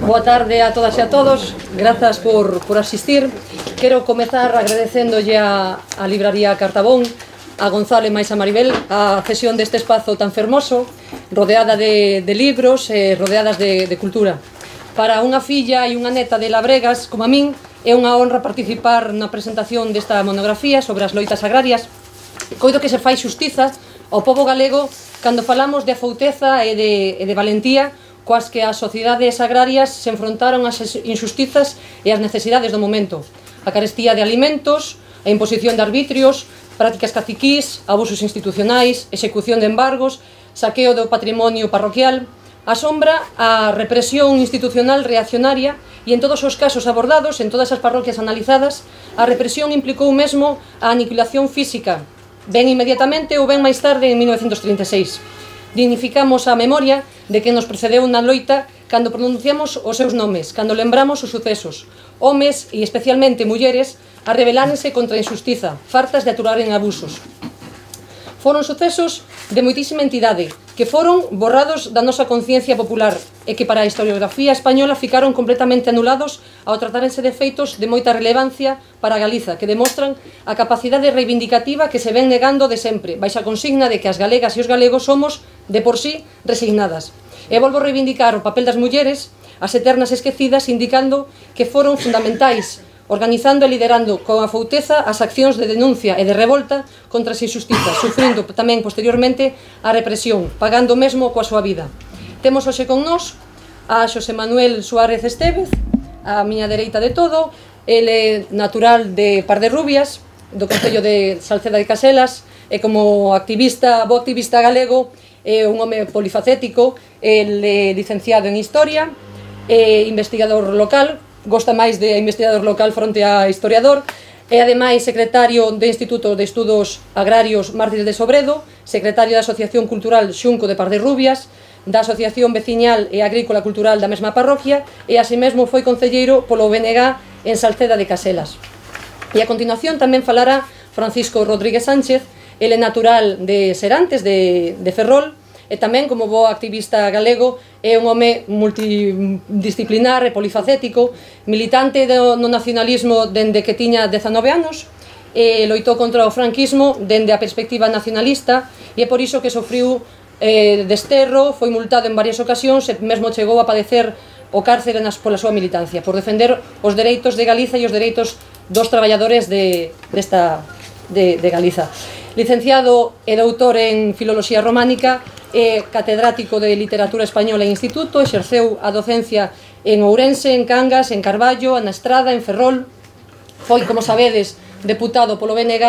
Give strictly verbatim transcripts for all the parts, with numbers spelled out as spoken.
Boa tarde a todas e a todos, grazas por, por asistir. Quero comezar agradecéndolle a, a Libraría Cartabón, a Gonzalo e máis a Maribel, a cesión deste espazo tan fermoso, rodeada de, de libros e rodeadas de, de cultura. Para unha filla e unha neta de Labregas, como a min, é unha honra participar na presentación desta monografía sobre as loitas agrarias. Coido que se fai xustiza ao pobo galego cando falamos de afouteza e de, e de valentía coas que as sociedades agrarias se enfrontaron ás injustizas e ás necesidades do momento. A carestía de alimentos, a imposición de arbitrios, prácticas caciquís, abusos institucionais, execución de embargos, saqueo do patrimonio parroquial, asombra a represión institucional reaccionaria e en todos os casos abordados, en todas as parroquias analizadas, a represión implicou mesmo a aniquilación física, ben inmediatamente ou ben máis tarde en mil novecentos trinta e seis. Dignificamos a memoria de quen nos precedeu na loita cando pronunciamos os seus nomes, cando lembramos os sucesos, homes e especialmente mulleres a rebelárense contra a injustiza, fartas de aturaren abusos. Foron sucesos de moitísima entidade, que foron borrados da nosa conciencia popular e que para a historiografía española ficaron completamente anulados ao tratárense de feitos de moita relevancia para Galiza, que demostran a capacidade reivindicativa que se ven negando de sempre, baixa a consigna de que as galegas e os galegos somos, de por sí, resignadas. E volvo a reivindicar o papel das mulleres, as eternas esquecidas, indicando que foron fundamentais, organizando e liderando con afouteza as accións de denuncia e de revolta contra as injustizas, sufrindo tamén posteriormente a represión, pagando mesmo coa súa vida. Temos hoxe con nós a Xosé Manuel Suárez Estévez, a miña dereita de todo. Ele é natural de Parderrubias, do concello de Salceda de Caselas, e como activista, bo activista galego, é un home polifacético. Ele é licenciado en Historia, é investigador local, gosta máis de investigador local fronte a historiador, e ademais secretario do Instituto de Estudos Agrarios Mártires de Sobredo, secretario da Asociación Cultural Xunco de Parderrubias, da Asociación Veciñal e Agrícola Cultural da mesma parroquia, e así mesmo foi concelleiro polo B N G en Salceda de Caselas. E a continuación tamén falará Francisco Rodríguez Sánchez. Ele é natural de Serantes, de, de Ferrol, e tamén, como bo activista galego, é un home multidisciplinar e polifacético, militante do, no nacionalismo dende que tiña dezanove anos, e loitou contra o franquismo dende a perspectiva nacionalista, e é por iso que sofriu eh, desterro, foi multado en varias ocasións e mesmo chegou a padecer o cárcere nas, pola súa militancia, por defender os dereitos de Galiza e os dereitos dos traballadores de, desta, de, de Galiza. Licenciado e doutor en Filoloxía Románica, é catedrático de Literatura Española en Instituto, exerceu a docencia en Ourense, en Cangas, en Carballo, na Estrada, en Ferrol. Foi, como sabedes, deputado polo B N G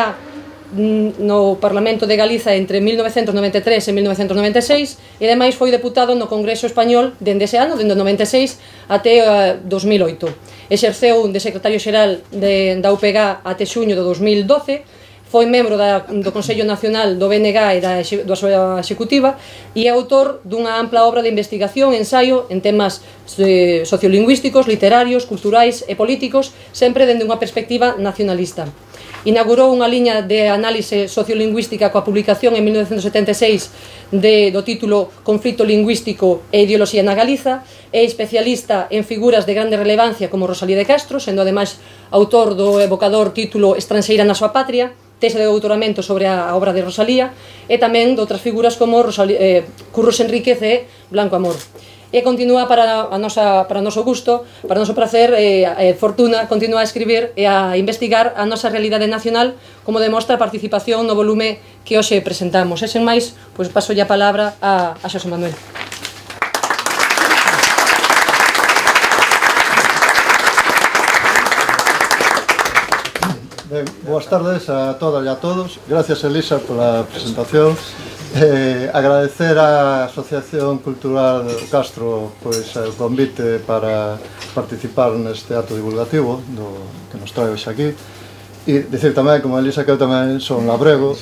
no Parlamento de Galiza entre mil novecentos noventa e tres e mil novecentos noventa e seis, e ademais foi deputado no Congreso Español dende ese ano, dende o noventa e seis até uh, dos mil oito. Exerceu de secretario xeral de, da U P G até xuño do dos mil doce, foi membro da, do Consello Nacional do B N G e da, da súa executiva, e é autor dunha ampla obra de investigación e ensaio en temas eh, sociolingüísticos, literarios, culturais e políticos, sempre dende unha perspectiva nacionalista. Inaugurou unha liña de análise sociolingüística coa publicación en mil novecentos setenta e seis de, do título Conflito lingüístico e ideoloxía na Galiza. É especialista en figuras de grande relevancia como Rosalía de Castro, sendo ademais autor do evocador título Estranxeira na súa patria, tese de doutoramento sobre a obra de Rosalía, e tamén de outras figuras como Rosalía, eh, Curros Enríquez e Blanco Amor. E continúa para a nosa, para o noso gusto, para o noso placer e eh, fortuna, continúa a escribir e a investigar a nosa realidade nacional, como demostra a participación no volume que hoxe presentamos. E sen máis, pois paso a palabra a, a Xosé Manuel. Ben, boas tardes a todas e a todos. Gracias, Elisa, pola presentación. Eh, agradecer á Asociación Cultural Castro pois, o convite para participar neste acto divulgativo do, que nos trae hoxe aquí. E dicir tamén, como Elisa, que eu tamén son labrego.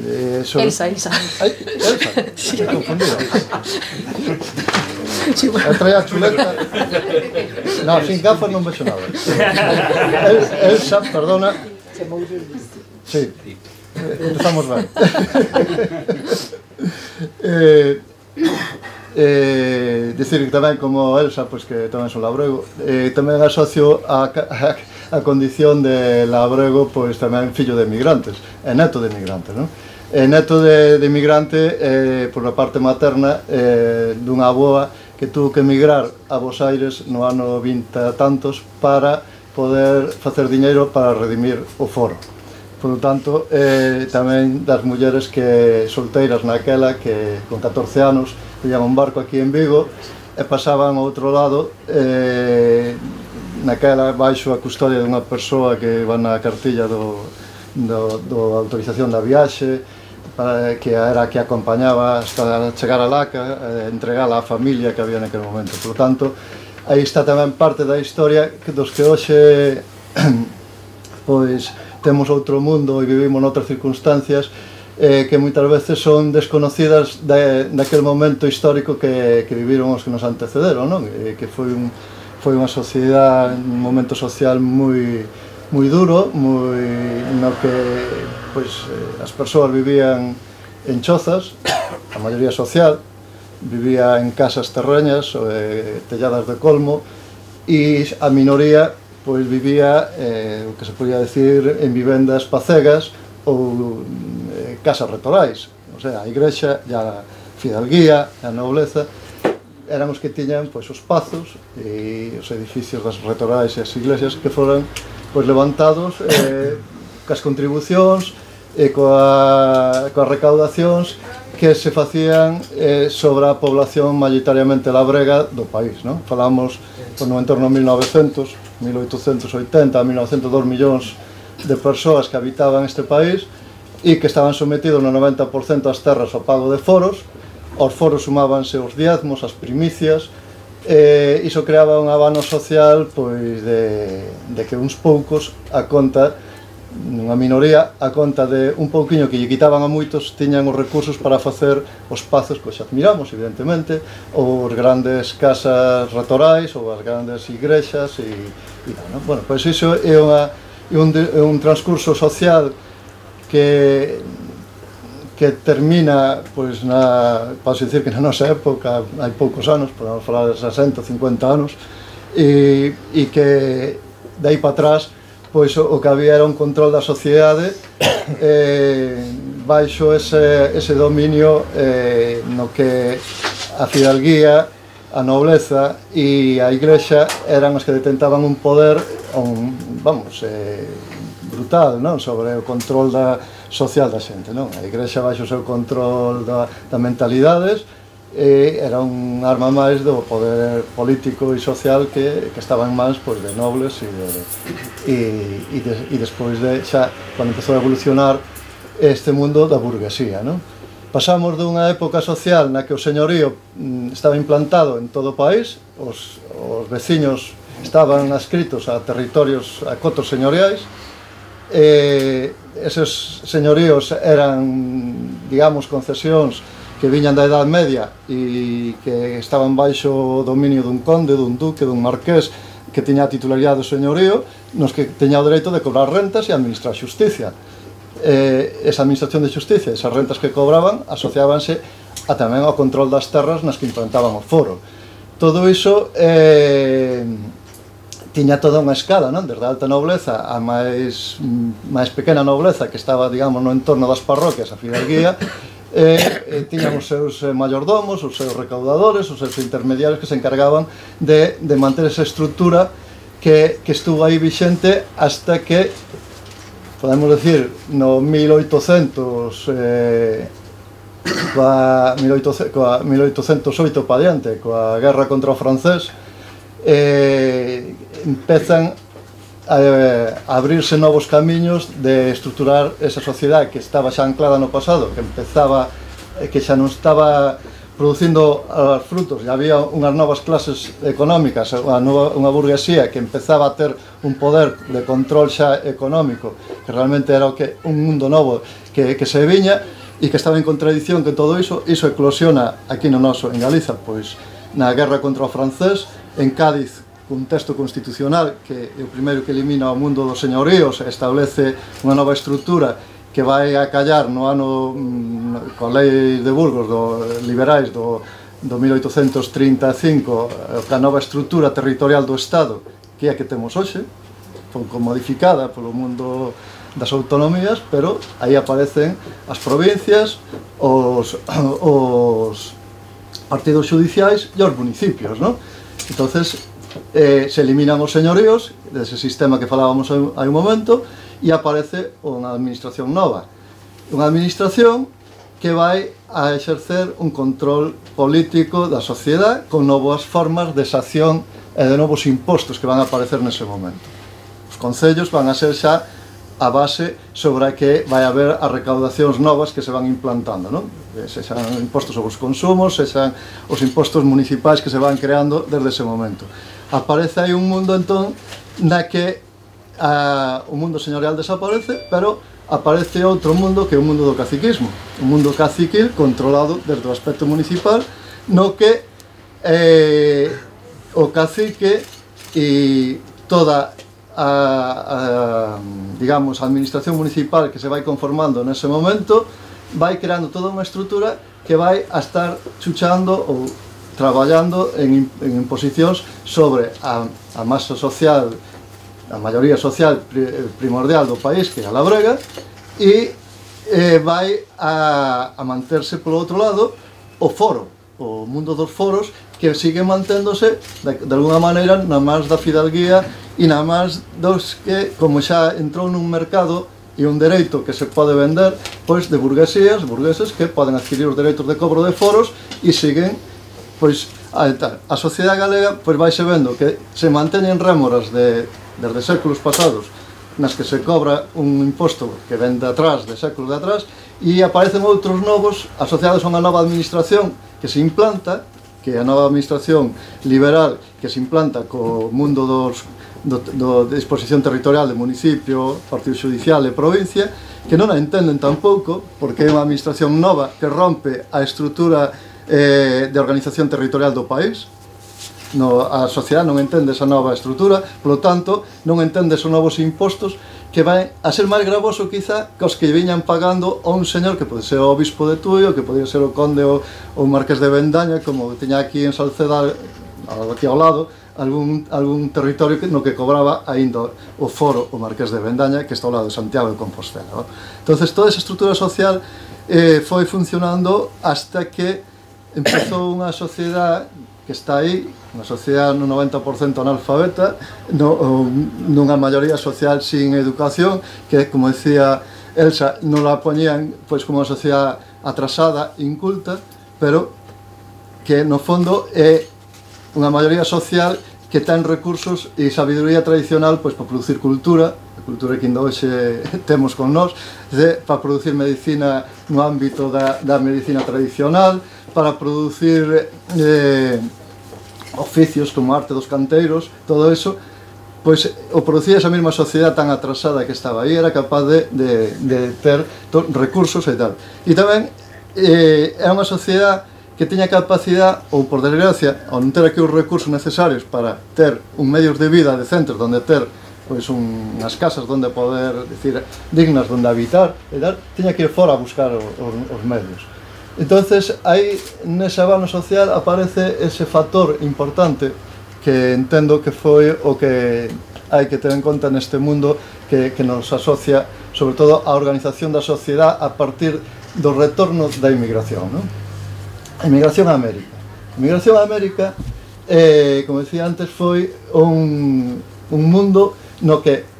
E, son... Elsa, Elsa. Ai, Elsa? Sí. Me confundido. Sí, bueno. Eu traía a chuleta. No, sin gafas non vexo nada. El, Elsa, perdona. Sí. Empezamos ben. eh, Eh, dicir que tamén como Elsa, pois que tamén son labrego, eh, tamén asocio a, a, a condición de labrego, pois tamén fillo de emigrantes, e neto de emigrantes, non? E neto de, de emigrante, eh, por a parte materna, eh, dunha aboa que tuvo que emigrar a Bos Aires no ano vinte e tantos para poder facer diñeiro para redimir o foro. Por lo tanto, eh, tamén das mulleres que solteiras naquela, que con catorce anos viñan un barco aquí en Vigo e pasaban ao outro lado, eh, naquela baixo a custodia dunha persoa que va na cartilla do, do, do autorización da viaxe, para, que era a que acompañaba hasta chegar a Laca, eh, entregala á familia que había naquele momento. Por lo tanto, aí está tamén parte da historia dos que hoxe pois temos outro mundo e vivimos noutras circunstancias eh, que moitas veces son desconocidas de, daquele momento histórico que, que viviron os que nos antecederon, non? E que foi, un, foi unha sociedade, un momento social moi, moi duro, moi, no que pois, eh, as persoas vivían en chozas, a maioría social, vivía en casas terreñas, eh, telladas de colmo, e a minoría pois vivía, eh, o que se podía decir, en vivendas pacegas ou eh, casas retorais. O sea, a igrexa e a fidalguía, a nobleza, eran os que tiñan pois, os pazos e os edificios das retorais e as iglesias que foran pois, levantados eh, cas contribucións e coa, coas recaudacións que se facían eh, sobre a población maioritariamente labrega do país, non? Falamos pues, no entorno mil novecentos, mil oitocentos oitenta, mil novecentos, dos millóns de persoas que habitaban este país e que estaban sometidos no noventa por cento ás terras ao pago de foros. Aos foros sumábanse os diezmos, as primicias, e iso creaba un abano social pois, de, de que uns poucos, a conta, unha minoría, a conta de un pouquiño que lle quitaban a moitos, tiñan os recursos para facer os pazos que xa admiramos, evidentemente, ou as grandes casas retorais, ou as grandes igrexas, e, e bueno, bueno, pois iso é unha e un, un transcurso social que que termina, pois, na, posso dicir que na nosa época, hai poucos anos, podemos falar de sesenta, cincuenta anos, e, e que de aí para atrás, pois, o, o que había era un control da sociedade eh, baixo ese, ese dominio eh, no que a fidalguía, a nobleza e a igrexa eran os que detentaban un poder un, vamos, eh, brutal, non? Sobre o control da social da xente, non? A igrexa baixo o seu control da, da mentalidades e era un arma máis do poder político e social que, que estaba en mans pois, de nobles e, de, e, e, de, e despois de xa, cando empezou a evolucionar este mundo da burguesía, non? Pasamos dunha época social na que o señorío mm, estaba implantado en todo o país, os, os veciños estaban adscritos a territorios, a cotos señoriais, e eses señoríos eran, digamos, concesións que viñan da Edad Media e que estaban baixo o dominio dun conde, dun duque, dun marqués que tiña a titularidade do señorío, nos que teña o dereito de cobrar rentas e administrar xusticia. Eh, esa administración de xusticia, esas rentas que cobraban, asociábanse a tamén ao control das terras nas que implantaban o foro. Todo iso eh, tiña toda unha escala, non? Desde a alta nobleza a máis, máis pequena nobleza que estaba, digamos, no entorno das parroquias, a fidalguía, e, e tiñan os seus mayordomos, os seus recaudadores, os seus intermediarios que se encargaban de, de manter esa estrutura que, que estuvo aí vixente hasta que, podemos decir, no mil oitocentos, eh, coa mil oitocentos oito pa diante, coa guerra contra o francés, eh, empezan a, a abrirse novos camiños de estruturar esa sociedade que estaba xa anclada no pasado, que empezaba, que xa non estaba producindo os frutos, e había unhas novas clases económicas, unha, nova, unha burguesía que empezaba a ter un poder de control xa económico, que realmente era o que un mundo novo que, que se viña e que estaba en contradición que todo iso, iso eclosiona aquí no noso, en Galiza, pois na guerra contra o francés, en Cádiz, un texto constitucional que é o primeiro que elimina o mundo dos señoríos, establece unha nova estrutura que vai a callar no ano, coa lei de Burgos, do, liberais do, do mil oitocentos trinta e cinco, a nova estrutura territorial do Estado, que é a que temos hoxe, pouco modificada polo mundo das autonomías, pero aí aparecen as provincias, os, os partidos judiciais e os municipios, non? Entonces, eh, se eliminan os señoríos dese sistema que falábamos hai un momento e aparece unha administración nova, unha administración que vai a exercer un control político da sociedade con novas formas de xacción e de novos impostos que van a aparecer nese momento. Os concellos van a ser xa a base sobre a que vai haber as recaudacións novas que se van implantando, non? Sexan impostos sobre os consumos, sexan os impostos municipais que se van creando desde ese momento. Aparece aí un mundo, entón, na que a, o mundo señorial desaparece, pero aparece outro mundo que é o mundo do caciquismo, un mundo caciquil controlado desde o aspecto municipal, no que eh, o cacique e toda a, a, digamos, a administración municipal que se vai conformando nese momento vai creando toda unha estrutura que vai a estar chuchando ou traballando en, en imposicións sobre a, a masa social, a maioría social primordial do país, que é a labrega, e eh, vai a, a manterse polo outro lado o foro, o mundo dos foros, que sigue manténdose de, de alguna maneira na máis da fidalguía e na máis dos que, como xa entrou nun mercado e un dereito que se pode vender, pois de burguesías, burgueses que poden adquirir os dereitos de cobro de foros e siguen, pois a, a sociedade galega pois vaise vendo que se manteñen rémoras de desde séculos pasados nas que se cobra un imposto que ven de atrás, de séculos de atrás, e aparecen outros novos asociados a unha nova administración que se implanta, que é a nova administración liberal que se implanta co mundo dos, do, do, de disposición territorial de municipio, partido judicial e provincia, que non a entenden tampouco, porque é unha administración nova que rompe a estrutura eh, de organización territorial do país. No, a sociedade non entende esa nova estrutura, polo tanto, non entende esos novos impostos que vai a ser máis gravoso, quizá, que os que viñan pagando a un señor que pode ser o obispo de Tuio, que podía ser o conde ou o marqués de Bendaña, como tiña aquí en Salceda, aquí ao lado, algún, algún territorio no que cobraba ainda o foro o marqués de Bendaña, que está ao lado de Santiago de Compostela. ¿no? Entonces, toda esa estrutura social eh, foi funcionando hasta que empezou unha sociedade que está aí, unha sociedade no noventa por cento analfabeta, no, nunha maioría social sin educación, que, como decía Elsa, non la poñían pois, como unha sociedade atrasada, inculta, pero que no fondo é unha maioría social que ten recursos e sabiduría tradicional pois, para producir cultura, a cultura que ainda hoxe temos con nós, para producir medicina no ámbito da, da medicina tradicional, para producir eh, oficios como a arte dos canteiros, todo eso, pois o producía esa mesma sociedade tan atrasada que estaba aí, era capaz de, de, de ter recursos e tal. E tamén eh, é unha sociedade que teña capacidade, ou por desgracia, ao non ter aquí os recursos necesarios para ter un medios de vida decentes, donde ter pois unhas casas donde poder, decir, dignas donde habitar e tal, teña que ir fora a buscar os, os medios. Entonces, aí, nese abano social, aparece ese factor importante que entendo que foi o que hai que ter en conta neste mundo que, que nos asocia, sobre todo, a organización da sociedade a partir do retorno da inmigración, non? A inmigración a América. A inmigración a América, eh, como decía antes, foi un, un mundo no que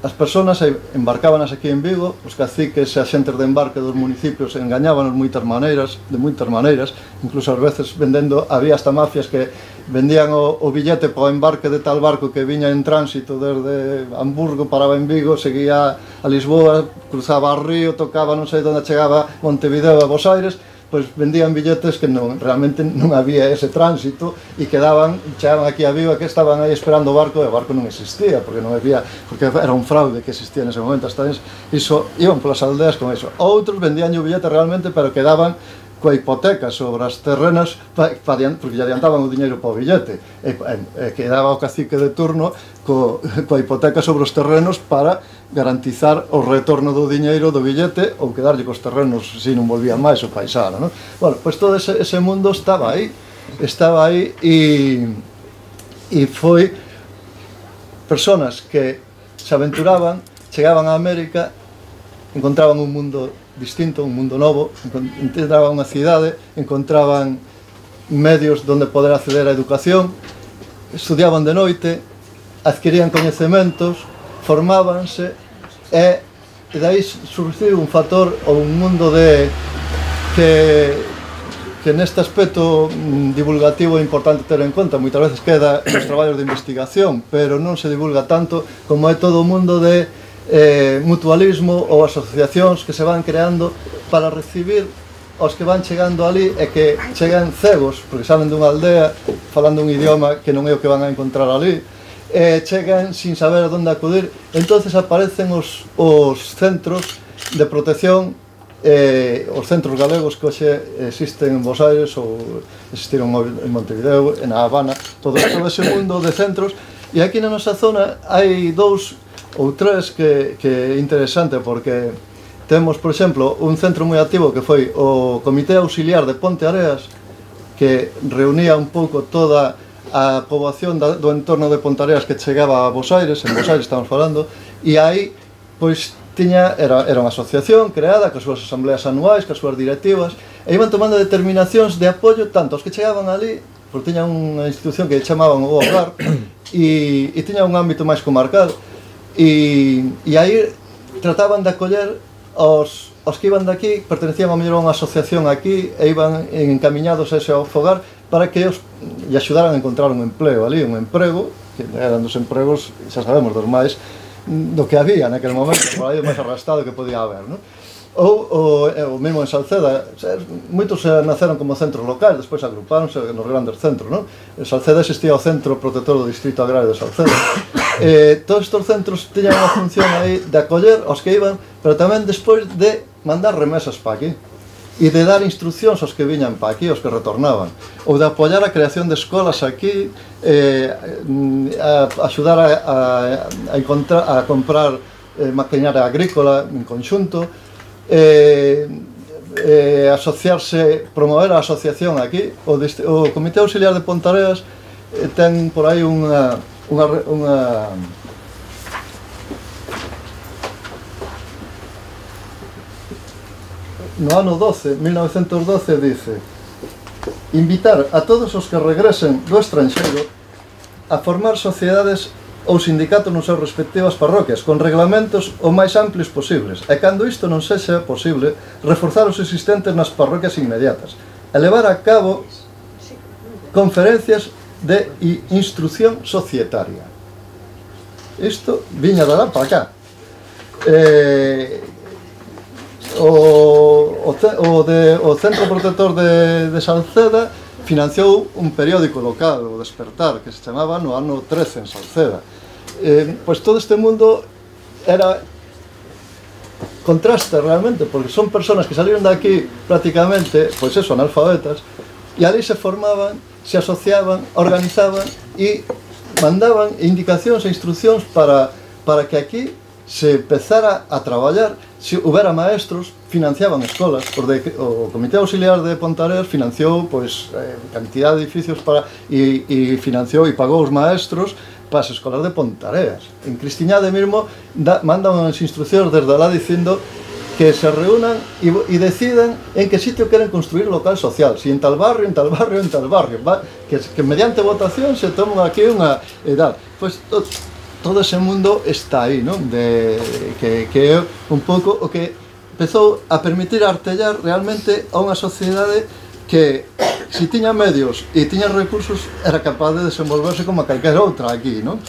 as persoas embarcábanas aquí en Vigo, os caciques e as xentes de embarque dos municipios engañábanos moitas maneiras, de moitas maneiras, incluso ás veces vendendo, había hasta mafias que vendían o, o billete para o embarque de tal barco que viña en tránsito desde Hamburgo, paraba en Vigo, seguía a Lisboa, cruzaba o río, tocaba non sei onde chegaba Montevideo a Bos Aires, pois vendían billetes que non, realmente non había ese tránsito e quedaban, chegaban aquí a Vigo que estaban aí esperando o barco e o barco non existía porque non había, porque era un fraude que existía nese momento, hasta iso, iban polas aldeas con iso. Outros vendían o billete realmente pero quedaban coa hipoteca sobre as terrenas pa, pa, porque lle adiantaban o diñeiro para o billete e, e, e quedaba o cacique de turno co, coa hipoteca sobre os terrenos para garantizar o retorno do diñeiro do billete ou quedarlle cos terrenos se non volvían máis o paisano, non? Bueno, pois todo ese, ese mundo estaba aí estaba aí e, e foi personas que se aventuraban, chegaban a América, encontraban un mundo distinto, un mundo novo, encontraban unha cidade, encontraban medios onde poder acceder á educación, estudiaban de noite, adquirían coñecementos, formábanse e, e dai surgiu un factor ou un mundo de que, que neste aspecto divulgativo é importante ter en conta, moitas veces queda nos traballos de investigación, pero non se divulga tanto como é todo o mundo de Eh, mutualismo ou asociacións que se van creando para recibir aos que van chegando ali e que chegan cegos, porque salen dunha aldea falando un idioma que non é o que van a encontrar ali, e chegan sin saber a onde acudir. Entonces aparecen os, os centros de protección, eh, os centros galegos que hoxe existen en Bos Aires ou existiron en Montevideo, en A Habana, todo, todo ese mundo de centros. E aquí na nosa zona hai dous ou tres que, que é interesante, porque temos, por exemplo, un centro moi activo que foi o Comité Auxiliar de Ponteareas, que reunía un pouco toda a poboación da, do entorno de Ponteareas que chegaba a Bos Aires, en Bos Aires estamos falando, e aí, pois, tiña, era, era unha asociación creada, coas súas asambleas anuais, coas súas directivas, e iban tomando determinacións de apoio tanto aos que chegaban ali, porque tiña unha institución que chamaban o Hogar, e, e tiña un ámbito máis comarcal, E, e aí trataban de acoller aos, aos que iban daqui, pertenecían a mellor a unha asociación aquí e iban encamiñados a ese fogar para que os lle axudaran a encontrar un empleo ali, un emprego, que eran dos empregos, xa sabemos, dos máis do que había naquele momento, por aí o máis arrastado que podía haber, non? Ou o, o mesmo en Salceda, moitos naceron como centros locais, despois agrupáronse nos grandes centros, non? En Salceda existía o Centro Protector do Distrito Agrario de Salceda. Eh, todos estes centros teñan unha función aí de acoller aos que iban, pero tamén despois de mandar remesas para aquí e de dar instruccións aos que viñan para aquí, aos que retornaban, ou de apoiar a creación de escolas aquí, eh, a, a axudar a, a, a, encontrar, a comprar eh, maquinaria agrícola en conxunto, eh, eh, asociarse, promover a asociación aquí. O, o Comité Auxiliar de Ponteareas eh, ten por aí unha, unha, unha no ano doce, mil novecentos doce, dice: invitar a todos os que regresen do estranxeiro a formar sociedades ou sindicatos nas súas respectivas parroquias, con reglamentos o máis amplios posibles, e cando isto non sexa posible, reforzar os existentes nas parroquias inmediatas, e levar a cabo conferencias de instrucción societaria. Isto viña de lá para cá. Eh, o, o, o, de, o Centro Protector de, de Salceda financiou un periódico local, o Despertar, que se chamaba no ano trece en Salceda. Eh, pois todo este mundo era contraste realmente, porque son personas que salieron de aquí prácticamente, pois eso, analfabetas, e ali se formaban, se asociaban, organizaban e mandaban indicacións e instruccións para, para que aquí se empezara a traballar. Se houbera maestros, financiaban escolas, porque o Comité Auxiliar de Ponteareas financiou pois, eh, cantidad de edificios para, e, e financiou e pagou os maestros para as escolas de Ponteareas. En Cristiñade mesmo da, mandan as instruccións desde lá dicindo que se reúnan e, e decidan en que sitio queren construir local social, si en tal barrio, en tal barrio, en tal barrio, va, que, que mediante votación se toman aquí unha edad. Pois to, todo ese mundo está aí, non? De, que, que é un pouco o que empezou a permitir artellar realmente a unha sociedade que, se tiña medios e tiña recursos, era capaz de desenvolverse como a calquera outra aquí, non?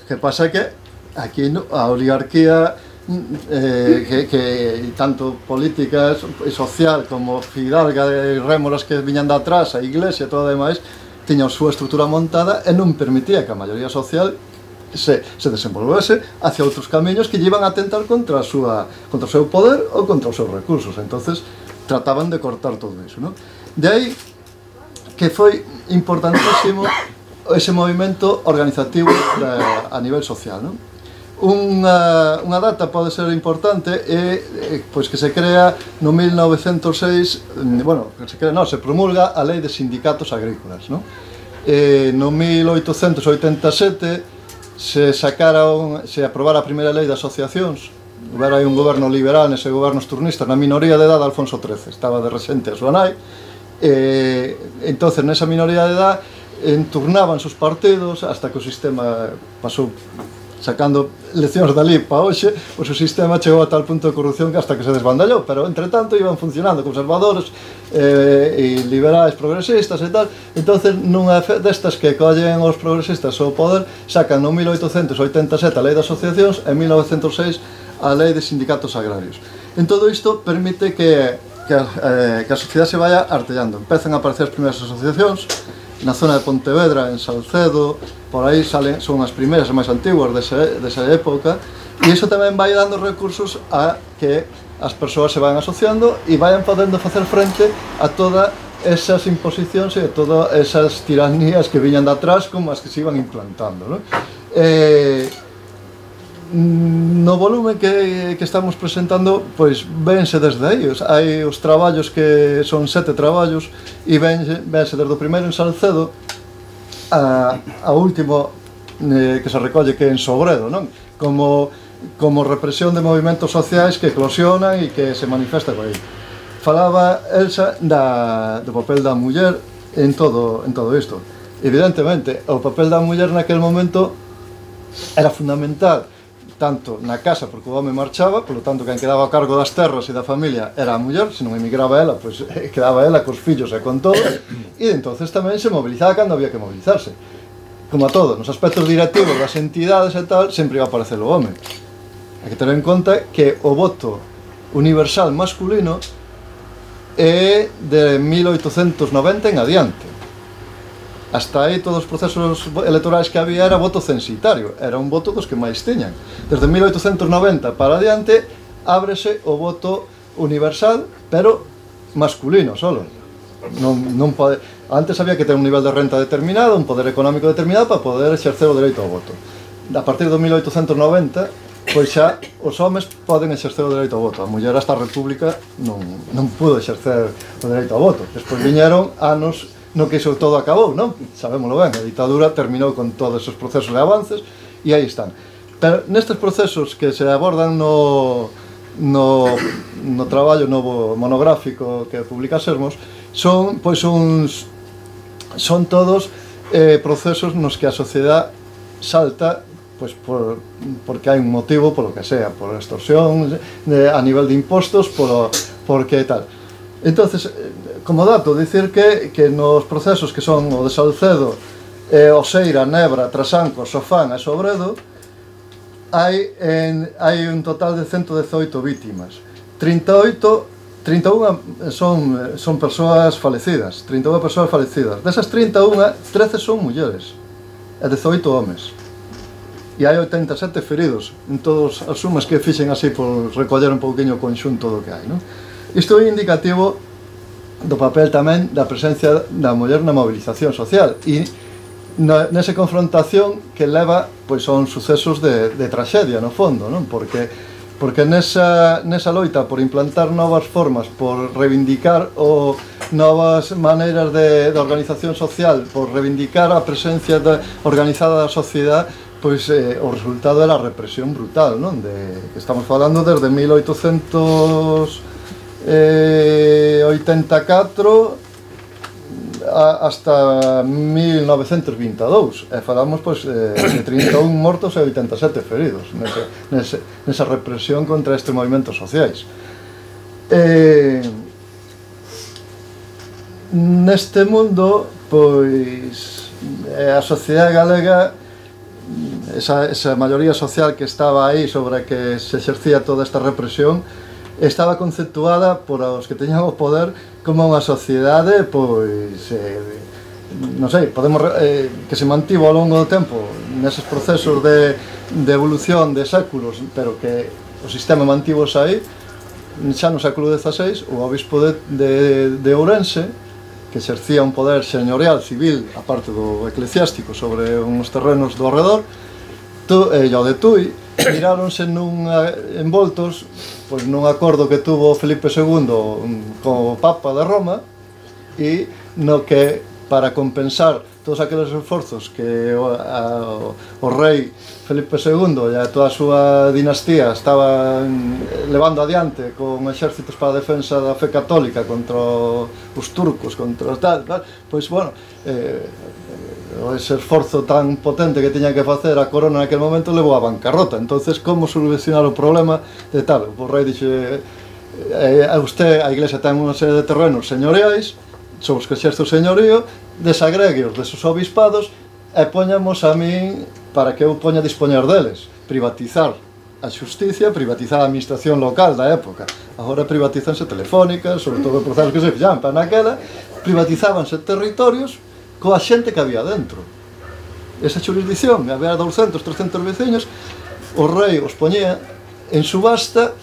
Que pasa que aquí no, a oligarquía eh, que, que tanto política e social como fidalga e rémoras que viñan de atrás, a iglesia e todo demais, tiña a súa estrutura montada e non permitía que a maioría social se, se desenvolvese hacia outros camiños que lle iban a tentar contra, a súa, contra o seu poder ou contra os seus recursos. Entonces, trataban de cortar todo iso, non? De aí que foi importantísimo ese movimento organizativo da, a nivel social, non? Unha, unha data pode ser importante e, e pois que se crea no mil novecentos e seis, bueno, que se crea, non, se promulga a Lei de Sindicatos Agrícolas, non? E no mil oitocentos oitenta e sete se sacara un, se aprobara a primeira lei de asociacións. Houbera aí un goberno liberal nese gobernos turnistas, na minoría de edad Alfonso trece, estaba de rexente a súa nai, e entonces nesa minoría de edad enturnaban sus partidos hasta que o sistema pasou sacando leccións dali para hoxe, pois o sistema chegou a tal punto de corrupción que hasta que se desbandallou, pero entre tanto iban funcionando conservadores eh, e liberais progresistas e tal. Entonces nunha destas que collen os progresistas ao poder, sacan no mil oitocentos oitenta e sete a Lei de Asociacións e en mil novecentos e seis a Lei de Sindicatos Agrarios. En todo isto permite que, que, eh, que a sociedade se vaya artellando. Empezan a aparecer as primeiras asociacións na zona de Pontevedra, en Salcedo, por aí salen, son as primeiras e máis antiguas desa, desa época, e iso tamén vai dando recursos a que as persoas se van asociando e vayan podendo facer frente a todas esas imposicións e a todas esas tiranías que viñan de atrás como as que se iban implantando, non? Eh, no volume que, que estamos presentando, pois vense desde aí, hai os traballos que son sete traballos e vense, vense desde o primeiro en Salcedo a, a último eh, que se recolle que é en Sobredo, non? Como, como represión de movimentos sociais que eclosionan e que se manifesta por aí. Falaba Elsa da, do papel da muller en todo, en todo isto. Evidentemente, o papel da muller naquel momento era fundamental tanto na casa, porque o home marchaba, polo tanto, quen quedaba a cargo das terras e da familia era a muller, se non emigraba ela, pois quedaba ela cos fillos e con todo, e entonces tamén se mobilizaba cando había que mobilizarse. Como a todo, nos aspectos directivos das entidades e tal, sempre iba a aparecer o home. Hai que ter en conta que o voto universal masculino é de mil oitocentos noventa en adiante. Hasta aí todos os procesos electorais que había era voto censitario, era un voto dos que máis teñan. Desde mil oitocentos noventa para adiante ábrese o voto universal, pero masculino solo. Non, non pode... Antes había que ter un nivel de renta determinado, un poder económico determinado para poder exercer o dereito ao voto. A partir do mil oitocentos noventa, pois xa os homes poden exercer o dereito ao voto. A muller hasta a República non, non pudo exercer o dereito ao voto. Despois viñeron anos no que iso todo acabou, non? Sabémoslo ben, a ditadura terminou con todos esos procesos de avances e aí están. Pero nestes procesos que se abordan no, no, no traballo novo monográfico que publicásemos, son, pois, uns, son todos eh, procesos nos que a sociedade salta pois, por, porque hai un motivo, polo que sea, por extorsión, de, a nivel de impostos, por, porque tal. Entonces, como dato, dicir que, que nos procesos que son o de Salcedo, eh, Oseira, Nebra, Trasancos, Sofán e Sobredo, hai, en, hai un total de ciento dezoito vítimas. trinta e oito, trinta e unha son, son persoas falecidas, trinta e unha persoas falecidas. Desas trinta e unha, trece son mulleres e dezoito homes. E hai oitenta e sete feridos en todas as sumas que fixen así por recoller un pouquinho o conxunto do que hai, non? Isto é indicativo do papel tamén da presencia da muller na mobilización social e nesa confrontación que leva pois son sucesos de, de traxedia no fondo, non? Porque, porque nesa, nesa loita por implantar novas formas, por reivindicar o novas maneiras de, de organización social, por reivindicar a presencia de, organizada da sociedade, pois eh, o resultado era a represión brutal, non? De, que estamos falando desde mil oitocentos oitenta e catro hasta mil novecentos vinte e dous e falamos pois, de trinta e un mortos e oitenta e sete feridos nese, nese, nesa represión contra estes movimentos sociais. E, neste mundo pois a sociedade galega, esa, esa maioría social que estaba aí sobre a que se exercía toda esta represión, estaba conceptuada por os que teñan o poder como unha sociedade, pois, eh, non sei, podemos, eh, que se mantivo ao longo do tempo neses procesos de, de evolución de séculos, pero que o sistema mantivos aí, xa no século dezaseis, o obispo de, de, de Ourense, que exercía un poder señorial civil, aparte do eclesiástico, sobre uns terrenos do arredor, tu, e o de Tui, miráronse nun, envoltos pois, nun acordo que tuvo Felipe segundo co Papa de Roma, e no que, para compensar todos aqueles esforzos que o, a, o rei Felipe segundo e a toda a súa dinastía estaban levando adiante con exércitos para a defensa da fe católica contra os turcos, contra os tal, tal, pois, bueno, eh, ese esforzo tan potente que tiña que facer a corona naquele momento levou a bancarrota. Entonces, como solucionar o problema de tal? O rei dixe, eh, a usted, a iglesia ten unha serie de terrenos señoriais sobre os que exerce o señorío, desagregueos desos obispados e poñamos a min para que eu poña a dispoñer deles, privatizar a xusticia, privatizar a administración local da época. Agora privatizanse telefónicas, sobre todo os procesos que se fixan, para naquela privatizábanse territorios coa xente que había dentro. Esa xurisdicción, había doscientos, trescientos veciños, o rei os poñía en subasta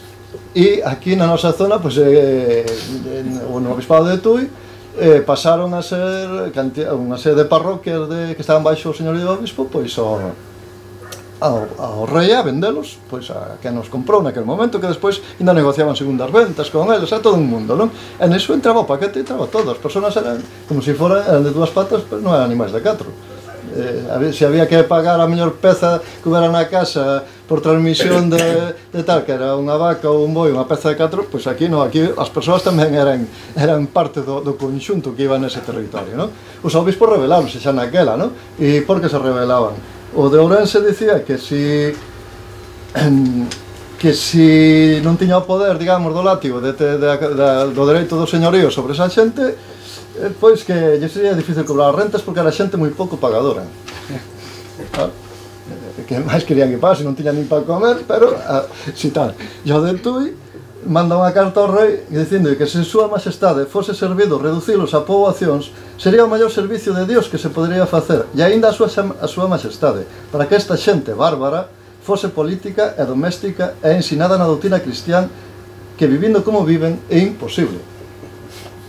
e aquí na nosa zona, pues, eh, no obispado de Tui, Eh, pasaron a ser unha serie de parroquias de, que estaban baixo o señorío do obispo, pois ao, ao, ao rei a vendelos, pois a que nos comprou naquele momento, que despois ainda negociaban segundas ventas con eles, a todo un mundo, non? E neso entraba o paquete, entraba todo, as persoas eran como se foran, eran de dúas patas, pero non eran animais de catro. Eh, se había que pagar a mellor peza que hubiera na casa por transmisión de, de tal, que era unha vaca ou un boi, unha peza de catro, pois aquí non, aquí as persoas tamén eran, eran parte do, do conxunto que iba nese territorio, non? Os obispos rebeláronse xa naquela, non? E por que se rebelaban? O de Ourense dicía que si que si non tiña o poder, digamos, do látigo de, de, de, de, do dereito do señorío sobre esa xente, pois que lle sería difícil cobrar as rentas porque era xente moi pouco pagadora. Que máis querían que pase, non tiñan nin para comer, pero si tal. E o de Tui manda unha carta ao rei dicindo que se súa majestade fose servido reducilos a poboacións, sería o maior servicio de Dios que se podería facer, e aínda a súa, a súa majestade, para que esta xente bárbara fose política e doméstica e ensinada na doutrina cristián, que vivindo como viven é imposible.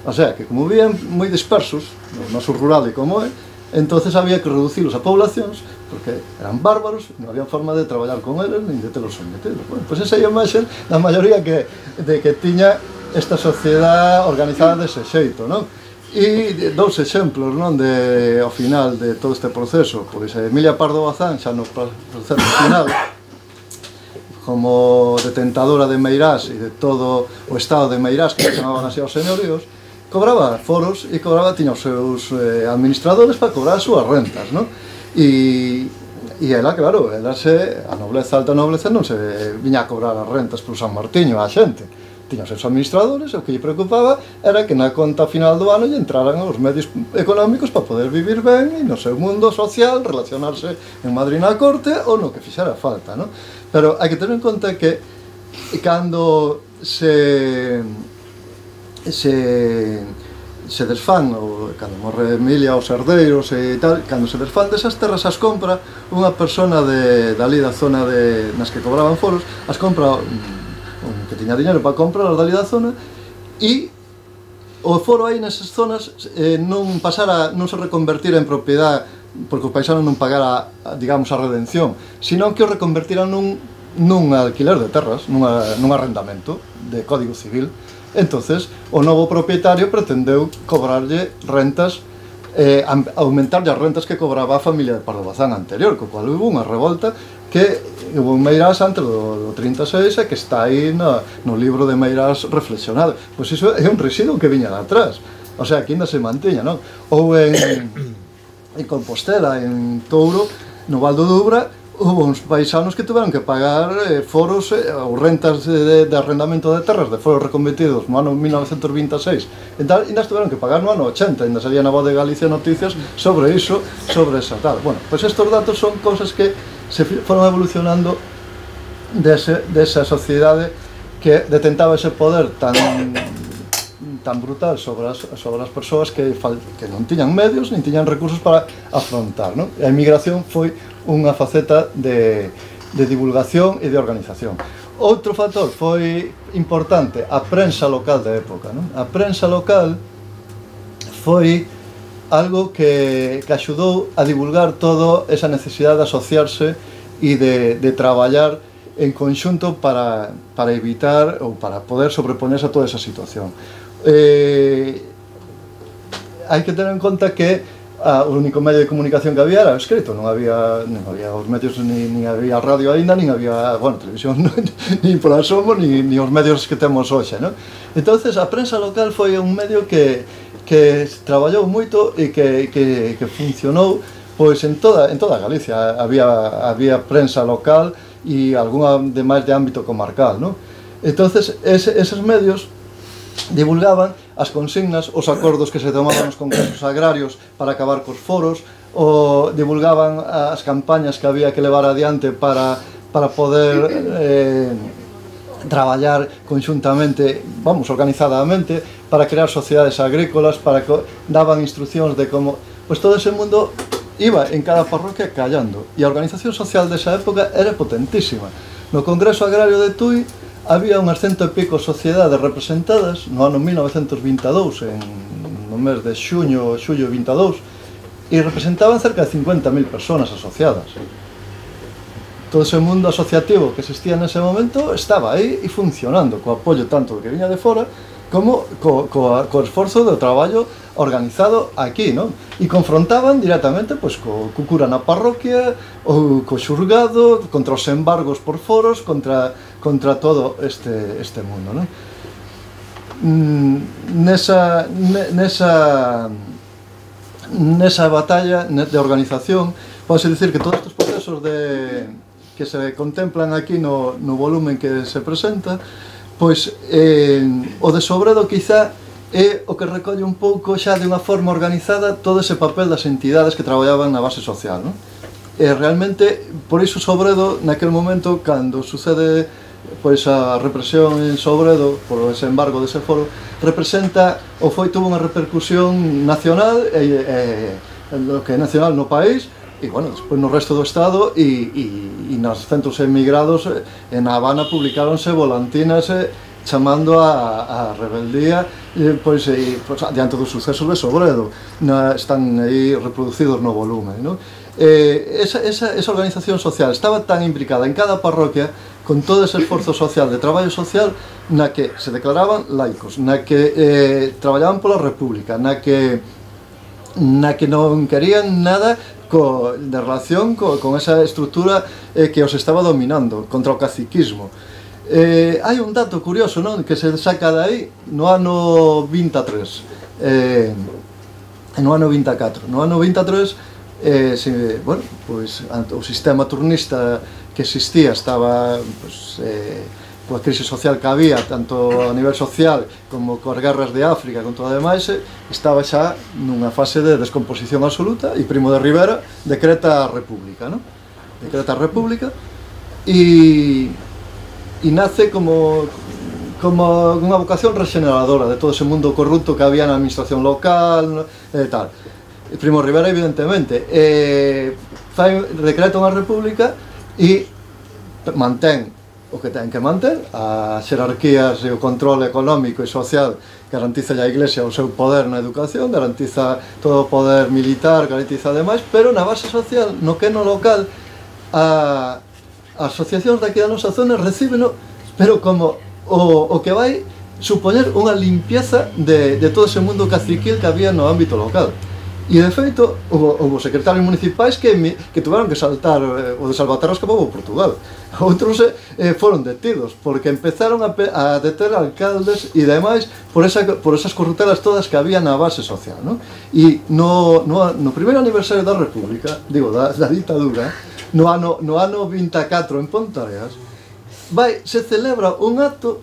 O sea, que como vivían moi dispersos, no noso rural e como é, entonces había que reducilos a poblacións, porque eran bárbaros, non había forma de traballar con eles, nin de telos sometidos. Bueno, pois esa é a imaxe da maioría que, de que tiña esta sociedade organizada dese xeito, non? E dous exemplos, non, de, ao final de todo este proceso, pois Emilia Pardo Bazán, xa no proceso final, como detentadora de Meirás e de todo o estado de Meirás, que se chamaban así aos señoríos, cobraba foros e cobraba, tiña os seus eh, administradores para cobrar as súas rentas, non? E, e ela, claro, ela se, a nobleza, a alta nobleza, non se viña a cobrar as rentas por San Martiño a xente. Tiña os seus administradores, o que lle preocupaba era que na conta final do ano lle entraran os medios económicos para poder vivir ben e no seu mundo social, relacionarse en Madrid na corte ou no que fixera falta, non? Pero hai que ter en conta que cando se se, se desfán, ou cando morre Emilia, os herdeiros e tal, cando se desfán desas terras as compra unha persona de, dali da zona de, nas que cobraban foros, as compra un, que tiña dinero para comprar as dali da zona, e o foro aí nesas zonas eh, non pasara, non se reconvertira en propiedade porque o paisano non pagara, digamos, a redención, sino que o reconvertiran nun, nun alquiler de terras, nunha, nun arrendamento de Código Civil. Entonces, o novo propietario pretendeu cobrarlle rentas, eh, aumentarlle as rentas que cobraba a familia de Pardo Bazán anterior, co cual hubo unha revolta que hubo en Meirás antes do, do trinta e seis e que está aí no, no libro de Meirás reflexionado. Pois iso é un residuo que viña de atrás, o sea, que ainda se mantiña, non? Ou en, en Compostela, en Touro, no Val do Dubra, hubo uns paisanos que tiveron que pagar eh, foros eh, ou rentas de, de arrendamento de terras de foros reconvertidos no ano mil novecentos vinte e seis e tal, ainda tiveron que pagar no ano ochenta, ainda salía na Voz de Galicia noticias sobre iso, sobre esa tal. Bueno, pois pues estos datos son cosas que se foron evolucionando dese, desa sociedade que detentaba ese poder tan tan brutal sobre as, sobre as persoas que, fal, que non tiñan medios, nin tiñan recursos para afrontar, non? A emigración foi unha faceta de, de divulgación e de organización. outro factor foi importante, a prensa local da época, non? A prensa local foi algo que, que axudou a divulgar toda esa necesidade de asociarse e de, de traballar en conxunto para, para evitar ou para poder sobreponerse a toda esa situación. Eh, hai que tener en conta que a, o único medio de comunicación que había era o escrito, non había, non había os medios, ni, ni había radio aínda, nin había, bueno, televisión, nin por asomo, ni, ni os medios que temos hoxe, non? Entonces, a prensa local foi un medio que, que traballou moito e que, que, que funcionou pois en toda, en toda Galicia. Había, había prensa local e algunha de máis de ámbito comarcal, non? Entonces, ese, eses medios divulgaban as consignas, os acordos que se tomaban nos congresos agrarios para acabar cos foros, ou divulgaban as campañas que había que levar adiante para, para poder eh, traballar conxuntamente, vamos, organizadamente, para crear sociedades agrícolas, para que daban instruccións de como... Pois todo ese mundo iba en cada parroquia callando, e a organización social desa época era potentísima. No Congreso Agrario de Tui había unhas cento e pico sociedades representadas no ano mil novecentos vinte e dous, en, no mes de xuño, xullo vinte e dous, e representaban cerca de cincuenta mil persoas asociadas. Todo ese mundo asociativo que existía nese momento estaba aí e funcionando, co apoio tanto do que viña de fora como co, co, co esforzo do traballo organizado aquí, non? E confrontaban directamente pois, co, co cura na parroquia, ou co xurgado, contra os embargos por foros, contra, contra todo este, este mundo, non? Nesa, nesa, nesa batalla de organización, pode dicir que todos estes procesos de, que se contemplan aquí no, no volumen que se presenta, pois eh, o de Sobredo quizá é o que recolle un pouco xa de unha forma organizada todo ese papel das entidades que traballaban na base social, non? E realmente, por iso Sobredo, naquele momento, cando sucede pois a represión en Sobredo por ese embargo dese foro, representa, ou foi, tuvo unha repercusión nacional, e, e, lo que é nacional no país, e, bueno, despois no resto do Estado, e, e, e nos centros emigrados, en Habana publicáronse volantinas chamando a, a rebeldía, e, pois, e, pois, diante dos sucesos de Sobredo, na, están aí reproducidos no volumen, non? Eh, esa, esa, esa organización social estaba tan implicada en cada parroquia, con todo ese esforzo social, de traballo social, na que se declaraban laicos, na que eh, traballaban pola República, na que, na que non querían nada co, de relación co, con esa estrutura eh, que os estaba dominando, contra o caciquismo. Eh, hai un dato curioso, non?, que se saca de aí no ano vinte e tres, eh, no ano vinte e catro. No ano vinte e tres, eh, se, bueno, pois, o sistema turnista que existía estaba, pois, eh, coa crise social que había, tanto a nivel social como coas guerras de África, con todo o demais, estaba xa nunha fase de descomposición absoluta, e Primo de Rivera decreta a República, non? Decreta a República, e, e nace como, como unha vocación regeneradora de todo ese mundo corrupto que había na administración local, e tal. E Primo de Rivera, evidentemente, eh, fai, decreta unha República e mantén o que ten que manter, as xerarquías e o control económico e social, garantiza a Iglesia o seu poder na educación, garantiza todo o poder militar, garantiza ademais, pero na base social, no que no local, a, as asociacións daqui da nosa zona recíbeno, pero como o, o que vai supoñer unha limpieza de, de todo ese mundo caciquil que había no ámbito local. E, de feito, houve secretarios municipais que, que tuveron que saltar, eh, o de Salvaterra escapou a Portugal. Outros eh, foron detidos, porque empezaron a, a deter alcaldes e demais por, esa, por esas corruptelas todas que había na base social, non? E no, no, no primeiro aniversario da República, digo, da, da ditadura, no ano, no ano vinte e catro en Pontareas, vai, se celebra un acto,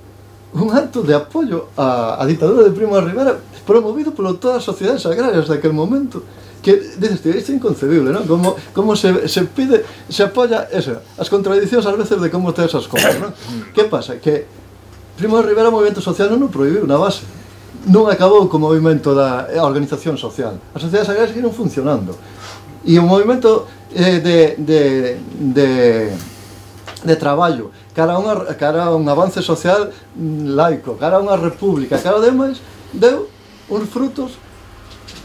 un acto de apoio á, á ditadura de Primo de Rivera, promovido por todas as sociedades agrarias daquele momento, que, dices, isto é inconcebible, non? Como, como se, se pide, se apoia, eso, as contradicións ás veces de como te esas cosas, non? Que pasa? Que Primo de Rivera o movimento social non o prohibiu na base, non acabou co movimento da organización social, as sociedades agrarias seguiron funcionando, e o movimento eh, de, de, de, de traballo que cara a, unha, cara a un avance social laico, cara a unha república, cara a demais, deu uns frutos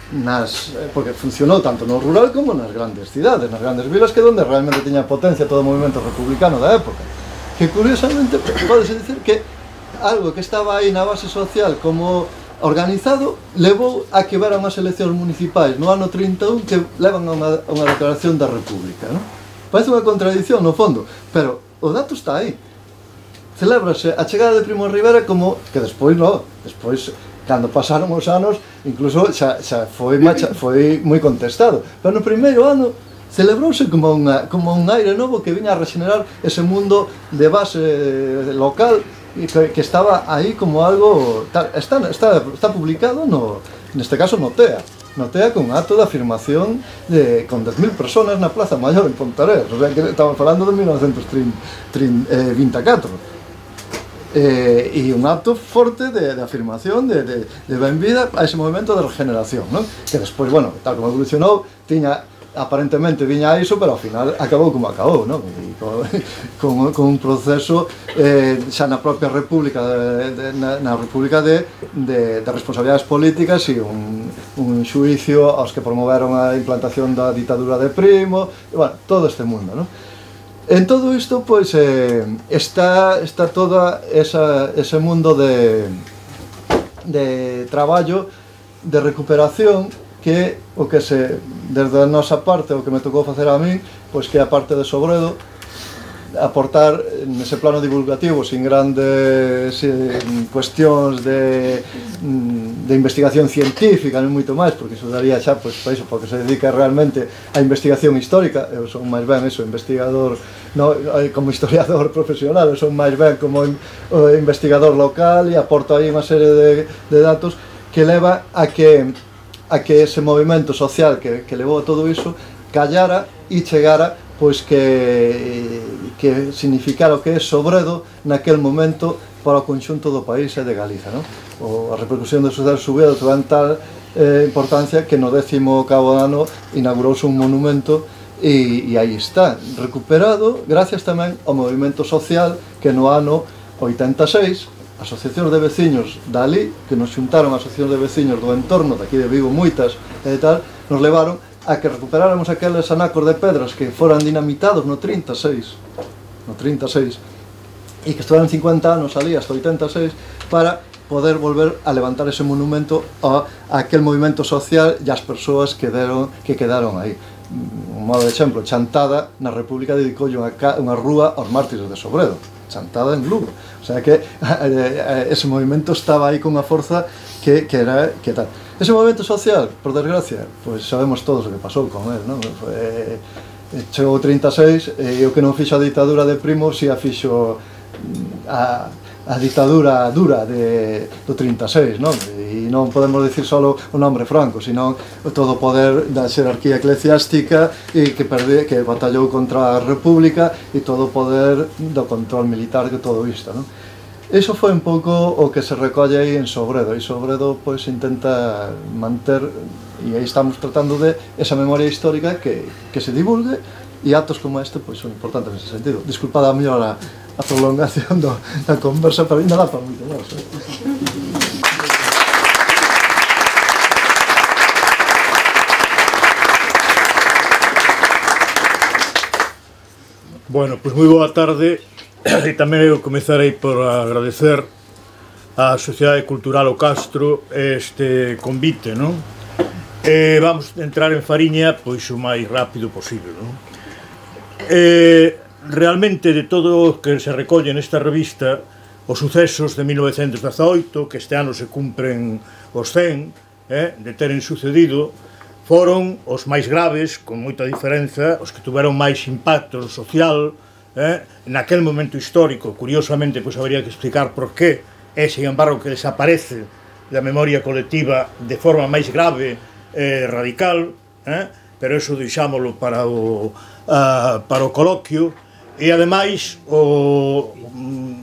nas, porque funcionou tanto no rural como nas grandes cidades, nas grandes vilas, que onde realmente tiña potencia todo o movimento republicano da época, que curiosamente podese dicir que algo que estaba aí na base social como organizado levou a que vera unhas eleccións municipais no ano trinta e un que levan a unha, a unha declaración da República, non? Parece unha contradición no fondo, pero o dato está aí. Celébrase a chegada de Primo de Rivera como que despois, no, despois, cando pasaron os anos, incluso xa, xa foi, macha, foi moi contestado. Pero no primeiro ano celebrouse como, unha, como un aire novo que viña a regenerar ese mundo de base local que, que estaba aí como algo... Está, está, está publicado, no, neste caso, no T E A. No T E A con acto de afirmación de, con dez mil personas na Plaza Maior en Pontarés, o sea que estamos falando de mil novecentos vinte e catro, eh, e un acto forte de, de afirmación de, de, de benvida a ese movimento de regeneración, ¿no? Que despois, bueno, tal como evolucionou, tiña aparentemente viña a iso, pero ao final acabou como acabou, non? E con, con, con un proceso eh, xa na propia república de, de, na, na república de, de, de responsabilidades políticas e un, un xuicio aos que promoveron a implantación da ditadura de Primo, e, bueno, todo este mundo, non? En todo isto, pois, eh, está, está toda esa, ese mundo de, de traballo, de recuperación, que o que se, desde a nosa parte, o que me tocou facer a min, pois que a parte de Sobredo, aportar nese plano divulgativo, sin grandes eh, cuestións de, de investigación científica, non moito máis, porque iso daría xa, pois, para iso, porque se dedica realmente a investigación histórica. Eu son máis ben eso, investigador, no, como historiador profesional, eu son máis ben como investigador local e aporto aí unha serie de, de datos que leva a que a que ese movimento social que, que levou a todo iso callara e chegara, pois que, que significara o que é Sobredo naquel momento para o conxunto do país e de Galiza, non? O, a repercusión da sociedade Sobredo tuvo tal eh, importancia que no décimo cabo ano inaugurouse un monumento e, e aí está, recuperado gracias tamén ao movimento social que no ano oitenta e seis asociacións de veciños dali, que nos xuntaron asociacións de veciños do entorno, daqui de Vigo, moitas e tal, nos levaron a que recuperáramos aqueles anacos de pedras que foran dinamitados no trinta e seis, no trinta e seis, e que estuveran cincuenta anos ali, hasta oitenta e seis, para poder volver a levantar ese monumento a, a aquel movimento social e as persoas que, deron, que quedaron aí. Un modo de exemplo, Chantada, na República, dedicoulle unha, unha rúa aos mártires de Sobredo, Chantada en Lugo. O sea que eh, ese movimento estaba aí con unha forza que, que era que tal. Ese movimento social, por desgracia, pois sabemos todos o que pasou con él, non? Foi, chegou o trinta e seis e o que non fixo a ditadura de Primo si a fixo a, a ditadura dura de, do trinta e seis, non? E non podemos dicir só o nome Franco, sino todo o poder da xerarquía eclesiástica e que, perde, que batallou contra a República e todo o poder do control militar de todo isto, non? Iso foi un pouco o que se recolle aí en Sobredo, e Sobredo pois intenta manter, e aí estamos tratando de esa memoria histórica que, que se divulgue, e actos como este pois son importantes nese sentido. Disculpada a mellor a, a prolongación do, da conversa, pero ainda dá para moito máis. Bueno, pois moi boa tarde. E tamén eu comezarei por agradecer á Sociedade Cultural O Castro este convite, non? E vamos entrar en fariña pois o máis rápido posible, non? E realmente de todo o que se recolle nesta revista, os sucesos de mil novecentos dezaoito, que este ano se cumpren os cen, eh, de teren sucedido, foron os máis graves, con moita diferenza, os que tuveron máis impacto social, Eh, naquel momento histórico. Curiosamente, pois habría que explicar por qué é, sin embargo, que desaparece da memoria colectiva de forma máis grave e eh, radical, eh, pero eso deixámolo para o, uh, para o coloquio. E, ademais, o,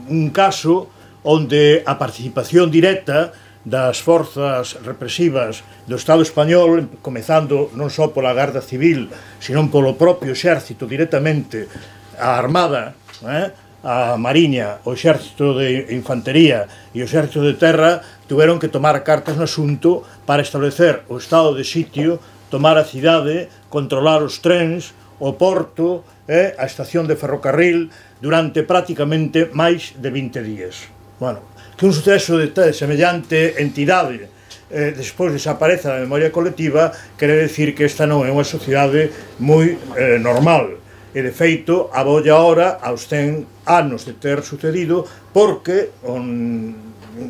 un caso onde a participación directa das forzas represivas do Estado español, comezando non só pola Garda Civil, sino polo propio exército directamente, a Armada, eh, a Mariña, o Exército de Infantería e o Exército de Terra tuveron que tomar cartas no asunto para establecer o estado de sitio, tomar a cidade, controlar os trens, o porto e a estación de ferrocarril durante prácticamente máis de vinte días. Bueno, que un suceso de semellante entidade eh, despois desaparece da memoria colectiva quere decir que esta non é unha sociedade moi eh, normal. E, de feito, abolla ahora aos cen anos de ter sucedido porque un,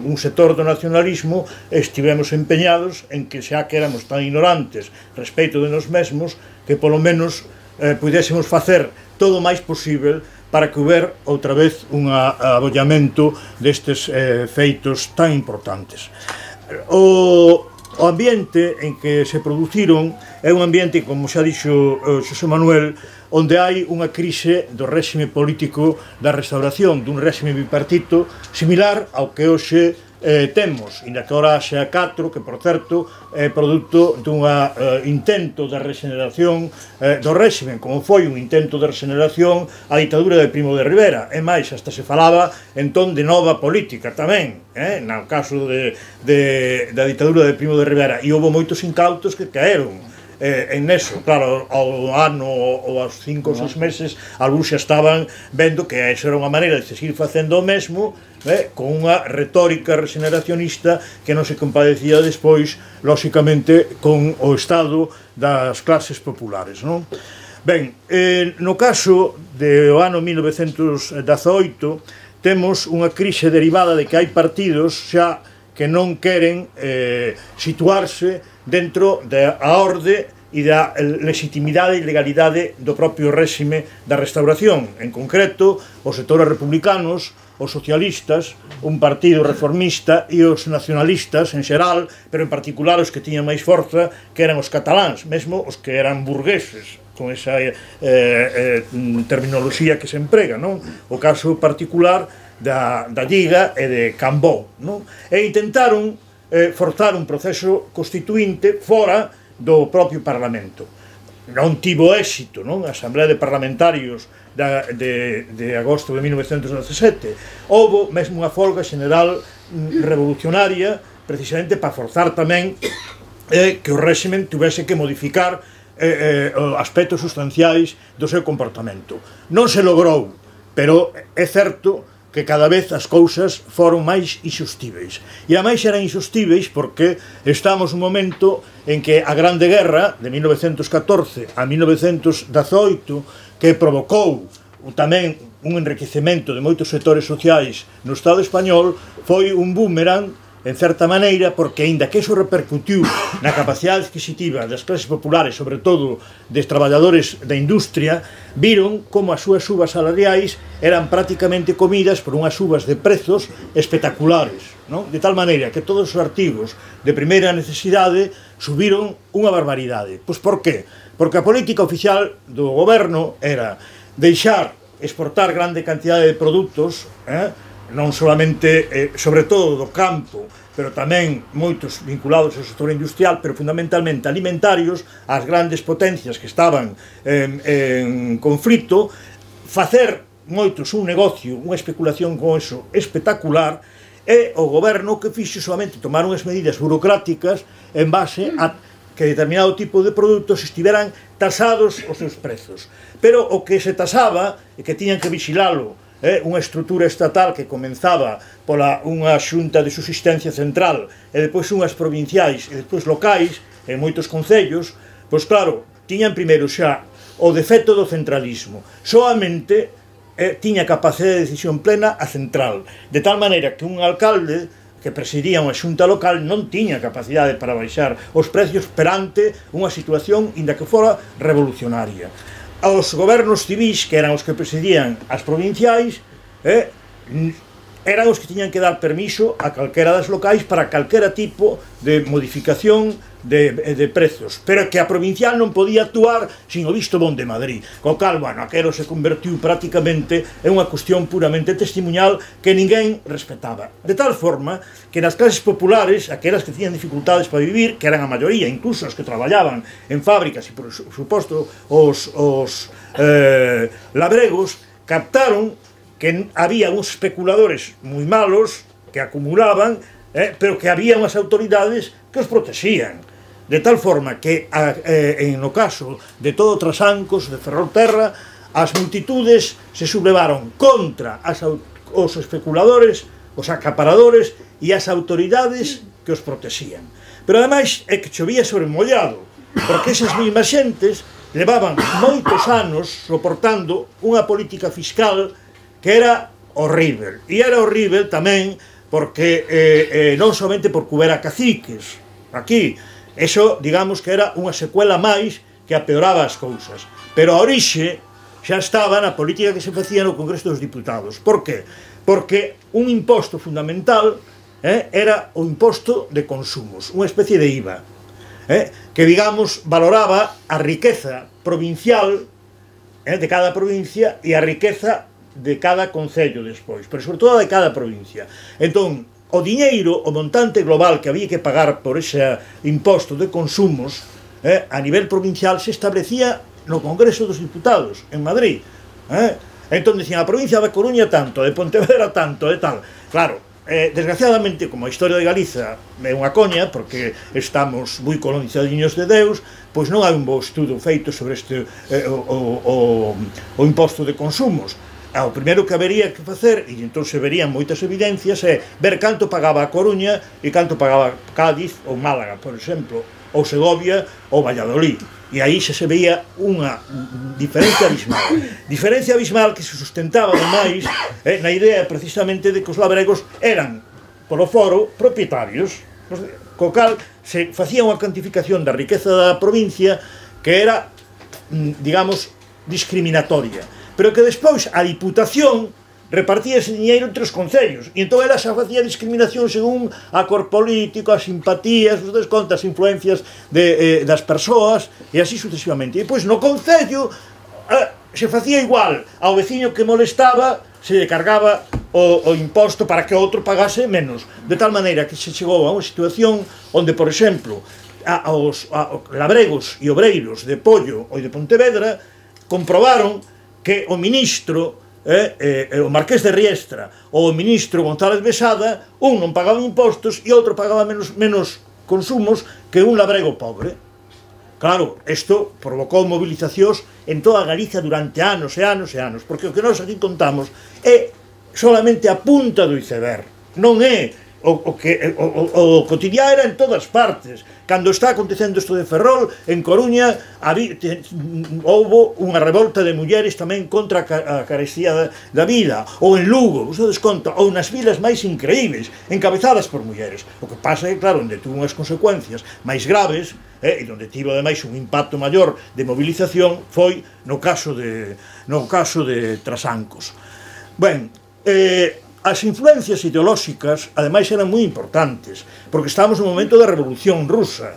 un sector do nacionalismo estivemos empeñados en que xa que éramos tan ignorantes respecto de nos mesmos que polo menos eh, pudésemos facer todo o máis posible para que houber outra vez un abollamento destes eh, feitos tan importantes. O, o ambiente en que se produciron é un ambiente, como xa dixo eh, Xosé Manuel, onde hai unha crise do réxime político da restauración, dun réxime bipartito similar ao que hoxe eh, temos, inda que ora xa catro, que por certo é produto dun eh, intento de regeneración eh, do réxime, como foi un intento de regeneración a ditadura de Primo de Rivera, e máis, hasta se falaba entón de nova política tamén, eh, no caso de, de, da ditadura de Primo de Rivera, e houve moitos incautos que caeron Eh, en eso, claro, ao ano ou aos cinco ou seis meses algúns xa estaban vendo que esa era unha maneira de seguir facendo o mesmo, eh, con unha retórica regeneracionista que non se compadecía despois, lóxicamente, con o estado das clases populares, non? Ben, eh, no caso do ano mil novecentos dezaoito temos unha crise derivada de que hai partidos xa que non queren eh, situarse dentro da orde e da legitimidade e legalidade do propio réxime da restauración. En concreto, os sectores republicanos, os socialistas, un partido reformista e os nacionalistas en xeral, pero en particular os que tiñan máis forza, que eran os cataláns, mesmo os que eran burgueses, con esa eh, eh, terminoloxía que se emprega, non? O caso particular da, da Lliga e de Cambó, non? E intentaron Eh, forzar un proceso constituinte fora do propio Parlamento. Non tivo éxito, non? A Asamblea de Parlamentarios da, de, de agosto de mil novecentos dezasete. Houbo mesmo unha folga general revolucionaria precisamente para forzar tamén eh, que o réximen tivese que modificar eh, eh, aspectos sustanciais do seu comportamento. Non se logrou, pero é certo que cada vez as cousas foron máis inxustíveis. E a máis eran inxustíveis porque estamos nun momento en que a Grande Guerra de mil novecentos catorce a mil novecentos dezaoito, que provocou tamén un enriquecemento de moitos sectores sociais no Estado español, foi un boomerang en certa maneira, porque aínda que iso repercutiu na capacidade adquisitiva das clases populares, sobre todo dos traballadores da industria, viron como as súas subas salariais eran prácticamente comidas por unhas subas de prezos espectaculares, non? De tal maneira que todos os artigos de primeira necesidade subiron unha barbaridade. Pois por qué? Porque a política oficial do goberno era deixar exportar grande cantidade de produtos, eh, non solamente, eh, sobre todo do campo, pero tamén moitos vinculados ao sector industrial, pero fundamentalmente alimentarios, ás grandes potencias que estaban en, en conflito, facer moitos un negocio, unha especulación con eso espectacular, e o goberno que fixo solamente tomar unhas medidas burocráticas en base a que determinado tipo de produtos estiveran tasados os seus prezos. Pero o que se tasaba e que tiñan que vigilalo Eh, unha estrutura estatal que comenzaba pola unha xunta de subsistencia central e depois unhas provinciais e depois locais en moitos concellos, pois claro, tiñan primeiro xa o defecto do centralismo. Soamente eh, tiña capacidade de decisión plena a central, de tal maneira que un alcalde que presidía unha xunta local non tiña capacidade para baixar os precios perante unha situación inda que fora revolucionaria. Os gobernos civis, que eran os que presidían as provinciais, eh, eran os que tiñan que dar permiso a calquera das locais para calquera tipo de modificación de, de prezos, pero que a provincial non podía actuar sin o visto bon de Madrid, co cal, bueno, aquero se convertiu prácticamente en unha cuestión puramente testimonal que ninguén respetaba, de tal forma que nas clases populares, aquelas que tiñan dificultades para vivir, que eran a maioría, incluso as que traballaban en fábricas e, por suposto, os, os eh, labregos, captaron que había uns especuladores moi malos que acumulaban, eh, pero que había unhas autoridades que os protexían. De tal forma que, eh, no caso de todo Trasancos, de Ferrolterra, as multitudes se sublevaron contra as, os especuladores, os acaparadores e as autoridades que os protexían. Pero ademais é que chovía sobre mollado, porque esas mesmas xentes levaban moitos anos soportando unha política fiscal que era horrível. E era horrível tamén porque eh, eh, non somente porque houbera caciques aquí, eso, digamos que era unha secuela máis que apeoraba as cousas. Pero a orixe xa estaba na política que se facía no Congreso dos Diputados. Por que? Porque un imposto fundamental eh, era o imposto de consumos, unha especie de I V A. Eh, que, digamos, valoraba a riqueza provincial eh, de cada provincia e a riqueza de cada concello despois, pero sobre todo de cada provincia. Entón, o diñeiro, o montante global que había que pagar por ese imposto de consumos eh, a nivel provincial se establecía no Congreso dos Diputados, en Madrid. Eh? Entón, dicían, a provincia de Coruña tanto, de Pontevedra tanto, de tal. Claro, Eh, desgraciadamente, como a historia de Galiza é unha coña, porque estamos moi colonizadiños de Deus, pois non hai un bo estudo feito sobre este eh, o, o, o imposto de consumos. Ah, o primeiro que habería que facer, e entón se verían moitas evidencias, é ver canto pagaba a Coruña e canto pagaba Cádiz ou Málaga, por exemplo, ou Segovia ou Valladolid. E aí se se veía unha diferencia abismal. Diferencia abismal que se sustentaba ademais eh, na idea precisamente de que os labregos eran, polo foro, propietarios, co cal se facía unha cuantificación da riqueza da provincia que era, digamos, discriminatoria, pero que despois a Diputación repartía ese diñeiro entre os concellos, e entón ela xa facía discriminación según a cor político, as simpatías, os descontas, as influencias de, eh, das persoas, e así sucesivamente. E pois no concello eh, se facía igual, ao veciño que molestaba se lle cargaba o, o imposto para que outro pagase menos, de tal maneira que se chegou a unha situación onde, por exemplo, a, aos a, a, labregos e obreiros de Pollo ou de Pontevedra comprobaron que o ministro Eh, eh, o Marqués de Riestra ou o ministro González Besada, un non pagaba impostos e outro pagaba menos, menos consumos que un labrego pobre. Claro, isto provocou movilizacións en toda Galiza durante anos e anos e anos, porque o que nós aquí contamos é solamente a punta do iceberg, non é o, o que o, o, o cotidiano era en todas partes. Cando está acontecendo isto de Ferrol, en Coruña houbo unha revolta de mulleres tamén contra a carestía da, da vida, ou en Lugo, vos dades conta, ou nas vilas máis increíbles, encabezadas por mulleres. O que pasa é, claro, onde tuvo unhas consecuencias máis graves, eh, e onde tivo ademais un impacto maior de movilización, foi no caso de, no caso de Trasancos. Ben, eh, as influencias ideolóxicas, ademais, eran moi importantes, porque estábamos no momento da Revolución Rusa.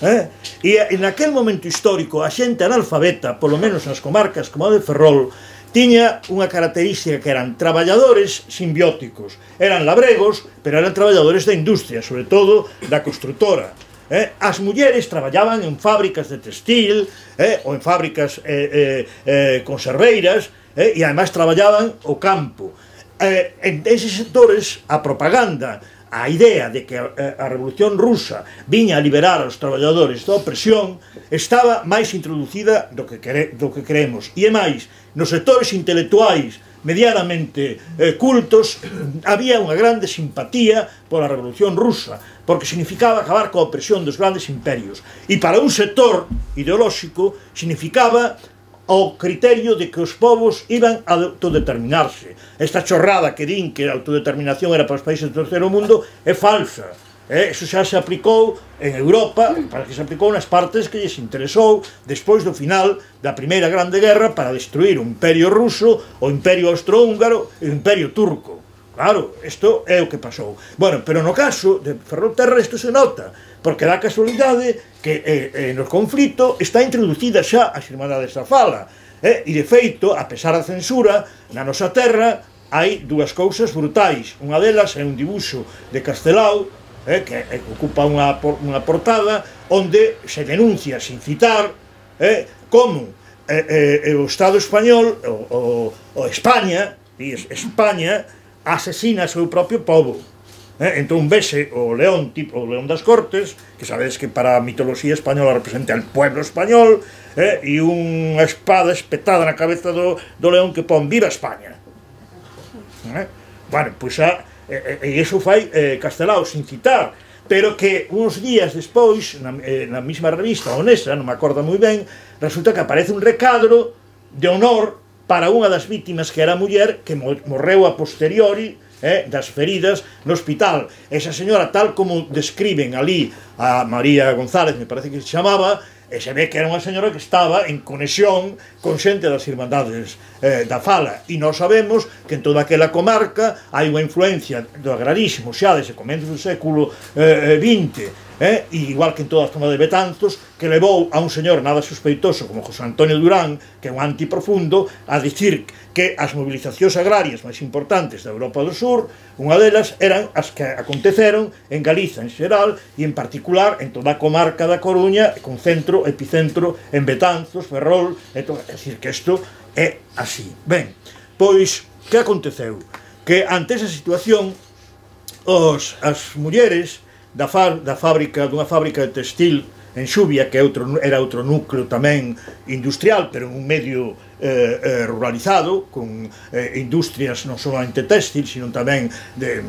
Eh? E en aquel momento histórico, a xente analfabeta, polo menos nas comarcas como a de Ferrol, tiña unha característica que eran traballadores simbióticos. Eran labregos, pero eran traballadores da industria, sobre todo da construtora. Eh? As mulleres traballaban en fábricas de textil, eh? ou en fábricas eh, eh, eh, conserveiras, eh? e ademais traballaban o campo. Eh, en eses sectores, a propaganda, a idea de que a, a Revolución Rusa viña a liberar aos traballadores da opresión, estaba máis introducida do que, quere, do que creemos. E é máis, nos sectores intelectuais medianamente eh, cultos, había unha grande simpatía pola Revolución Rusa, porque significaba acabar coa opresión dos grandes imperios. E para un sector ideolóxico significaba ao criterio de que os povos iban a autodeterminarse. Esta chorrada que din que a autodeterminación era para os países do terceiro mundo é falsa. Eh, eso xa se aplicou en Europa, para que se aplicou nas partes que lles interesou despois do final da Primeira Grande Guerra para destruir o Imperio Ruso, o Imperio Austrohúngaro e o Imperio Turco. Claro, isto é o que pasou. Bueno, pero no caso de Ferrolterra isto se nota, porque dá casualidade que eh, eh, no conflito está introducida xa as Irmandades da Fala. Eh, e, de feito, a pesar da censura, na nosa terra hai dúas cousas brutais. Unha delas é un dibuixo de Castelao, eh, que eh, ocupa unha, unha portada, onde se denuncia, sin citar, eh, como eh, eh, o Estado español, o, o, o España, España asesina o seu propio povo. Eh, entón vese o león tipo o león das Cortes, que sabedes que para a mitoloxía española representa el pueblo español, eh, e unha espada espetada na cabeza do, do león que pon viva España. Eh? Bueno, pois a, e, e iso fai eh, Castelao sin citar, pero que uns días despois na, eh, na mesma revista Onesa, non me acordo moi ben, resulta que aparece un recadro de honor para unha das vítimas que era muller que morreu a posteriori eh, das feridas no hospital. Esa señora, tal como describen ali a María González, me parece que se chamaba, e se ve que era unha señora que estaba en conexión con xente das Irmandades eh, da Fala, e nós sabemos que en toda aquela comarca hai unha influencia do agrarismo xa desde comenzos do século eh, vinte, eh, igual que en toda a zona de Betanzos, que levou a un señor nada sospeitoso como José Antonio Durán, que é un antiprofundo, a dicir que as movilizacións agrarias máis importantes da Europa do Sur, unha delas eran as que aconteceron en Galiza en xeral e en particular en toda a comarca da Coruña, con centro, epicentro en Betanzos, Ferrol, é dicir que isto é así. Ben, pois, que aconteceu? Que ante esa situación os, as mulleres da, fa, da fábrica, dunha fábrica de textil en Xubia, que outro, era outro núcleo tamén industrial, pero en un medio eh, eh, ruralizado, con eh, industrias non solamente textil, sino tamén de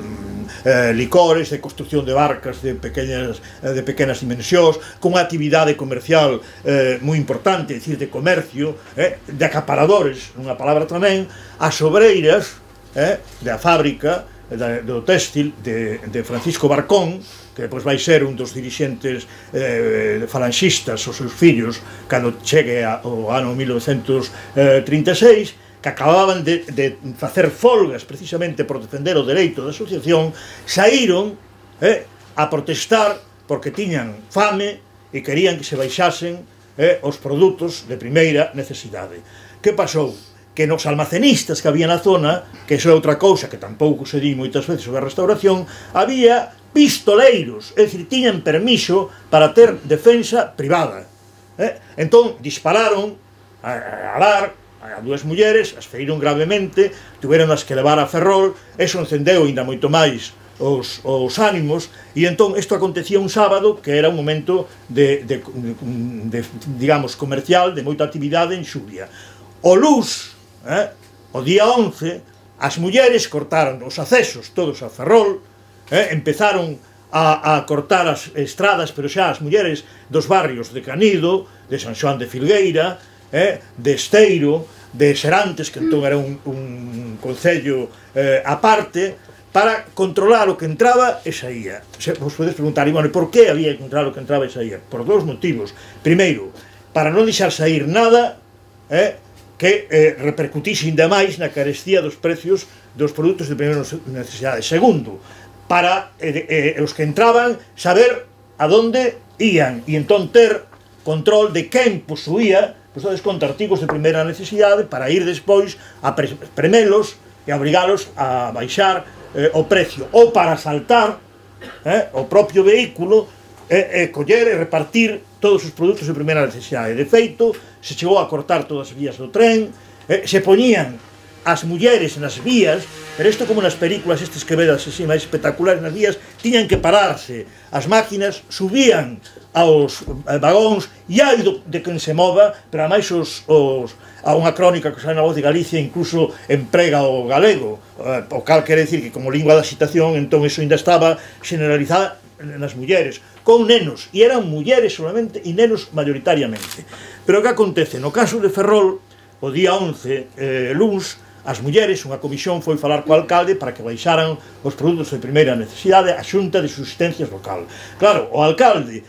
eh, licores, de construcción de barcas de pequenas, eh, de pequenas dimensións, con unha actividade comercial eh, moi importante, é dicir, de comercio, eh, de acaparadores, unha palabra tamén, as obreiras eh, da fábrica da, do textil de, de Francisco Barcón, que depois vai ser un dos dirixentes eh, falanxistas os seus fillos cando chegue ao ano mil novecentos trinta e seis, que acababan de, de facer folgas precisamente por defender o dereito da asociación, saíron eh, a protestar porque tiñan fame e querían que se baixasen eh, os produtos de primeira necesidade. Que pasou? Que nos almacenistas que había na zona, que iso é outra cousa que tampouco se di moitas veces sobre a restauración, había pistoleiros, é dicir, tiñan permiso para ter defensa privada. Eh? Entón, dispararon a, a dar a dúas mulleres, as feriron gravemente, tuveron as que levar a Ferrol, eso encendeu ainda moito máis os, os ánimos, e entón isto acontecía un sábado, que era un momento de, de, de, de digamos, comercial, de moita actividade en Xubia. O luz, eh? o día once, as mulleres cortaron os accesos todos a Ferrol, Eh, empezaron a, a cortar as estradas, pero xa as mulleres dos barrios de Canido, de San Xoán de Filgueira, eh, de Esteiro, de Serantes, que entón era un, un concello eh, aparte, para controlar o que entraba e saía. Se, vos podes preguntar, e bueno, por que había que controlar o que entraba e saía? Por dous motivos. Primeiro, para non deixar sair nada eh, que eh, repercutise ainda máis na carestía dos precios dos produtos de primeira necesidade. Segundo, para eh, eh, os que entraban saber a donde ían e entón ter control de quen posuía, pois contra artigos de primeira necesidade para ir despois a pre premelos e obrigalos a baixar eh, o precio, ou para asaltar eh, o propio vehículo e eh, eh, coller e repartir todos os produtos de primeira necesidade. De feito, se chegou a cortar todas as vías do tren, eh, se poñían as mulleres nas vías, pero isto como nas películas estes que vedas así máis espectaculares nas vías, tiñan que pararse, as máquinas subían aos vagóns e hai de quen se mova, pero ademais os, os, a unha crónica que sai na Voz de Galicia incluso emprega o galego, o cal quere dicir que como lingua da citación, entón iso ainda estaba generalizada nas mulleres, con nenos, e eran mulleres solamente e nenos mayoritariamente. Pero que acontece? No caso de Ferrol, o día once, eh, luns, as mulleres, unha comisión foi falar co alcalde para que baixaran os produtos de primeira necesidade a Xunta de Subsistencias local. Claro, o alcalde,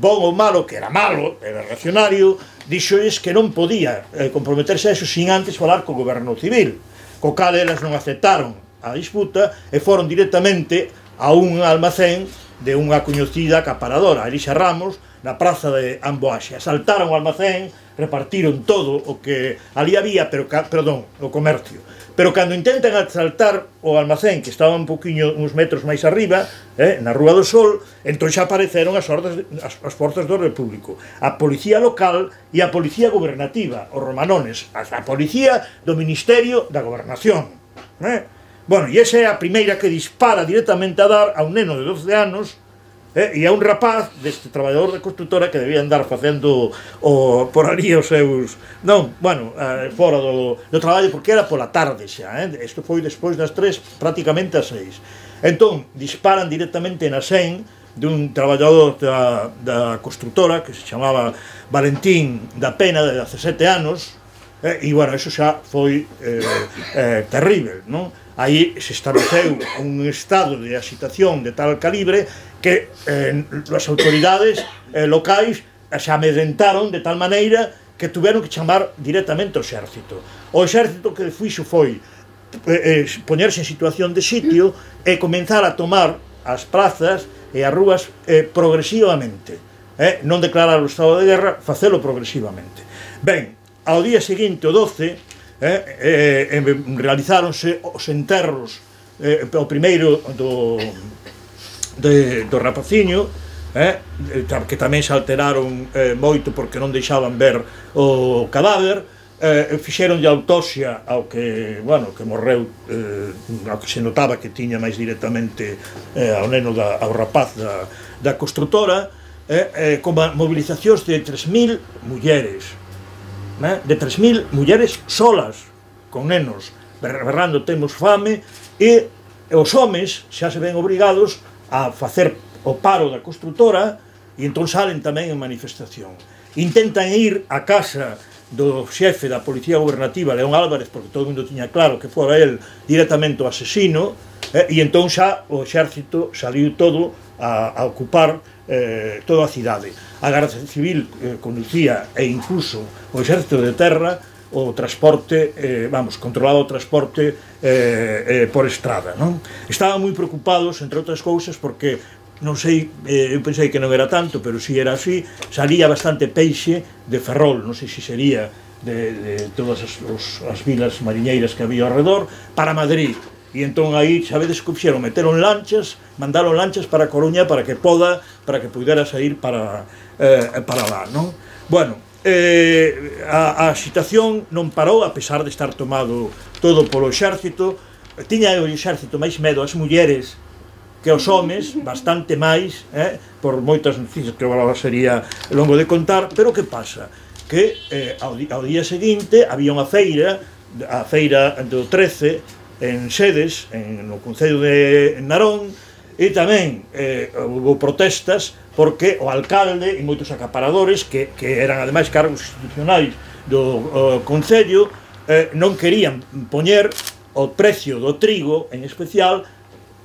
bon ou malo, que era malo, era reaccionario, dixoes que non podía eh, comprometerse a eso sin antes falar co goberno civil, co cal elas non aceptaron a disputa e foron directamente a un almacén de unha coñecida acaparadora, Elisa Ramos, na praza de Amboaxe. Asaltaron o almacén, repartiron todo o que ali había, pero, perdón, o comercio. Pero cando intentan asaltar o almacén, que estaba un poquinho, uns metros máis arriba, eh, na Rúa do Sol, entón xa apareceron as, ordes, as, as forzas do Repúblico, a policía local e a policía gobernativa, os romanones, a, a policía do Ministerio da Gobernación. Eh? Bueno, e esa é a primeira que dispara directamente a dar a un neno de doce anos, eh, e a un rapaz deste traballador de constructora que debía andar facendo o, por ali os seus... Non, bueno, eh, fora do, do traballo, porque era pola tarde xa, eh? Isto foi despois das tres, prácticamente as seis. Entón, disparan directamente na sen dun traballador da, da constructora que se chamaba Valentín da Pena, de dezasete anos, eh, e, bueno, eso xa foi eh, eh, terrible, non? Aí se estableceu un estado de agitación de tal calibre que eh, as autoridades eh, locais se amedrentaron de tal maneira que tuveron que chamar directamente ao exército. O exército que fixo foi eh, poñerse en situación de sitio e comenzar a tomar as prazas e as rúas eh, progresivamente. Eh, non declarar o estado de guerra, facelo progresivamente. Ben, ao día seguinte, o doce, Eh, eh, realizáronse os enterros, eh, o primeiro do, de, do rapaciño, eh, que tamén se alteraron eh, moito porque non deixaban ver o cadáver, eh, fixeron de autopsia ao que, bueno, que morreu, eh, ao que se notaba que tiña máis directamente eh, ao neno da, ao rapaz da, da constructora, eh, eh, con movilizacións de tres mil mulleres, de tres mil mulleres solas, con nenos, berrando temos fame, e os homes xa se ven obrigados a facer o paro da constructora, e entón salen tamén en manifestación. Intentan ir á casa do xefe da Policía Gobernativa, León Álvarez, porque todo o mundo tiña claro que fora el directamente o asesino, e entón xa o exército saliu todo a, a ocupar eh, toda a cidade. A Garda Civil eh, conducía e incluso o exército de terra o transporte, eh, vamos, controlaba o transporte eh, eh, por estrada, non? Estaban moi preocupados, entre outras cousas, porque non sei, eh, eu pensei que non era tanto, pero si era así, salía bastante peixe de Ferrol, non sei se sería de, de todas as, os, as vilas mariñeiras que había ao redor, para Madrid. E entón aí, sabedes que fixeron, meteron lanchas, mandaron lanchas para a Coruña para que poda, para que pudera sair para, eh, para lá, non? Bueno, eh, a, a situación non parou, a pesar de estar tomado todo polo exército. Tiña o exército máis medo as mulleres que os homes, bastante máis, eh, por moitas noticias que agora sería longo de contar, pero que pasa? Que eh, ao, ao día seguinte había unha feira, a feira do trece, en Sedes, en, no Concello de Narón, e tamén eh, houve protestas porque o alcalde e moitos acaparadores, que, que eran ademais cargos institucionais do uh, Concello, eh, non querían poñer o precio do trigo, en especial,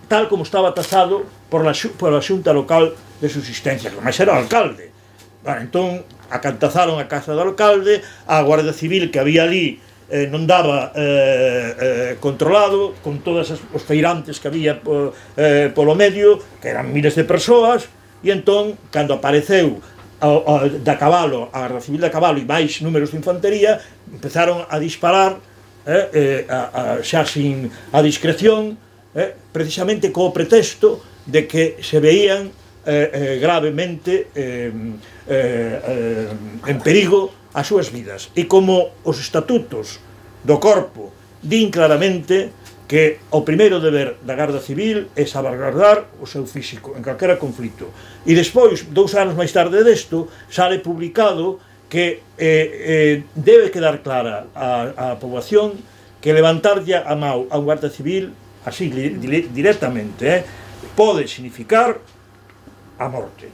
tal como estaba tasado por la, por la Xunta Local de Subsistencia, que máis era o alcalde. Bueno, entón, acantazaron a casa do alcalde, a Guardia Civil que había ali Eh, non daba eh, eh, controlado, con todos os feirantes que había eh, polo medio, que eran miles de persoas, e entón, cando apareceu a, a, da cabalo, a Guardia Civil da cabalo e máis números de infantería, empezaron a disparar eh, eh, a, a, xa sin a discreción, eh, precisamente co pretexto de que se veían eh, eh, gravemente eh, eh, eh, en perigo as súas vidas. E como os estatutos do corpo din claramente que o primeiro deber da Garda Civil é salvaguardar o seu físico en calquera conflito. E despois, dous anos máis tarde desto, sale publicado que eh, eh, debe quedar clara a, a poboación que levantarlle a mão a un Guarda Civil así directamente eh, pode significar a morte.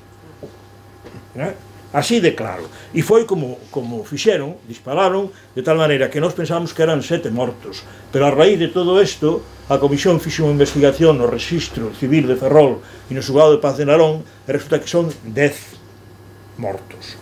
Eh? Así de claro. E foi como, como fixeron, dispararon, de tal maneira que nós pensamos que eran sete mortos. Pero a raíz de todo isto, a Comisión fixe unha investigación no Rexistro Civil de Ferrol e no Xulgado de Paz de Narón, e resulta que son dez mortos.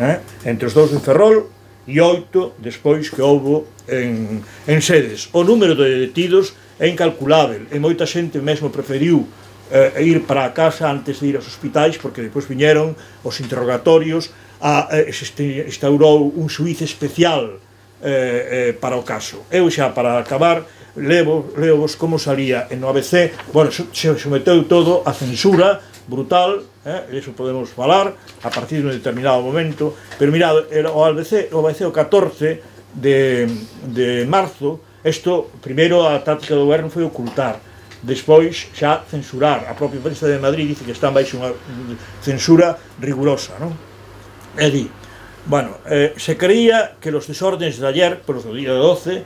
Eh? Entre os dous en Ferrol e oito despois que houbo en, en Sedes. O número de detidos é incalculável, e moita xente mesmo preferiu eh, ir para a casa antes de ir aos hospitais, porque depois viñeron os interrogatorios, a, eh, se instaurou un xuíz especial eh, eh, para o caso. Eu xa, para acabar, levo, levo-vos como salía en o A B C. Bueno, se someteu todo a censura brutal, eh, eso podemos falar a partir de un determinado momento, pero mirad, o A B C, o A B C o catorce de, de marzo, isto, primeiro a táctica do goberno foi ocultar, despois xa censurar. A propia prensa de Madrid dice que está baixo unha censura rigurosa, non? É di, bueno, eh, se creía que los desórdenes de ayer, por o día doce,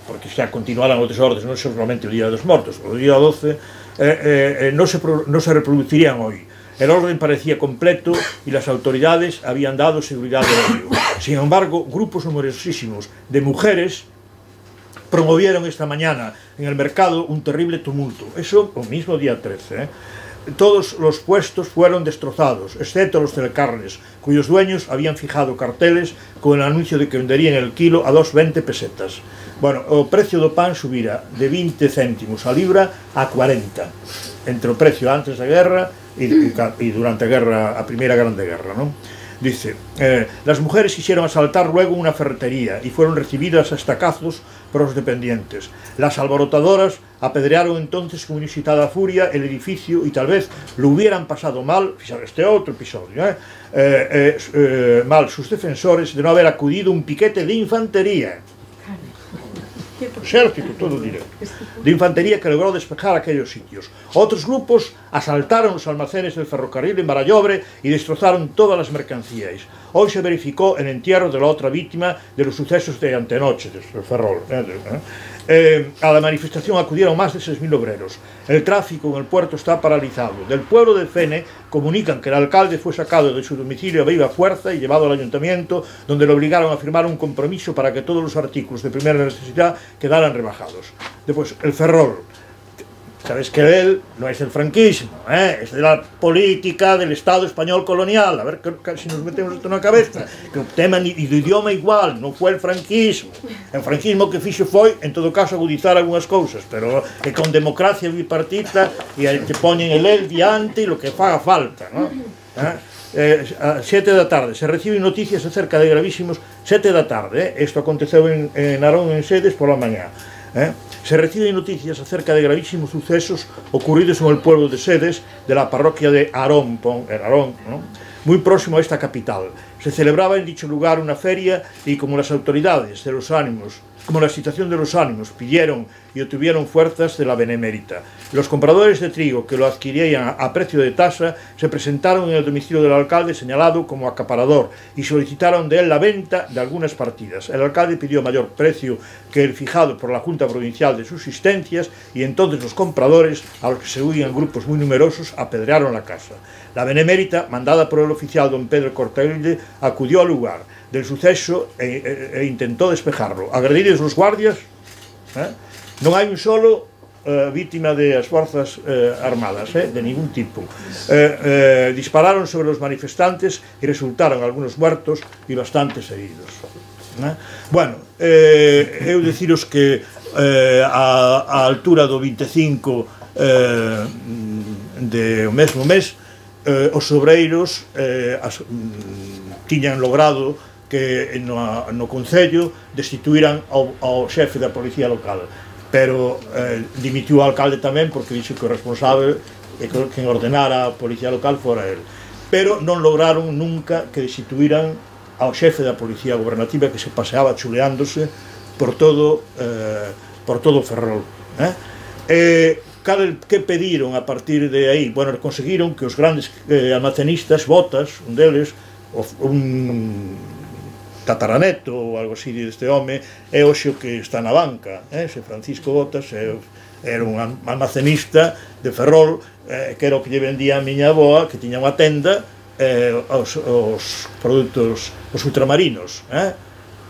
porque xa continuaran os desórdenes, non solamente o día dos mortos, o día doce, eh, eh, no, se, no se reproducirían hoy. El orden parecía completo y las autoridades habían dado seguridad de ello. Sin embargo, grupos numerosísimos de mujeres promovieron esta mañana en el mercado un terrible tumulto. Eso el mismo día trece. ¿eh? Todos los puestos fueron destrozados, excepto los telecarnes, cuyos dueños habían fijado carteles con el anuncio de que venderían el kilo a dos veinte pesetas. Bueno, o precio do pan subira de veinte céntimos a libra a cuarenta, entre o precio antes da guerra e, e durante a guerra, a primeira grande guerra, non? Dice, eh, las mujeres quisieron asaltar luego una ferretería y fueron recibidas a estacazos por los dependientes. Las alborotadoras apedrearon entonces con inusitada furia el edificio y tal vez lo hubieran pasado mal, este otro episodio, ¿eh? Eh, eh, eh, mal sus defensores de no haber acudido un piquete de infantería. Exército, todo directo, de infantería que logró despejar aquellos sitios. Otros grupos asaltaron los almacenes del ferrocarril en Barallobre y destrozaron todas las mercancías. Hoy se verificó el entierro de la otra víctima de los sucesos de antenoche, del Ferrol. ¿eh? Eh, a la manifestación acudieron más de seis mil obreros. El tráfico en el puerto está paralizado. Del pueblo de Fene comunican que el alcalde fue sacado de su domicilio a viva fuerza y llevado al ayuntamiento, donde le obligaron a firmar un compromiso para que todos los artículos de primera necesidad quedaran rebajados. Después, el Ferrol. Sabes que él no es del franquismo, ¿eh? Es de la política del Estado español colonial. A ver que, si nos metemos esto na cabeza, que o tema do idioma igual, non foi el franquismo. El franquismo que fixo foi, en todo caso, agudizar algunhas cousas, pero é con democracia bipartita e te poñen el el diante e lo que faga falta, ¿no? ¿Eh? Eh, a sete da tarde se reciben noticias acerca de gravísimos sete da tarde, eh? Isto aconteceu en, en Narón en Sedes pola mañá, eh? Se reciben noticias acerca de gravísimos sucesos ocurridos en el pueblo de Sedes de la parroquia de Arón, en Arón, ¿no? Muy próximo a esta capital. Se celebraba en dicho lugar una feria y como las autoridades de los ánimos, como la situación de los ánimos pidieron y obtuvieron fuerzas de la Benemérita. Los compradores de trigo que lo adquirían a precio de tasa se presentaron en el domicilio del alcalde señalado como acaparador y solicitaron de él la venta de algunas partidas. El alcalde pidió mayor precio que el fijado por la Junta Provincial de Subsistencias y entonces los compradores, a los que se unían grupos muy numerosos, apedrearon la casa. La Benemérita, mandada por el oficial don Pedro Cortailde, acudió al lugar del suceso e, e, e intentó despejarlo. Agredidos los guardias, eh, non hai un solo eh, víctima de as forzas eh, armadas, eh, de ningún tipo. Eh, eh, dispararon sobre los manifestantes e resultaron algunos muertos e bastantes heridos. Eh? Bueno, eh, eu deciros que eh, a, a altura do vinte e cinco eh, de o mesmo mes, eh, os obreiros eh, as, mm, tiñan logrado que no, no Concello destituíran ao, ao xefe da policía local, pero eh, dimitiu o alcalde tamén porque dixo que o responsable e que quen ordenara a policía local fora el, pero non lograron nunca que destituíran ao xefe da policía gobernativa que se paseaba chuleándose por todo eh, por todo o Ferrol, eh? Eh, que pediron a partir de aí? Bueno, conseguiron que os grandes eh, almacenistas, Botas, un deles, un tataraneto ou algo así deste home, é hoxe o que está na banca, eh? Se Francisco Botas é, era un almacenista de Ferrol, eh, que era o que lle vendía a miña avoa, que tiña unha tenda, eh, os, os produtos, os ultramarinos, eh?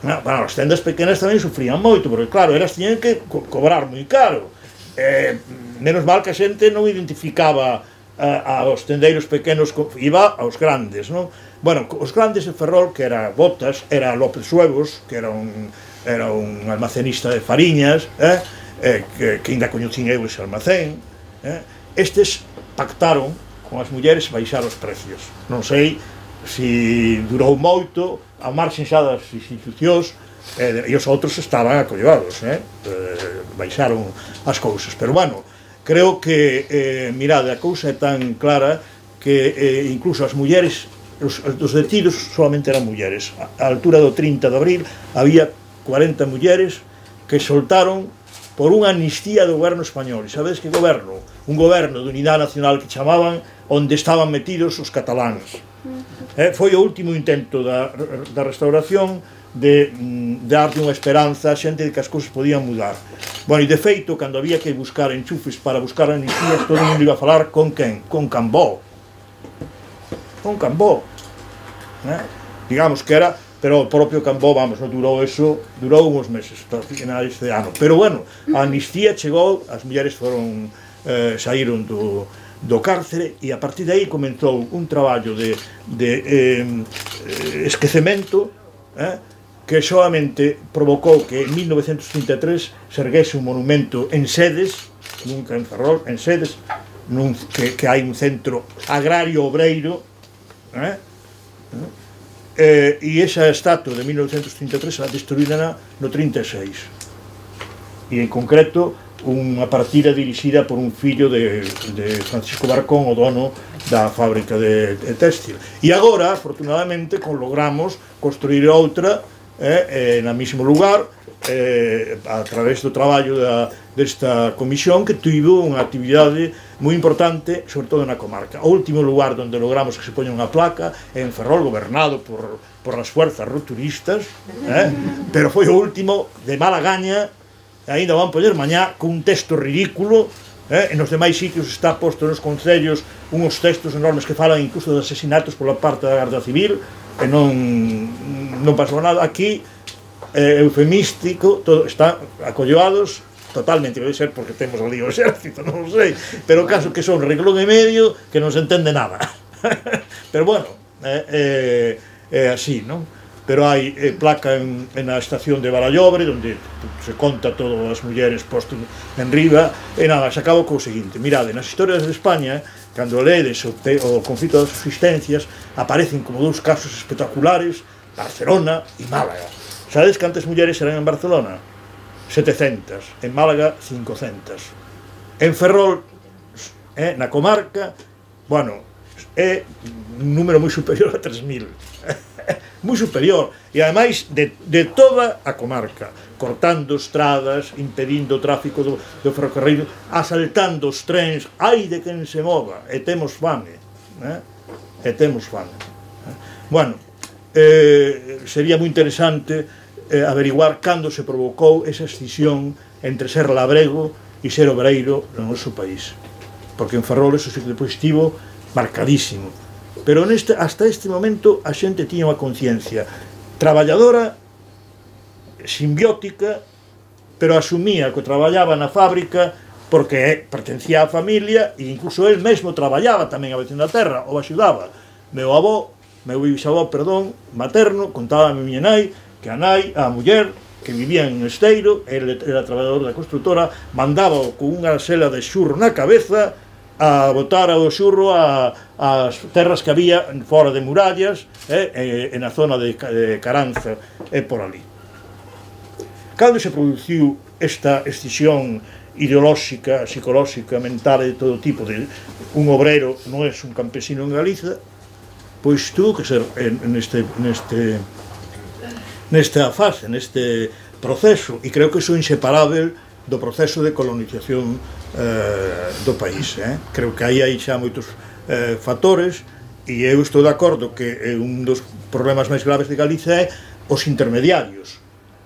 Bueno, as tendas pequenas tamén sufrían moito, porque claro, elas tiñan que co cobrar moi caro, eh, menos mal que a xente non identificaba a, aos tendeiros pequenos, iba aos grandes, non? Bueno, os grandes de Ferrol, que era Botas, era López Suevos, que era un, era un almacenista de fariñas, eh? Eh, que, que ainda coñecín eu ese almacén, eh? estes pactaron con as mulleres baixar os precios. Non sei se durou moito, a marxen xa das institucións, e, e os outros estaban acollevados, eh? Eh, baixaron as cousas. Pero, bueno, creo que, eh, mirade, a cousa é tan clara que eh, incluso as mulleres, os, os detidos solamente eran mulleres. A, a altura do trinta de abril había cuarenta mulleres que soltaron por unha amnistía do goberno español. E sabedes que goberno? Un goberno de unidade nacional que chamaban, onde estaban metidos os cataláns. Eh, foi o último intento da, da restauración de, de darlle unha esperanza a xente de que as cousas podían mudar. Bueno, e de feito, cando había que buscar enchufes para buscar amnistías, todo o mundo iba a falar con quen? Con Cambó. Con Cambó. Eh? Digamos que era, pero o propio Cambó, vamos, non durou eso, durou uns meses, hasta finais de ano. Pero, bueno, a amnistía chegou, as mulleres foron, eh, saíron do do cárcere, e a partir de aí comenzou un traballo de, de eh, esquecemento, eh, que solamente provocou que en mil novecientos trinta e tres se erguese un monumento en Sedes, nunca en Ferrol, en Sedes, nun, que, que hai un centro agrario obreiro, eh, eh, e esa estatua de mil novecientos trinta e tres a destruída no trinta e seis, e en concreto unha partida dirixida por un fillo de, de Francisco Barcón, o dono da fábrica de, de textil. E agora, afortunadamente, logramos construir outra eh, eh, na mesmo lugar, eh, a través do traballo da, desta comisión, que tivo unha actividade moi importante, sobre todo na comarca. O último lugar onde logramos que se poña unha placa é en Ferrol, gobernado por, por as fuerzas rupturistas, eh, pero foi o último de mala gaña. Ainda van poñer mañá con un texto ridículo, eh? E nos demais sitios está posto nos concellos uns textos enormes que falan incluso de asesinatos pola parte da Garda Civil, e non, non pasou nada. Aquí, eh, eufemístico, todo, está acolloados totalmente, debe ser porque temos ali o exército, non sei, pero o caso que son reglón e medio que non se entende nada. Pero bueno, é eh, eh, eh, así, non? Pero hai eh, placa en, en a estación de Barallobre, onde se conta todas as mulleres posto en riba, e nada, se acabo co seguinte. Mirade, nas historias de España, cando ledes o, te, o conflito das subsistencias, aparecen como dous casos espectaculares, Barcelona e Málaga. Sabedes cantas mulleres eran en Barcelona? setecentas, en Málaga cincocentas. En Ferrol, eh, na comarca, bueno, é un número moi superior a tres mil. Moi superior, e ademais de, de toda a comarca, cortando estradas, impedindo o tráfico do, do ferrocarril, asaltando os trens, ai de quen se mova, e temos fame, eh? e temos fame. Bueno, eh, sería moi interesante eh, averiguar cando se provocou esa escisión entre ser labrego e ser obreiro no noso país, porque en Ferrol eso sí que depois estivo marcadísimo. Pero neste, hasta este momento a xente tiña unha conciencia traballadora, simbiótica, pero asumía que traballaba na fábrica porque pertencía á familia, e incluso él mesmo traballaba tamén a veces na terra, ou axudaba. Meu avó, meu bisavó, perdón, materno, contaba a miña nai que a nai, a muller, que vivía en Esteiro, ele era traballador da constructora, mandaba con unha sela de xurro na cabeza a botar o xurro a, as terras que había fora de murallas, eh, e, na zona de, de Caranza e por ali. Cando se produciu esta escisión ideolóxica, psicolóxica, mental de todo tipo, de un obrero non é un campesino en Galiza, pois tuvo que ser en, neste, neste, nesta fase, neste proceso, e creo que iso é inseparável do proceso de colonización eh, do país. Eh? Creo que aí hai xa moitos eh, factores, e eu estou de acordo que eh, un dos problemas máis graves de Galiza é os intermediarios,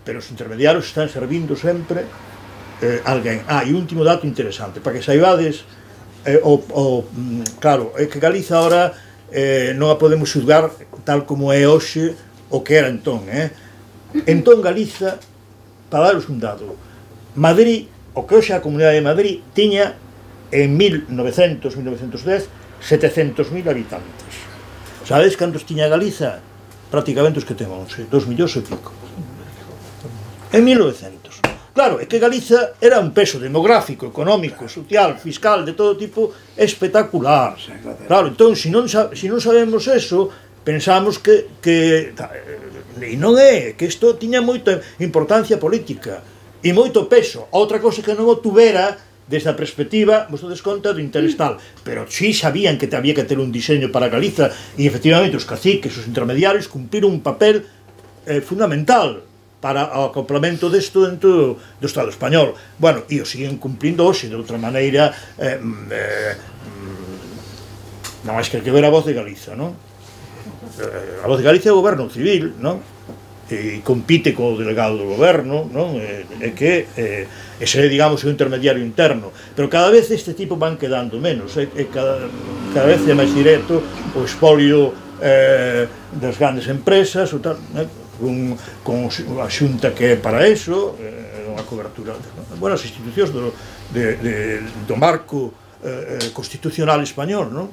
pero os intermediarios están servindo sempre eh, alguén. Ah, e un último dato interesante, para que saibades, eh, o, o, claro, é que Galiza ahora eh, non a podemos xulgar tal como é hoxe o que era entón. Eh? Entón Galiza, para daros un dado, Madrid, o que hoxe a Comunidade de Madrid, tiña en mil novecentos, mil novecentos dez, setecentos mil habitantes. Sabedes cantos tiña Galiza? Prácticamente os que temos, dos millóns e pico. En mil novecentos. Claro, é que Galiza era un peso demográfico, económico, social, fiscal, de todo tipo, espectacular. Claro, entón, se non, se non sabemos eso, pensamos que, que e non é, que isto tiña moita importancia política e moito peso. Outra cosa que non o tuvera desde a perspectiva, vos des conta, do interés tal, pero si sabían que había que ter un diseño para Galiza e efectivamente os caciques, os intermediarios cumpriron un papel eh, fundamental para o acoplamento desto dentro do Estado español. Bueno, e o siguen cumprindo hoxe de outra maneira, eh, eh, non máis que hai que ver a Voz de Galiza, non? A Voz de Galicia é o goberno civil, non? E compite co delegado do goberno, non? É que eh, ese, digamos, é o intermediario interno, pero cada vez este tipo van quedando menos, é, é cada, cada vez é máis directo o expolio eh, das grandes empresas, o tal, eh? con, con a xunta que é para eso, eh, unha cobertura, bueno, as institucións do, de, de, do marco eh, constitucional español, non?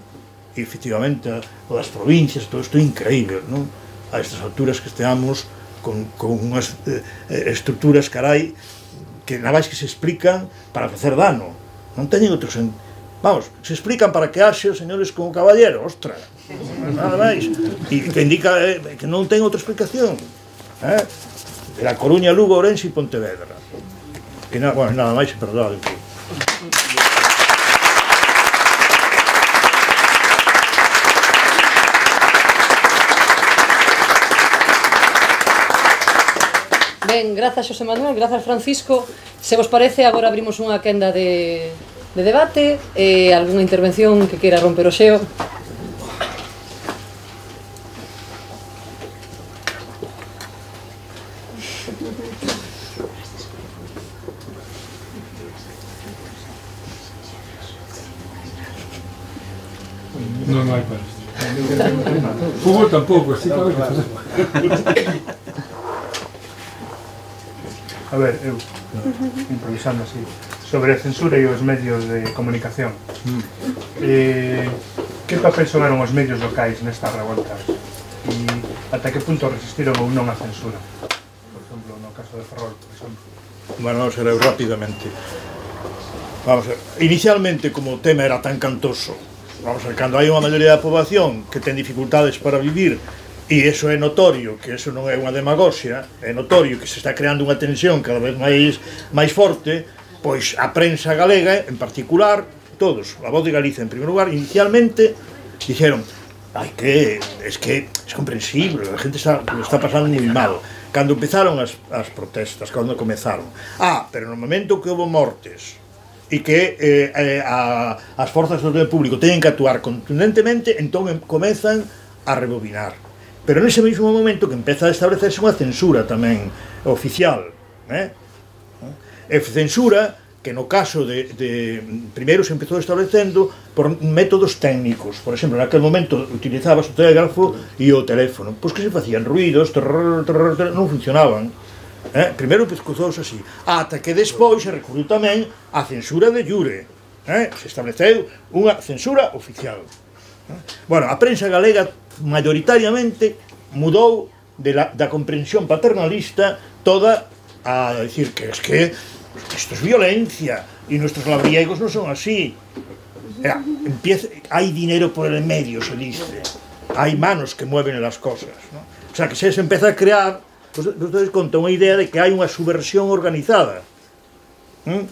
E efectivamente o das provincias, todo isto é increíble, non? A estas alturas que esteamos con, con unhas eh, estruturas, carai, que nada máis que se explican para facer dano, non teñen outros en... Vamos, se explican para que haxe os señores como caballero, ostra, nada máis, e que indica eh, que non ten outra explicación, eh? De la Coruña, Lugo, Ourense e Pontevedra, que na, bueno, nada máis, perdón, que... Ben, grazas Xosé Manuel, grazas Francisco. Se vos parece, agora abrimos unha quenda de, de debate e algunha intervención que queira romper o xeo. Non hai para isto. Fútbol tampouco, así que a ver que facemos. A ver, eu, improvisando así, sobre a censura e os medios de comunicación. Eh, que papel xogaron os medios locais nestas revoltas? E ata que punto resistiron ou non a censura? Por exemplo, no caso de Ferrol, por exemplo. Bueno, vamos a ver rapidamente. Vamos a ver, inicialmente, como o tema era tan cantoso, vamos a ver, cando hai unha maioría da poboación que ten dificultades para vivir, e iso é notorio, que iso non é unha demagoxia, é notorio que se está creando unha tensión cada vez máis máis forte, pois a prensa galega, en particular, todos, a Voz de Galicia en primeiro lugar, inicialmente dixeron, ai que, es que es comprensible, a gente está, lo está pasando moi mal. Cando empezaron as, as protestas, cando comezaron, ah, pero no momento que houve mortes, e que eh, eh, a, as forzas do orden público teñen que actuar contundentemente, entón comezan a rebobinar. Pero nese mesmo momento que empeza a establecerse unha censura tamén oficial, eh? E censura que no caso de, de primeiro se empezou establecendo por métodos técnicos. Por exemplo, naquele momento utilizabas o telégrafo e o teléfono, pois que se facían ruidos, trrr, trrr, trrr, non funcionaban. Eh? Primeiro pescozouse así, ata que despois se recurriu tamén a censura de jure, eh? Se estableceu unha censura oficial. Bueno, a prensa galega maioritariamente mudou de la, da comprensión paternalista toda a decir que es que isto es violencia e nuestros labriegos non son así. Era, empieza, hai dinero por el medio, se dice, hai manos que mueven las cosas, ¿no? O sea, que se, se empeza a crear, pues, ustedes contan unha idea de que hai unha subversión organizada, ¿eh?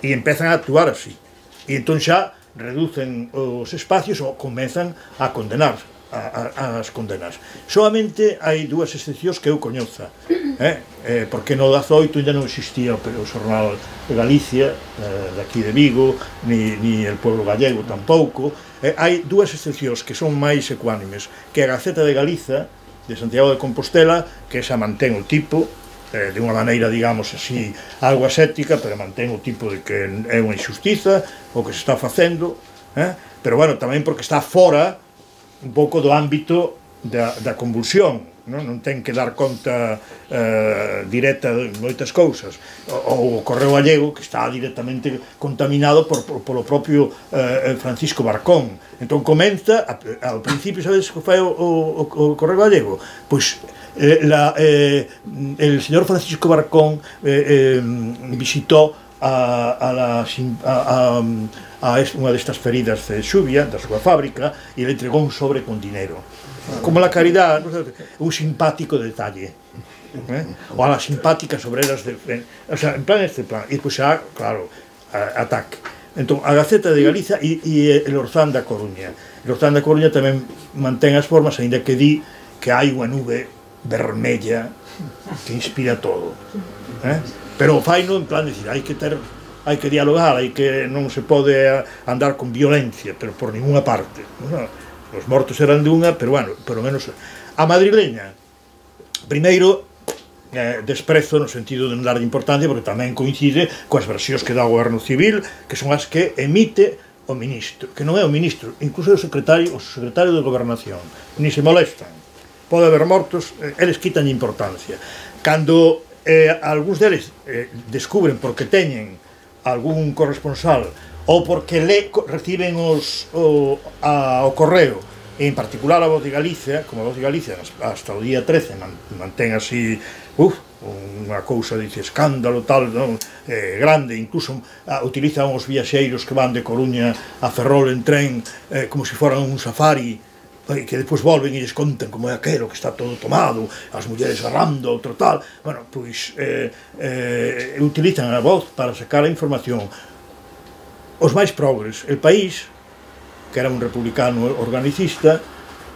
E empezan a actuar así, e entón xa reducen os espacios ou comezan a condenar a, a, as condenas. Solamente hai dúas excepcións que eu coñoza, eh? Eh, porque no dezaoito ainda non existía o xornal de Galicia, eh, daqui de Vigo, ni, ni el pueblo gallego tampouco. Eh, hai dúas excepcións que son máis ecuánimes, que a Gaceta de Galiza de Santiago de Compostela, que esa mantén o tipo eh, de unha maneira, digamos así, algo aséptica, pero mantén o tipo de que é unha injustiza o que se está facendo, eh? Pero bueno, tamén porque está fora un pouco do ámbito da, da convulsión, non? Non ten que dar conta eh, directa de moitas cousas. O, o Correo Gallego, que está directamente contaminado por, por, polo propio eh, Francisco Barcón. Entón comenta, a, ao principio, sabes que fai o, o, o Correo Gallego? Pois eh, la, eh, el señor Francisco Barcón eh, eh, visitó a, a, la, a, a, a unha destas feridas de xuvia da súa fábrica e le entregou un sobre con dinero, como la caridad, un simpático detalle, eh? O a las simpáticas obreras de, o sea, en plan este plan, e pois xa, claro, a, ataque. Entón, a Gaceta de Galiza e, e el Orzán da Coruña. El Orzán da Coruña tamén mantén as formas, aínda que di que hai unha nube vermella que inspira todo, eh? Pero faino en plan de decir, hai que ter, hai que dialogar, hai que non se pode andar con violencia, pero por ninguna parte, ¿no? Os mortos eran de unha, pero bueno, pelo menos a madrileña, primeiro, Eh, desprezo no sentido de non dar importancia, porque tamén coincide coas versións que dá o goberno civil, que son as que emite o ministro, que non é o ministro, incluso o secretario, o secretario de gobernación, ni se molestan, pode haber mortos, eh, eles quitan importancia. Cando eh, algúns deles eh, descubren porque teñen algún corresponsal ou porque le reciben os, o, a, o correo, en particular a Voz de Galicia, como a Voz de Galicia hasta o día trece mantén así, uf, unha cousa, dice, escándalo tal, non? Eh, grande, incluso ah, utilizan os viaxeiros que van de Coruña a Ferrol en tren eh, como se foran un safari, eh, que depois volven e lles contan como é aquelo, que está todo tomado, as mulleres arrando, outro tal, bueno, pois eh, eh, utilizan a voz para sacar a información. Os máis progres, El País, que era un republicano organicista,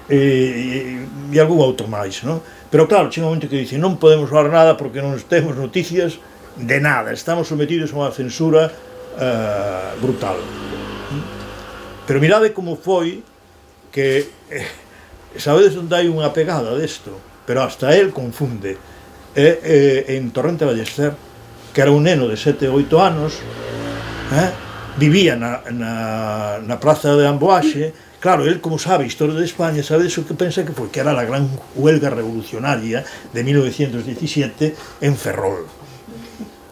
e, e, e algún outro máis, non? Pero claro, chega un momento que dicen, non podemos falar nada porque non temos noticias de nada, estamos sometidos a unha censura uh, brutal. Pero mirade como foi que, eh, sabedes onde hai unha pegada desto, pero hasta él confunde. Eh, eh, en Torrente Ballester, que era un neno de sete ou oito anos, eh, vivía na, na, na praza de Amboaxe. Claro, él como sabe historia de España, sabe eso que pensa que foi que era a gran huelga revolucionaria de mil novecientos diecisiete en Ferrol,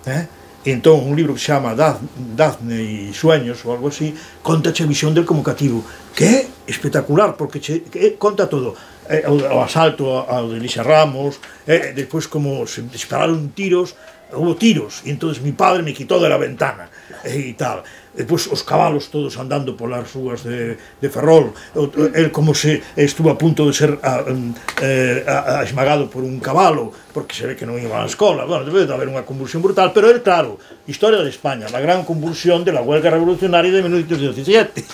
eh? E entón un libro que se chama Dafne e Sueños ou algo así, conta a visión del como cativo, que é espectacular porque che, que conta todo, eh, o, o asalto ao de Elisa Ramos, eh, despois como se dispararon tiros, hubo tiros, e entonces mi padre me quitó de la ventana, e tal. Depois os cabalos todos andando polas rúas de, de Ferrol, el como se estuvo a punto de ser a, eh, a, a esmagado por un cabalo, porque se ve que non iba á escola. Bueno, debe de haber unha convulsión brutal, pero el, claro, historia de España, la gran convulsión de la huelga revolucionaria de mil novecientos diecisiete.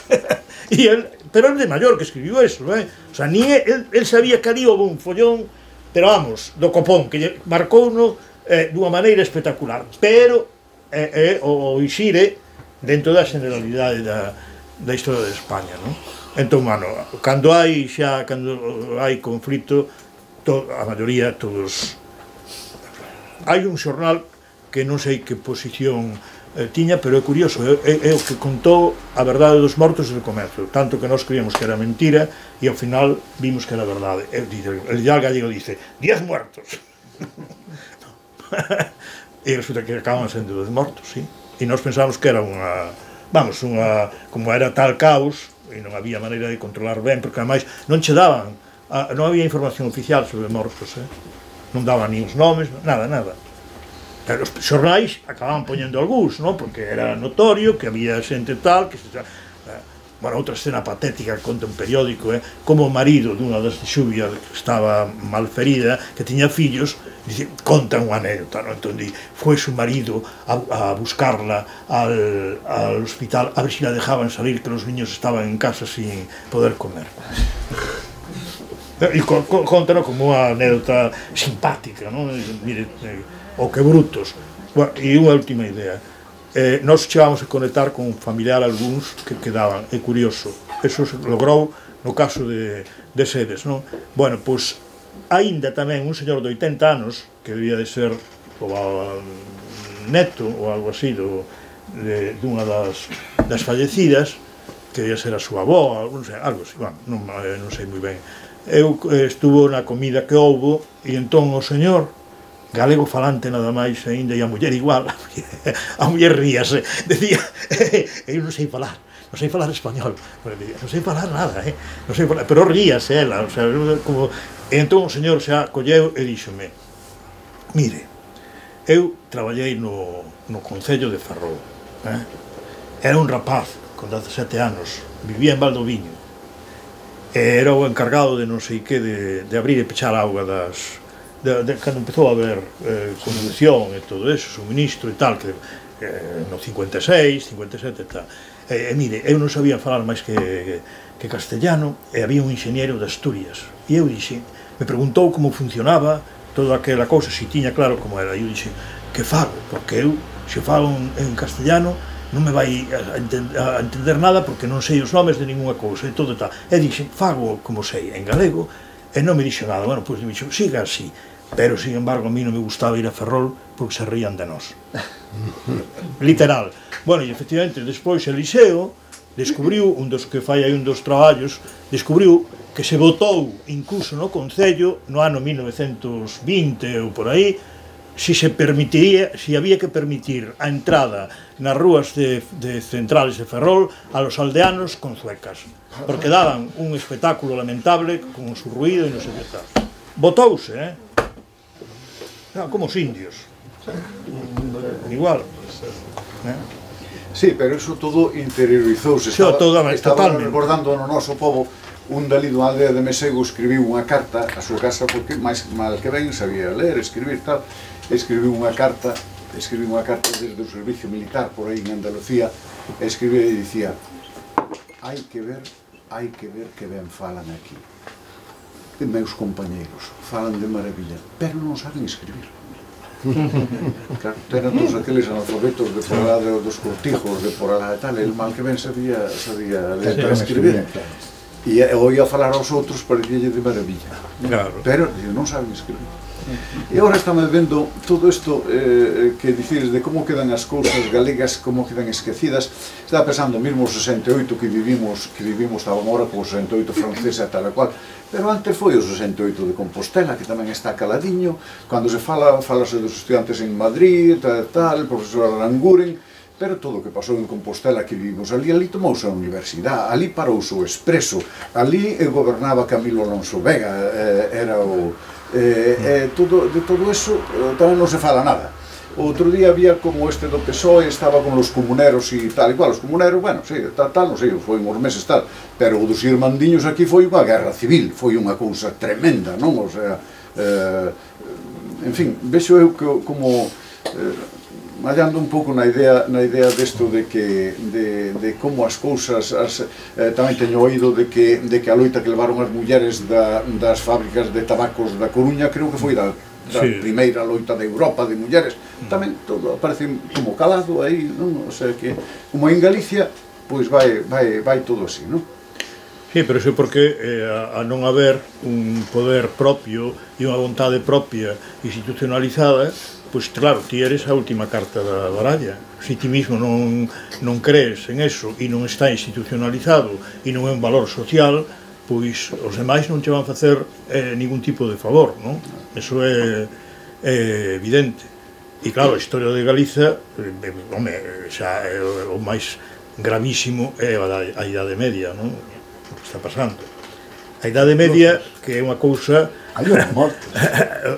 Y él, pero el de mayor que escribiu eso, eh? O sea, ni él, él sabía que ali houve un follón, pero vamos, do copón, que marcou no eh, dunha maneira espectacular, pero eh, eh, o, o Ixire dentro da generalidade da, da historia de España, non? Entón, mano, cando hai xa, cando hai conflito, to, a maioría, todos... Hai un xornal que non sei que posición eh, tiña, pero é curioso, é, é o que contou a verdade dos mortos desde o comezo, tanto que nós creíamos que era mentira, e ao final vimos que era verdade. El, el Ideal Gallego dice, diez muertos. E resulta que acaban sendo dos mortos, sí. E nós pensamos que era unha, vamos, unha, como era tal caos, e non había maneira de controlar ben, porque ademais non che daban, a, non había información oficial sobre mortos, eh? Non daban ni os nomes, nada, nada. Pero os xornais acababan poñendo algúns, non? Porque era notorio que había xente tal, que se... Bueno, outra escena patética que conta un periódico, eh, como o marido dunha das de Xuvia que estaba malferida, que tiña fillos, dice, conta unha anécdota, ¿no? Entón, di, foi su marido a, a buscarla al, al hospital a ver si la dejaban salir, que los niños estaban en casa sin poder comer. E co, co, conta, ¿no? Como unha anécdota simpática, ¿no? Mire, eh, o que brutos. Bueno, e unha última idea. Eh, nós chegamos a conectar con un familiar algúns que quedaban, é curioso, eso se logrou no caso de, de Sedes, non? Bueno, pois, aínda tamén un señor de oitenta anos, que debía de ser o neto ou algo así do, de, dunha das, das fallecidas, que debía ser a súa avó, non sei, algo así, bueno, non, non sei moi ben. Eu eh, estuvo na comida que houbo, e entón o señor, galego falante nada máis aínda, e a muller igual, a muller ríase, decía, eu non sei falar, non sei falar español. Non sei falar nada, eh? Non sei falar, pero ríase ela, o sea, como... E entón o señor xa colleu e díxome: mire, eu traballei no, no Concello de Ferrol, eh? Era un rapaz con dezasete anos, vivía en Valdoviño, e era o encargado de non sei que, de, de abrir e pechar a auga das... De, de, cando empezou a haber eh, conducción e todo eso, suministro e tal, que eh, no cincuenta e seis, cincuenta e sete e tal. E, e mire, eu non sabía falar máis que, que, que castellano, e había un ingeniero de Asturias, e eu dixe, me preguntou como funcionaba toda aquela cousa, se tiña claro como era, e eu dixe, que fago, porque eu, se falo en, en castellano, non me vai a, entend, a entender nada porque non sei os nomes de ninguna cousa e todo tal. E dixe, fago como sei en galego, e non me dixo nada. Bueno, pois me dixo, siga así, pero, sin embargo, a mí non me gustaba ir a Ferrol porque se rían de nós. Literal. Bueno, e efectivamente, despois Eliseo descubriu, un dos que fai aí un dos traballos, descubriu que se votou incluso no Concello no ano mil novecentos vinte ou por aí, si se permitiría, si había que permitir a entrada nas rúas de, de centrales de Ferrol a los aldeanos con zuecas, porque daban un espectáculo lamentable con su ruido e non sei que tal. Votouse, eh? No, como os indios. Igual. Eh? Sí, pero eso todo interiorizouse. Estaba, estaba recordando no noso povo. Un dali dunha aldea de Mesego escribiu unha carta a súa casa, porque máis mal que ben sabía ler, escribir tal, escribiu unha carta, escribiu unha carta desde o servicio militar por aí en Andalucía, e escribiu e dicía: hai que ver, hai que ver que ben falan aquí. E meus compañeiros falan de maravilla, pero non saben escribir. Claro, eran todos aqueles analfabetos de por alá dos cortijos, de por alá e tal, el mal que ben sabía, sabía ler para escribir. E oía falar aos outros, parecíalle de maravilla. Claro. Pero non saben escribir. E agora estamos vendo todo isto eh, que dicides de como quedan as cousas galegas, como quedan esquecidas. Estaba pensando mesmo o sesenta e oito que vivimos, que vivimos, estaba agora co sesenta e oito francesa tal e cual, pero antes foi o sesenta e oito de Compostela, que tamén está caladiño. Cando se fala, falase dos estudiantes en Madrid, tal, tal, o profesor Aranguren, pero todo o que pasou en Compostela que vivimos ali, ali tomouse a universidade, ali parouse o Expreso, ali gobernaba Camilo Alonso Vega, eh, era o... Eh, eh, todo, de todo eso eh, tamén non se fala nada. Outro día había como este do P S O E, estaba con os comuneros e tal, igual, os comuneros, bueno, sí, tal, tal, non sei, foi uns meses tal, pero o dos irmandiños aquí foi unha guerra civil, foi unha cousa tremenda, non? O sea, eh, en fin, vexo eu que como... Eh, mallando un pouco na idea na idea desto de que de, de como as cousas as, eh, tamén teño oído de que de que a loita que levaron as mulleres da, das fábricas de tabacos da Coruña, creo que foi da, da sí. primeira loita de Europa de mulleres, tamén todo parece como calado aí, non? O sea que como en Galicia, pois vai vai vai todo así, non? Sí, pero iso porque eh, a, a non haber un poder propio e unha vontade propia institucionalizada, pois claro, ti eres a última carta da baralla. Se ti mismo non, non crees en eso e non está institucionalizado e non é un valor social, pois os demais non te van facer eh, ningún tipo de favor, non? Eso é, é evidente. E claro, a historia de Galiza, eh, home, xa é o, o máis gravísimo é a, a Idade Media, non? O que está pasando. A Idade Media, que é unha cousa...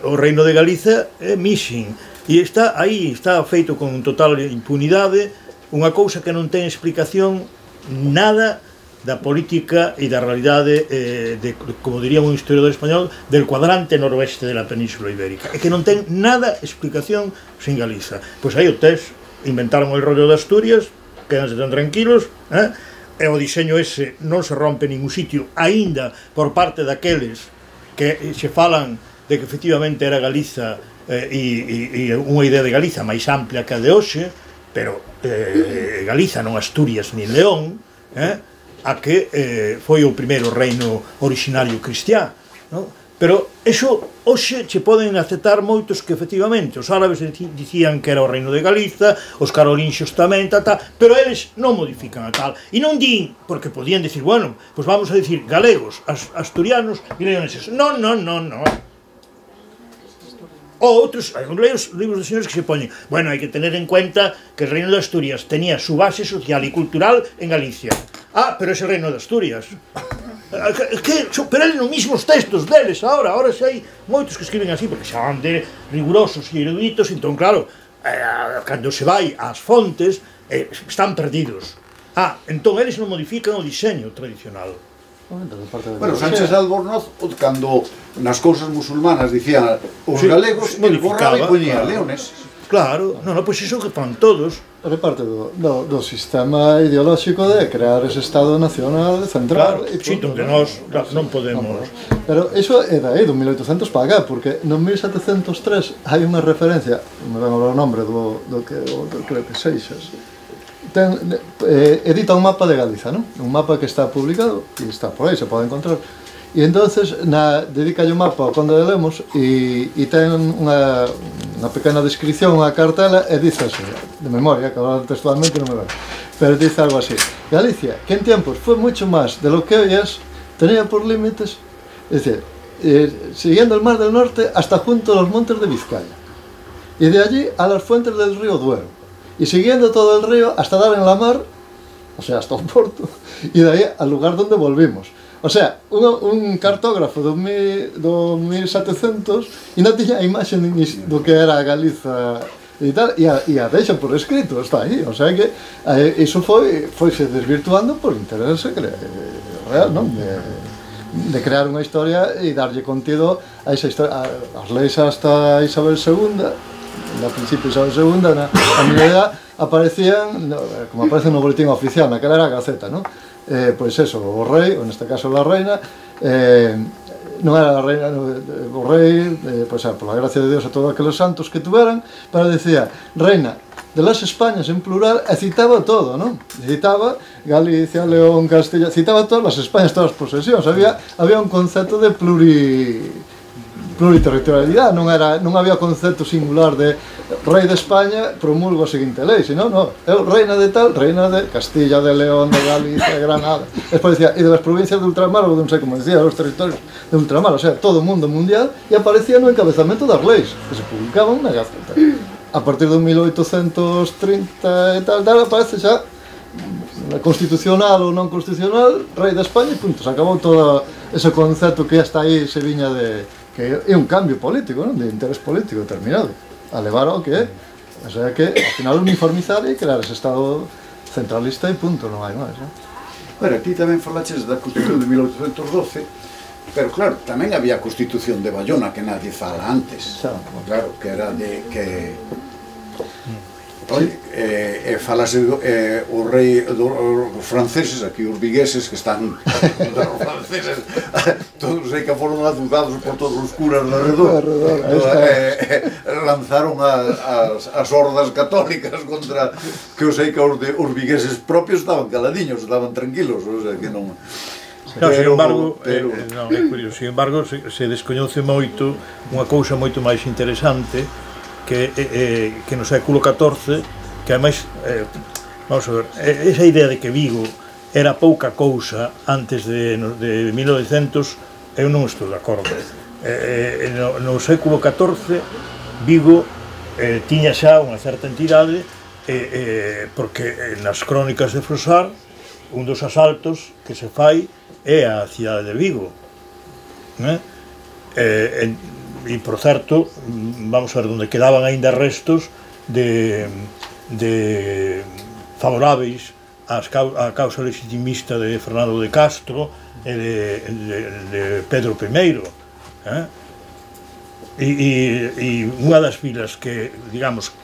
O reino de Galiza é missing e está aí, está feito con total impunidade, unha cousa que non ten explicación nada da política e da realidade eh, de, como diría un historiador español, del cuadrante noroeste de la península ibérica, e que non ten nada explicación sin Galiza. Pois aí o tes, inventaron o rollo de Asturias, quedanse tan tranquilos, eh? E o diseño ese non se rompe en ningún sitio, aínda por parte daqueles que se falan de que efectivamente era Galiza eh, e, e unha idea de Galiza máis amplia que a de hoxe, pero eh, Galiza non Asturias ni León, eh, a que eh, foi o primeiro reino originario cristiá, no? Pero eso hoxe che poden aceptar moitos que efectivamente os árabes dicían que era o reino de Galiza, os carolinxos tamén, ta, ta, pero eles non modifican a tal, e non din, porque podían decir, bueno, pois vamos a decir galegos, as, asturianos e leoneses. Non, non, non, non. Ou outros, hai uns libros de señores que se poñen, bueno, hai que tener en cuenta que el Reino de Asturias tenía su base social e cultural en Galicia. Ah, pero ese Reino de Asturias. Que superan os mismos textos deles agora, agora xa hai moitos que escriben así, porque xa van de rigurosos e eruditos, entón, claro, eh, cando se vai ás fontes, eh, están perdidos. Ah, entón eles non modifican o diseño tradicional. Bueno, Sánchez de Albornoz, cando nas cousas musulmanas dicían os sí, galegos, el borraba e poñía claro. leones. Claro, non, non, pois iso que fan todos. É parte do, do, do sistema ideolóxico de crear ese Estado Nacional central. Claro, sí, donde nós non podemos. No, pero iso é daí, do mil oitocentos para cá, porque no mil setecentos tres hai unha referencia, non me vengo o nombre do, do que do, creo que Seixas, ten, eh, edita un mapa de Galiza, non? Un mapa que está publicado e está por aí, se pode encontrar. E entonces na, dedica o mapa ao Conde de Lemos e, e ten unha, unha pequena descripción, unha cartela e dice así, de memoria, que agora textualmente non me veo, pero dice algo así: Galicia, que en tiempos fue mucho más de lo que hoy es, tenía por límites, es decir, eh, siguiendo el mar del norte hasta junto a los montes de Vizcaya y de allí a las fuentes del río Duero y siguiendo todo el río hasta dar en la mar, o sea, hasta un porto, y de ahí al lugar donde volvimos. O sea, un, un cartógrafo do, mi, do mil setecientos e non tiña a imaxe do que era Galiza e tal, e a, e a deixa por escrito, está aí, o sea que eh, iso foi, foi se desvirtuando por interés real, non? De, de crear unha historia e darlle contido a esa historia, a, as leis hasta Isabel segunda, na principio Isabel segunda, na, a miña edad, aparecían, no, como aparecen no boletín oficial, naquela era a Gaceta, non? Eh, pois eso, o rei, ou neste caso a reina, eh, non era a reina, o rei, eh, pois, por la gracia de Dios a todos aqueles santos que tuveran, pero decía, reina de las Españas en plural, e citaba todo, non? Citaba Galicia, León, Castilla, citaba todas as Españas, todas as posesións, había, había un concepto de pluri... pluriterritorialidade, non, era, non había concepto singular de rei de España promulgo a seguinte lei, sino, no, eu reina de tal, reina de Castilla, de León, de Galicia, de Granada, despois decía, e de las provincias de ultramar, ou non sei como decía, los territorios de ultramar, o sea, todo o mundo mundial, e aparecía no encabezamento das leis, que se publicaban na Gaceta. A partir do mil oitocentos trinta e tal, tal, aparece xa constitucional ou non constitucional, rei de España, e punto, se acabou todo ese concepto que hasta aí se viña de... que é un cambio político, non? De interés político determinado, a levar ao que é. O sea que, ao final, uniformizar e crear ese Estado centralista e punto, non hai máis, non? Bueno, aquí tamén falaches da Constitución de mil oitocentos doce, pero claro, tamén había a Constitución de Bayona que nadie fala antes. Claro, que era de que... Oye, eh, eh, falase eh, o rei dos franceses, aquí os vigueses que están os franceses, todos sei que foron azudados por todos os curas de alrededor, eh, eh, lanzaron a, as, as hordas católicas contra, que eu sei que os, de, os vigueses propios estaban caladiños, estaban tranquilos, o sea que non... No, sin embargo, pero... eh, non, é curioso, sin embargo, se, se descoñece moito unha cousa moito máis interesante que, eh, que no século catorce, que ademais, eh, vamos a ver, esa idea de que Vigo era pouca cousa antes de, de mil novecentos, eu non estou de acordo. Eh, no, no século catorce, Vigo eh, tiña xa unha certa entidade, eh, eh, porque nas crónicas de Frosar, un dos asaltos que se fai é a cidade de Vigo. Eh? Eh, en, e, por certo, vamos a ver, onde quedaban aínda restos de, de favoráveis ás, á causa legitimista de Fernando de Castro e de, de, de Pedro primeiro. Eh? E, e, e unha das vilas que, digamos,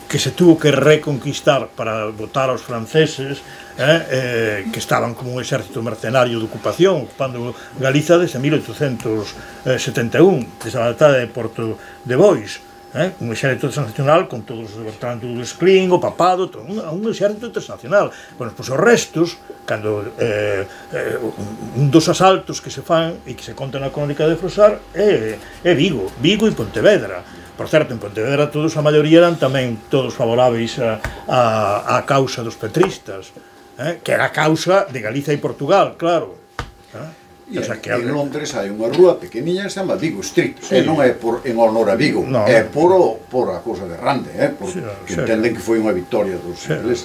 que se tuvo que reconquistar para botar aos franceses, eh, eh, que estaban como un exército mercenario de ocupación, ocupando Galiza desde mil oitocentos setenta e un, desde a batalla de Porto de Bois, eh, un exército transnacional con todos os Bertrand du Guesclin, o papado, todo, un, un exército transnacional. Bueno, pois os restos, cando eh, eh, un dos asaltos que se fan e que se conta na crónica de Frosar é, é Vigo, Vigo e Pontevedra. Por certo, en Pontevedra todos, a maioría eran tamén todos favoráveis a, a, a causa dos petristas, eh, que era a causa de Galiza e Portugal, claro. Eh? E en Londres hai unha rúa pequeniña que se chama Vigo Street, e non é en honor a Vigo, é por a cousa de Rande, porque entenden que foi unha victoria dos ingleses.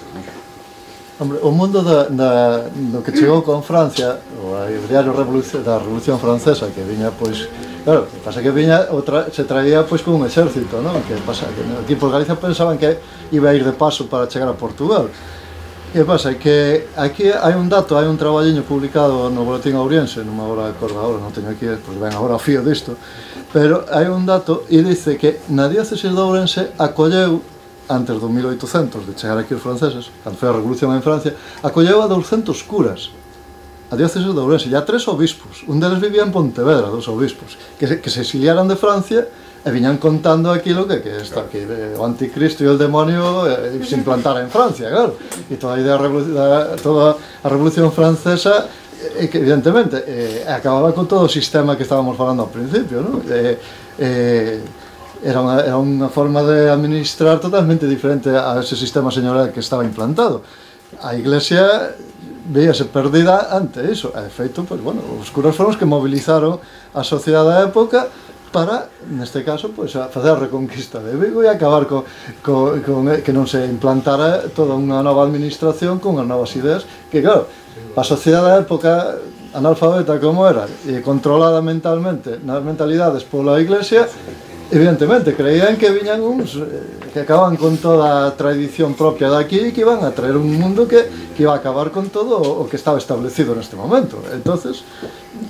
Hombre, o mundo do que chegou con Francia, o diario da Revolución Francesa, que viña, pois, claro, pasa que viña, se traía, pois, con un exército, non? Que pasa, que aquí por Galicia pensaban que iba a ir de paso para chegar a Portugal. Que pasa? Que aquí hai un dato, hai un traballiño publicado no Boletín Ouriense, non me agora acordo agora, non teño aquí, pois ben agora o fío disto, pero hai un dato e dice que na diócesis de Ourense acolleu, antes do mil oitocentos de chegar aquí os franceses, cando foi a Revolución en Francia, acolleu a douscentos curas, a diócesis de Ourense, e a tres obispos, un deles vivía en Pontevedra, dos obispos, que se, que se exiliaran de Francia e viñan contando aquilo que, que, está, que o anticristo e o demonio eh, se implantara en Francia, claro. E toda a idea, da, toda a Revolución Francesa, eh, que evidentemente eh, acababa con todo o sistema que estábamos falando ao principio, ¿no? Eh, eh, era, unha, era unha forma de administrar totalmente diferente a ese sistema señorial que estaba implantado. A Iglesia veíase perdida ante iso, e de feito, pues, bueno, os curas foron os que movilizaron a sociedade da época para, neste caso, pois, a facer a reconquista de Vigo e acabar co, co, con que non se implantara toda unha nova administración con as novas ideas, que claro, a sociedade da época analfabeta como era e controlada mentalmente nas mentalidades pola Iglesia, evidentemente creían que viñan uns que acaban con toda a tradición propia daqui e que iban a traer un mundo que, que iba a acabar con todo o que estaba establecido neste momento. Entonces,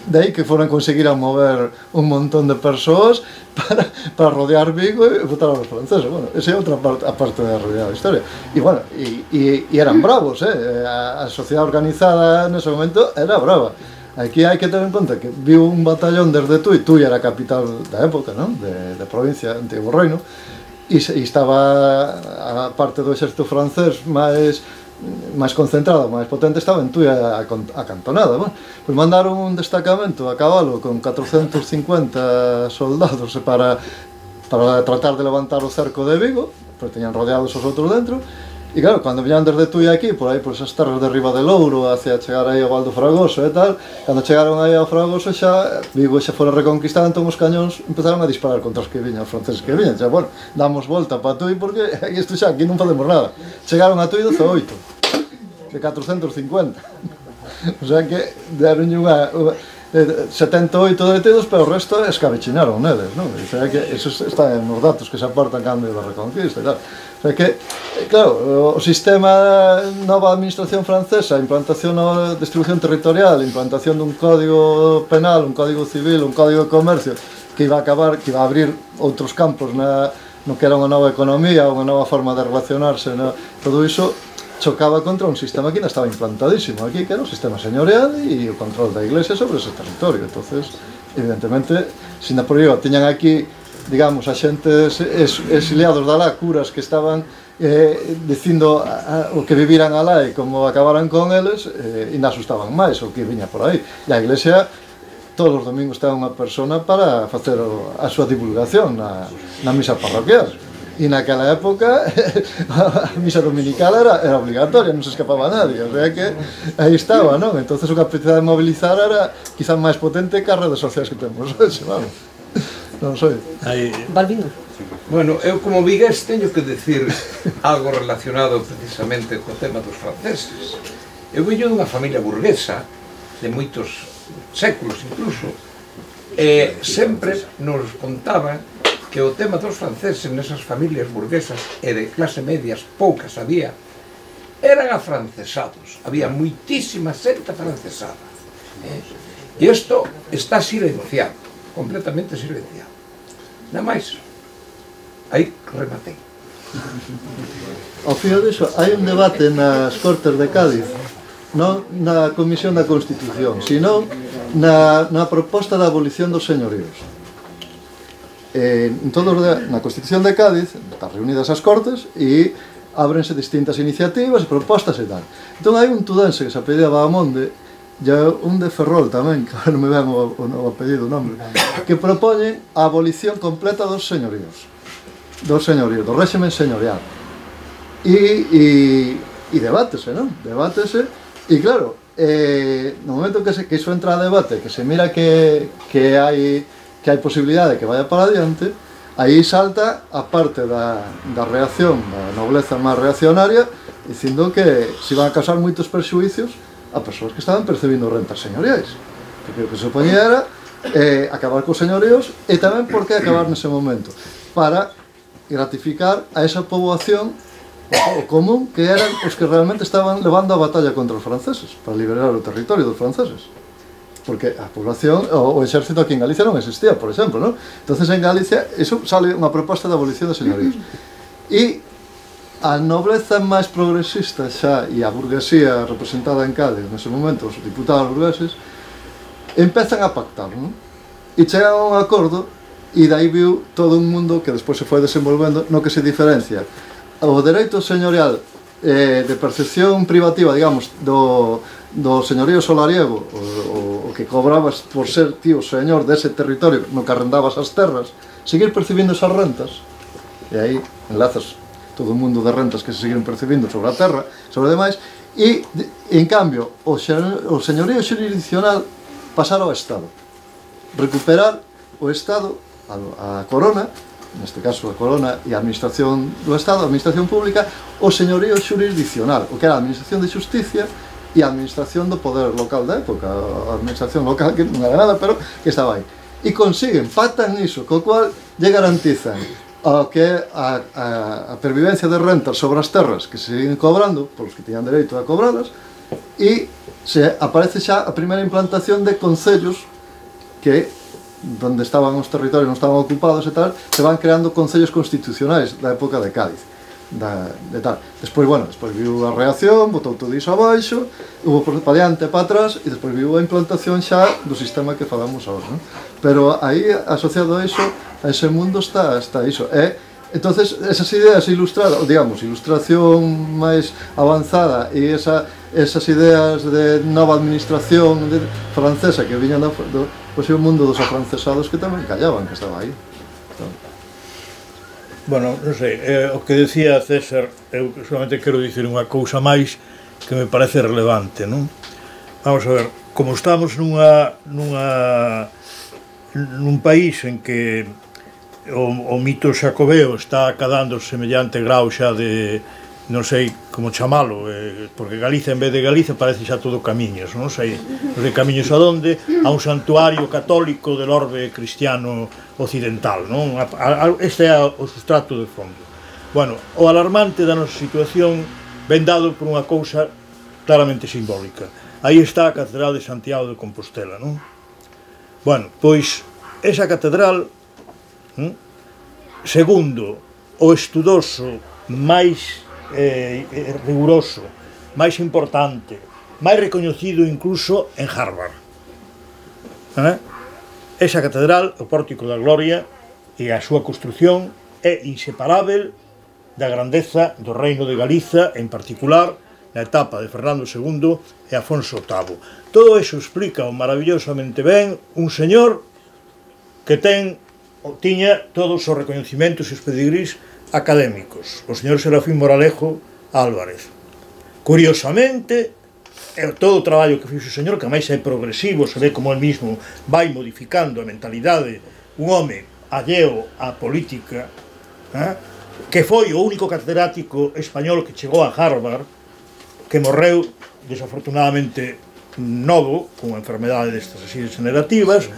de aí que foran conseguir a mover un montón de persoas para, para rodear Vigo e votar aos franceses. Bueno, esa é outra parte, a parte da realidade da historia. E, bueno, e, e, e eran bravos, eh? A, a sociedade organizada nese momento era brava. Aquí hai que ter en conta que viu un batallón desde Tui, Tui era a capital da época, non? De, de provincia, antigo reino, e, e estaba a parte do exército francés máis máis concentrada, máis potente, estaba en Tui acantonada. Bueno, pois mandaron un destacamento a cabalo con catrocentos cincuenta soldados para, para tratar de levantar o cerco de Vigo, pois teñan rodeados os outros dentro. E claro, cando viñan desde Tui aquí, por aí, por esas terras de Riba de Louro, hacia chegar aí ao Val do Fragoso e tal, cando chegaron aí ao Fragoso xa, Vigo xa fora reconquistada, entón os cañóns empezaron a disparar contra os que viñan, os franceses que viñan. Xa, bueno, damos volta para Tui porque isto xa, aquí non podemos nada. Chegaron a Tui dezaoito, de catrocentos cincuenta. O sea que deron unha... setenta e oito detidos, pero o resto escabechinaron neles, non? O sea que esos están nos datos que se aportan cando da reconquista e tal. O sea que, claro, o sistema nova administración francesa, a implantación da distribución territorial, a implantación dun código penal, un código civil, un código de comercio, que iba a acabar, que iba a abrir outros campos na, no que era unha nova economía, unha nova forma de relacionarse, no, todo iso chocaba contra un sistema que ainda estaba implantadísimo aquí, que era o sistema señorial e o control da Iglesia sobre ese territorio. Entonces, evidentemente, se na por ello tiñan aquí, digamos, a xente exiliados da lá, curas que estaban eh, dicindo a, a, o que viviran alá e como acabaran con eles, eh, ainda asustaban máis o que viña por aí. E a Iglesia todos os domingos ten unha persona para facer o, a súa divulgación na, na misa parroquial. E naquela época a misa dominical era, era obligatoria, non se escapaba nadie, o sea que aí estaba, non? Entonces a capacidade de mobilizar era quizás máis potente que as redes sociais que temos hoxe, vamos. Non sei. Aí... Balbino. Bueno, eu como vigués teño que decir algo relacionado precisamente co tema dos franceses. Eu veño dunha familia burguesa de moitos séculos incluso, e sempre nos contaban que o tema dos franceses nesas familias burguesas e de clase medias, poucas había, eran afrancesados, había moitísima xente afrancesada. E isto está silenciado, completamente silenciado. Nada máis, aí rematei. Ao fío diso, hai un debate nas Cortes de Cádiz, non na Comisión da Constitución, sino na, na proposta da abolición dos señoríos. Eh, en todos de, na Constitución de Cádiz están reunidas as Cortes e ábrense distintas iniciativas e propostas e tal. Entón hai un tudense que se apellida Bahamonde e un de Ferrol tamén, que non me ven o, o, o apellido, o nombre, que propoñen a abolición completa dos señoríos, dos señoríos, do réximen señorial. E, e, e debátese, non? Debátese, e claro, eh, no momento que, se, que iso entra a debate, que se mira que, que hai que hai posibilidade de que vaya para adiante, aí salta a parte da, da reacción, da nobleza máis reaccionaria, dicindo que se iban a causar moitos perxuicios a persoas que estaban percibindo rentas señoriais, porque o que se supoñía era eh, acabar cos señoríos, e tamén por que acabar nese momento, para gratificar a esa poboación o común que eran os que realmente estaban levando a batalla contra os franceses para liberar o territorio dos franceses, porque a población, o, o exército aquí en Galicia non existía, por exemplo, non? Entonces en Galicia, iso sale unha proposta de abolición de señoríos, e a nobleza máis progresista xa e a burguesía representada en Cádiz nese momento, os diputados burgueses, empezan a pactar, non? E chegan a un acordo, e dai viu todo un mundo que despois se foi desenvolvendo no que se diferencia o dereito señorial eh, de percepción privativa, digamos, do, do señorío solariego, o, o, o que cobrabas por ser tío señor dese territorio no que arrendabas as terras, seguir percibindo esas rentas, e aí enlazas todo o mundo de rentas que se siguen percibindo sobre a terra, sobre demais, e, en cambio, o, o señorío xurisdiccional pasar ao Estado, recuperar o Estado, a, a corona, neste caso a corona e a administración do Estado, a administración pública, o señorío xurisdiccional, o que era a administración de xusticia e a administración do poder local da época, a administración local que non era nada, pero que estaba aí. E consiguen, pactan iso, co cual lle garantizan ao que é a, a, a pervivencia de rentas sobre as terras que se siguen cobrando, polos que teñan dereito a cobralas, e se aparece xa a primeira implantación de concellos que donde estaban os territorios non estaban ocupados e tal, se van creando concellos constitucionais da época de Cádiz, da, de tal. Despois, bueno, despois viu a reacción, botou todo iso abaixo, hubo para diante e para atrás, e despois viu a implantación xa do sistema que falamos ahora, non? Pero aí, asociado a iso, a ese mundo está, está iso. E, entonces, esas ideas ilustradas, digamos, ilustración máis avanzada e esa, esas ideas de nova administración de, francesa que viñan do, do pois é o mundo dos afrancesados que tamén callaban, que estaba aí. Então... Bueno, non sei, eh, o que decía César, eu solamente quero dicir unha cousa máis que me parece relevante, non? Vamos a ver, como estamos nunha, nunha, nun país en que o, o mito xacobeo está acadando semellante grau xa de, non sei como chamalo, eh, porque Galicia en vez de Galicia parece xa todo camiños, non sei, non sei camiños a donde, a un santuario católico del orbe cristiano occidental, non? A, a, este é o sustrato de fondo. Bueno, o alarmante da nosa situación ven dado por unha cousa claramente simbólica. Aí está a Catedral de Santiago de Compostela, non? Bueno, pois, esa catedral, non? Segundo o estudoso máis Eh, riguroso, máis importante, máis recoñecido incluso en Harvard. Eh? Esa catedral, o Pórtico da Gloria e a súa construción é inseparável da grandeza do Reino de Galiza, en particular na etapa de Fernando segundo e Afonso octavo. Todo eso explica maravillosamente ben un señor que ten, tiña todos os recoñecimentos e os pedigrís académicos, o señor Serafín Moralejo Álvarez. Curiosamente, todo o traballo que fixo o señor, que máis é progresivo, se ve como el mismo vai modificando a mentalidade, un home alleo á política, eh, que foi o único catedrático español que chegou a Harvard, que morreu desafortunadamente novo, con unha enfermedade destas así degenerativas.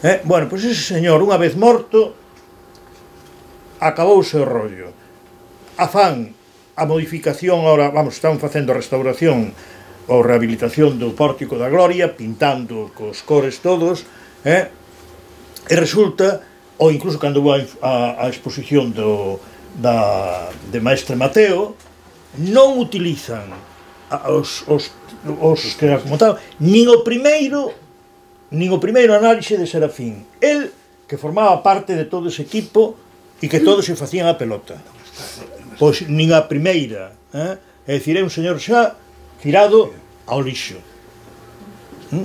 eh, bueno, pois ese señor, unha vez morto, acabouse o rollo. Afán a modificación, ahora, vamos, están facendo a restauración ou rehabilitación do Pórtico da Gloria, pintando cos cores todos, eh? E resulta, ou incluso cando houve a, a exposición do, da, de Maestre Mateo, non utilizan os, os, os que como tal, nin o primeiro nin o primeiro análise de Serafín. El, que formaba parte de todo ese equipo e que todos se facían a pelota. Pois nin a primeira, eh? É dicir, é un señor xa tirado ao lixo.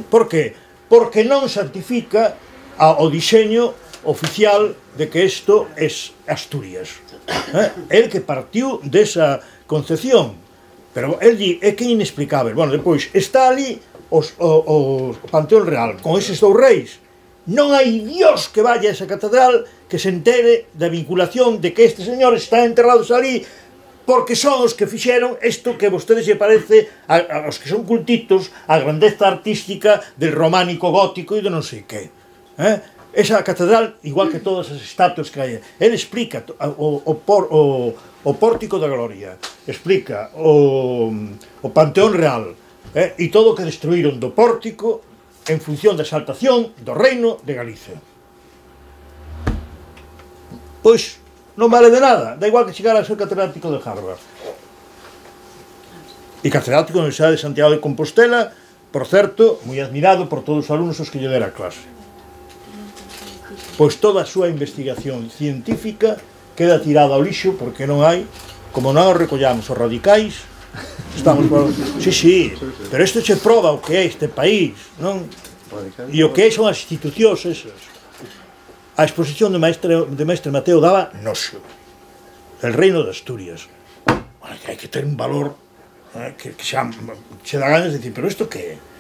Por que? Porque non certifica o diseño oficial de que isto é Asturias. Eh? El que partiu desa concepción. Pero el di, é que é inexplicável. Bueno, depois, está ali os, o, o Panteón Real, con eses dous reis. Non hai Dios que vaya a esa catedral que se entere da vinculación de que estes señores están enterrados ali porque son os que fixeron isto que a vostedes lle parece, a, a, os que son cultitos, a grandeza artística del románico gótico e de non sei que. Eh? Esa catedral, igual que todas as estatuas que hai, ele explica o, o, por, o, o Pórtico da Gloria, explica o, o Panteón Real, eh? E todo o que destruíron do pórtico en función da exaltación do reino de Galicia. Pois, non vale de nada, da igual que chegara a ser catedrático de Harvard. E catedrático da Universidade de Santiago de Compostela, por certo, moi admirado por todos os alumnos os que lle dera clase. Pois toda a súa investigación científica queda tirada ao lixo porque non hai, como non os recollamos os radicais, estamos por... Sí, sí, pero isto che proba o que é este país, non? E o que son as institucións esas. A exposición de Maestre, de Mestre Mateo daba noxo. El reino de Asturias. Bueno, que hai que ter un valor eh, que, que xa, xa dá ganas de decir, pero isto que é?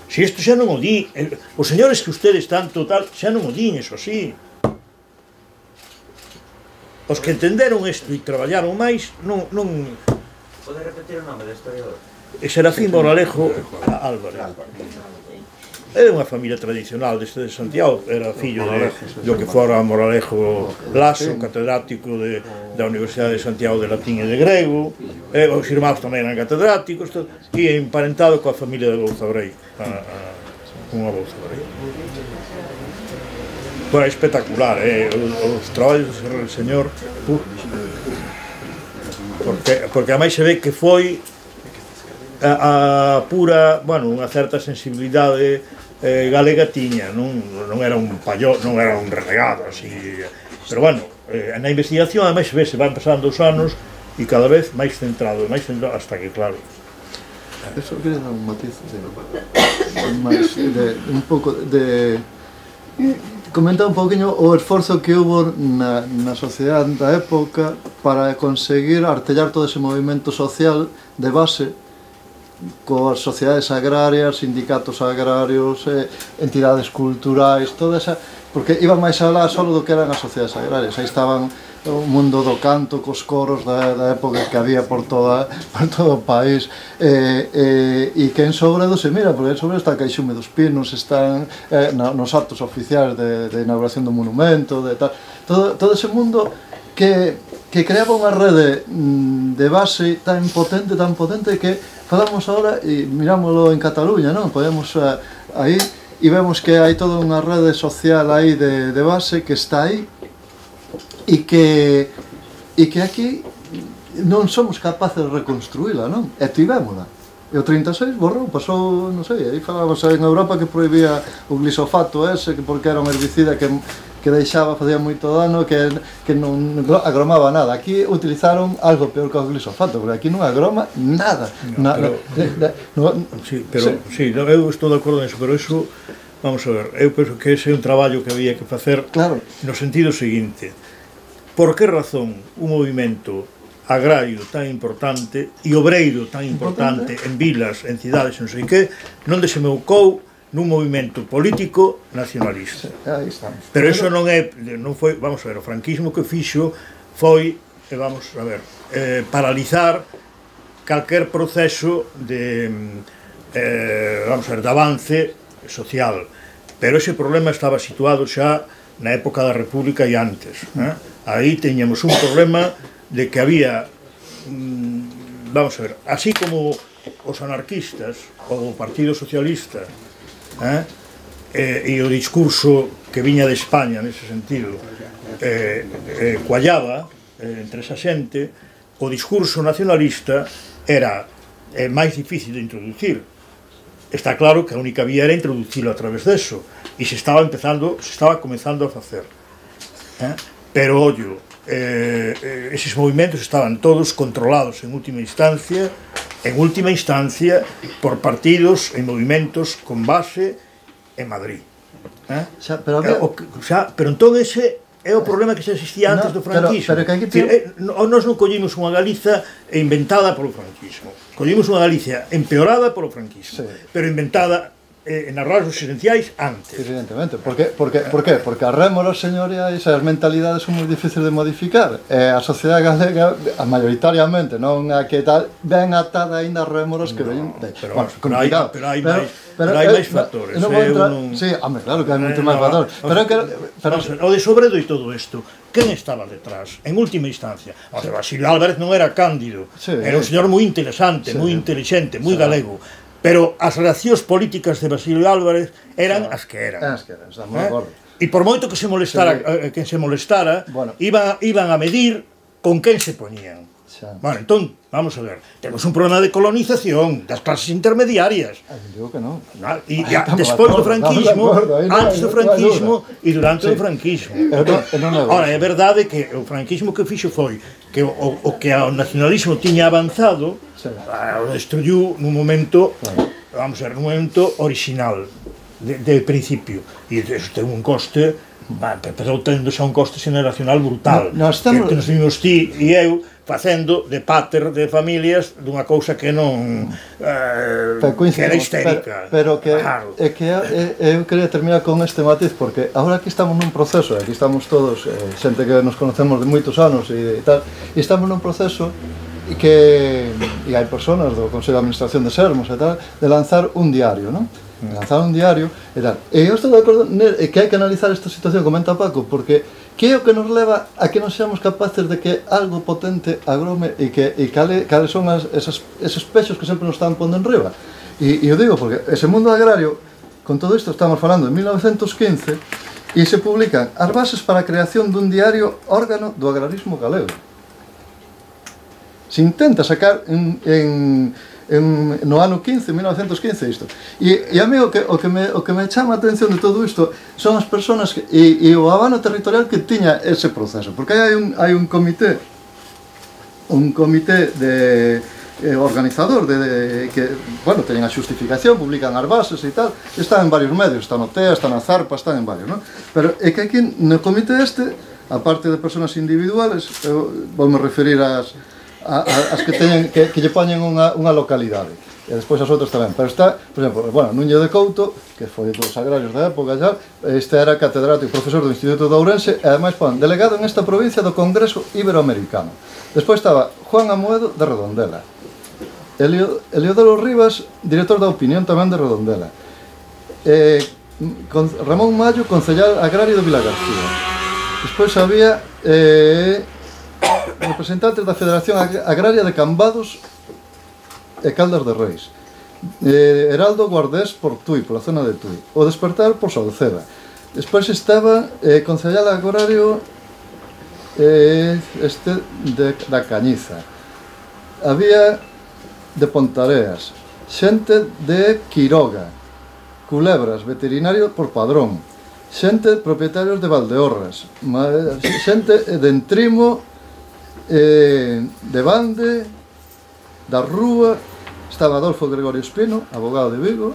Si isto xa non o di, el, os señores que ustedes tanto tal, xa non o din, eso sí. Os que entenderon isto e traballaron máis, non... non... Pode repetir o nome do historiador? Serafín Moralejo Álvarez. Era unha familia tradicional deste de Santiago, era fillo de, do que fora Moralejo Lasso, catedrático de, da Universidade de Santiago de Latín e de Grego, e os irmáns tamén eran catedráticos, e emparentado coa familia de Bouzabrei, unha Bouzabrei. Foi espectacular, eh, os, os traballos do señor, uh, porque, porque a máis se ve que foi a, a pura, bueno, unha certa sensibilidade eh, galega tiña, non, non era un payó, non era un renegado así, pero bueno, eh, na investigación a máis se ve, se van pasando os anos e cada vez máis centrado, máis centrado, hasta que claro. Eso quería dar un matiz de, máis, de un pouco de comentar un poquinho o esforzo que hubo na, na sociedade da época para conseguir artellar todo ese movimento social de base coas sociedades agrarias, sindicatos agrarios, eh, entidades culturais, toda esa, porque iban máis alá só do que eran as sociedades agrarias. Aí estaban o mundo do canto, cos coros da, da época que había por, toda, por todo o país, eh, eh, e que en Sobredo se mira, porque en Sobredo está Caixume dos Pinos, están eh, na, nos actos oficiais de, de inauguración do monumento, de tal, todo, todo ese mundo que, que creaba unha rede de base tan potente, tan potente que falamos agora e mirámoslo en Cataluña, non? Podemos uh, aí e vemos que hai toda unha rede social aí de, de base que está aí e que e que aquí non somos capaces de reconstruíla, non? E tivémola. E o trinta e seis borrou, pasou, non sei, aí falábamos en Europa que prohibía o glisofato ese, que porque era un herbicida que que deixaba, facía moito dano, que, que non agromaba nada. Aquí utilizaron algo peor que o glisofato, porque aquí non agroma nada. No, na, pero, de, de, no, sí, pero, sí, no, eu estou de acordo nisso, pero eso, vamos a ver, eu penso que ese é un traballo que había que facer, claro, no sentido seguinte. Por que razón un movimento agrario tan importante e obreiro tan importante, importante en vilas, en cidades, non sei que, non desemeucou nun movimento político nacionalista. Aí estamos. Pero eso non é, non foi, vamos a ver, o franquismo que fixo foi, vamos a ver, eh, paralizar calquer proceso de, eh, vamos a ver, de avance social. Pero ese problema estaba situado xa na época da República e antes. Eh? Aí teñamos un problema de que había, mm, vamos a ver, así como os anarquistas, o o Partido Socialista, Eh? Eh, e o discurso que viña de España nese sentido eh, eh, coallaba eh, entre esa xente, o discurso nacionalista era eh, máis difícil de introducir. Está claro que a única vía era introducilo a través deso e se estaba empezando, se estaba comenzando a facer, eh? Pero ollo, eh, eh, eses movimentos estaban todos controlados en última instancia en última instancia por partidos e movimentos con base en Madrid. Eh? Xa, pero, había... o, xa, pero entón ese é o problema que xa existía antes No, do franquismo. pero- pero que aquí Dicir, ten- eh, Nós non collimos unha Galiza inventada polo franquismo. Collimos unha Galicia empeorada polo franquismo, Sí. pero inventada eh, nas rasgos esenciais antes. Evidentemente, porque, porque, por qué? Porque as rémoras señoriais e as mentalidades son moi difíciles de modificar, e a sociedade galega, a maioritariamente, non a que tal, ben atada aínda as rémoras que ven, de, pero- bueno, pero hai- complicado. pero hai máis- pero hai eh, máis factores, non vou eh, entrar, un- sí, home, claro que hai moito Eh, máis no, factores, o- pero que pero, Vamos a ver, o de Sobredo e todo isto, quen estaba detrás, en última instancia? O sea, Basilio Álvarez non era cándido, Sí. era un señor moi interesante, Sí. moi inteligente, moi Sí. galego, pero as reaccións políticas de Basilio Álvarez eran as que eran. É as que eran, estamos Eh? de acordo. E por moito que se molestara, Sí. eh, quen se molestara, Bueno. iban, iban a medir con quen se poñían. Xa. Bueno, entón, vamos a ver, temos un problema de colonización das clases intermediarias. Ai, digo que non. Ah, E Aí ya, estamos de despois do acordo, franquismo, estamos de acordo, aí non hai- antes do non hai franquismo dúbida. e durante Sí. o franquismo. Eu non- eu non nego Ora, eso. é verdade que o franquismo que fixo foi que o, o que o nacionalismo tiña avanzado, Sí. ah, o destruyú nun momento, vamos a ver, nun momento original, de, de principio. E isto ten un coste, va, empezou tendo xa un coste xeneracional brutal. No, nós estamos- Que, que nos vimos ti e eu facendo de pater de familias dunha cousa que non eh, Pero que era coincidimos, histérica. pero, pero que Claro. é que é, eu quería terminar con este matiz porque agora aquí estamos nun proceso, aquí estamos todos eh, xente que nos conocemos de moitos anos e, e tal, e estamos nun proceso e que e hai personas do Consello de Administración de Sermos e tal, de lanzar un diario, non? De lanzar un diario e tal. E eu estou de acordo ne- e que hai que analizar esta situación, comenta Paco, porque que é o que nos leva a que non seamos capaces de que algo potente agrome e que e cale, cales son as, esas, esos pexos que sempre nos están pondo en riba. E, e eu digo, porque ese mundo agrario, con todo isto estamos falando de mil novecentos quince, e se publican as bases para a creación dun diario órgano do agrarismo galego. Se intenta sacar en, en, en, no ano quince, mil novecentos quince isto. E, e a mí o que, o, que me, o que me chama a atención de todo isto son as persoas que, e, e o abano territorial que tiña ese proceso, porque hai un, hai un comité un comité de eh, organizador de, de que, bueno, teñen a xustificación, publican as bases e tal, están en varios medios, está no T E A, está na Zarpa, están en varios, non? Pero é que aquí no comité este, aparte de persoas individuales, eu vou me referir ás a, a, as que teñen que, que lle poñen unha, unha localidade e despois as outras tamén, pero está, por exemplo, bueno, Núñez de Couto, que foi dos agrarios da época xa, este era catedrático, profesor do Instituto de Ourense e ademais pon, delegado en esta provincia do Congreso Iberoamericano. Despois estaba Juan Amoedo de Redondela, Elio, Eliodoro Rivas, director da Opinión tamén de Redondela, eh, con, Ramón Mallo, concellal agrario de Vilagarcía. Despois había eh, representantes da Federación Agraria de Cambados e Caldas de Reis, eh, Heraldo Guardés por Tui, pola zona de Tui, o Despertar por Sauceda. Despois estaba eh, concellal agrario eh, este de, da Cañiza. Había de Pontareas, xente de Quiroga, Culebras, veterinario por Padrón, xente propietarios de Valdeorras, xente de Entrimo, eh, de Bande, da Rúa, estaba Adolfo Gregorio Espino, abogado de Vigo,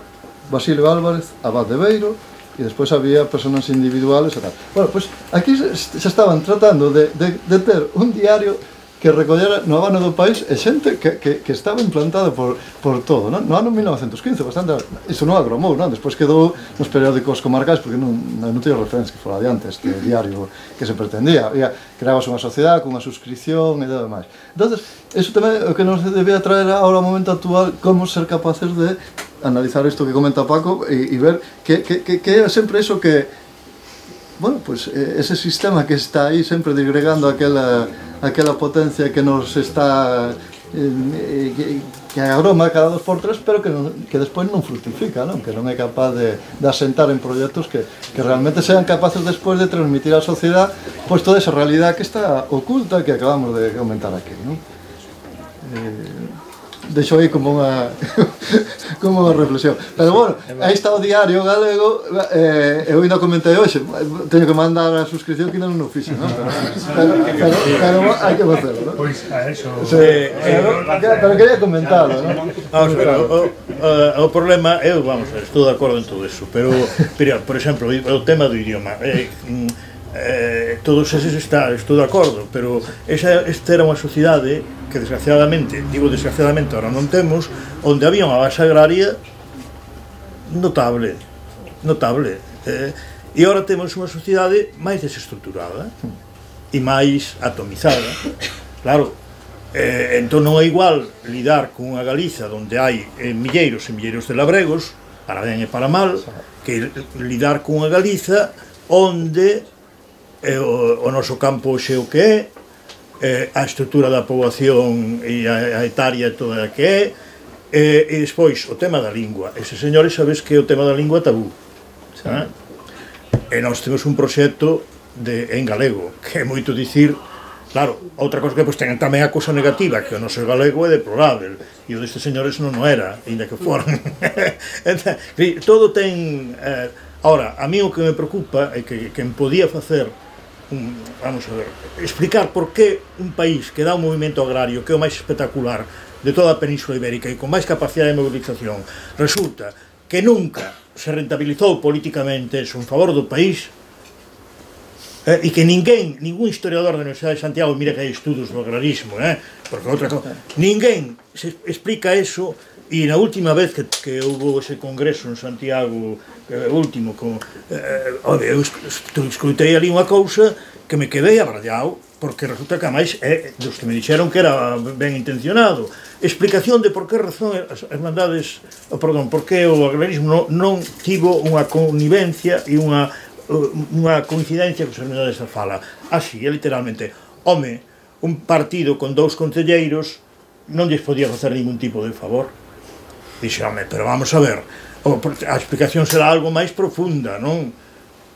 Basilio Álvarez, abad de Beiro, e despois había personas individuales e tal. Bueno, pois aquí se, se estaban tratando de, de, de ter un diario que recollera no abano do país e xente que, que, que estaba implantada por, por todo, non? No ano mil novecentos quince, bastante, iso non agromou, non? Despois quedou nos periódicos comarcais porque non, non teño referencia que fora adiante este diario que se pretendía. Había, creabas unha sociedade con unha suscripción e todo demais. Entonces, eso tamén é o que nos debía traer ahora ao momento actual, como ser capaces de analizar isto que comenta Paco e, e ver que, que, que, que é sempre iso que, bueno, pues ese sistema que está aí sempre disgregando aquela, aquela potencia que nos está eh, que, que agroma cada dos por tres, pero que, non, que despois non fructifica, non? Que non é capaz de, de asentar en proxectos que, que realmente sean capaces despois de transmitir á sociedade pois toda esa realidade que está oculta que acabamos de comentar aquí, non? Eh, deixo aí como unha como unha reflexión, pero bueno, aí está o diario galego, eh, eu ainda comentei hoxe, teño que mandar a suscripción que ainda non o fixo, non? Pero, pero, pero hai que facelo, non? Pois a eso... Sí, pero, pero quería comentarlo, non? Vamos a ver, o, o, o problema, eu, vamos, estou de acordo en todo eso, pero, pero por exemplo, o tema do idioma, eh, eh, todos eses está, estou de acordo, pero esa, esta era unha sociedade que desgraciadamente, digo desgraciadamente, ahora non temos, onde había unha base agraria notable, notable, eh, e agora temos unha sociedade máis desestruturada e máis atomizada, claro. Eh, entón non é igual lidar con unha Galiza onde hai eh, milleiros e milleiros de labregos, para ben e para mal, que lidar con unha Galiza onde eh, o, o noso campo xe o que é, eh, a estrutura da poboación e a, a etaria toda a que é, eh, e despois o tema da lingua. Ese señores sabes que o tema da lingua tabú, eh? E nós temos un proxecto de, en galego, que é moito dicir. Claro, outra cosa que pues, ten tamén a cousa negativa, que o noso galego é deplorável, e o destes señores non o era, ainda que foran. Todo ten... Eh, ahora, a mí o que me preocupa é que quen podía facer, un, vamos a ver, explicar por que un país que dá un movimento agrario que é o máis espectacular de toda a Península Ibérica e con máis capacidade de movilización, resulta que nunca se rentabilizou políticamente eso en favor do país, Eh, e que ninguén, ningún historiador da Universidade de Santiago, mira que hai estudos do agrarismo, eh, porque outra cosa, ninguén se explica eso, e na última vez que, que houve ese congreso en Santiago, eh, último, con, eh, ode, eu escutei ali unha cousa que me quedei abrallado, porque resulta que a máis é dos que me dixeron que era ben intencionado. Explicación de por que razón as hermandades, oh, perdón, por que o agrarismo non, non tivo unha connivencia e unha unha coincidencia que os hermandades da fala. Así, é literalmente, home, un partido con dous concelleiros non lles podía facer ningún tipo de favor. Dixe, home, pero vamos a ver, a explicación será algo máis profunda, non?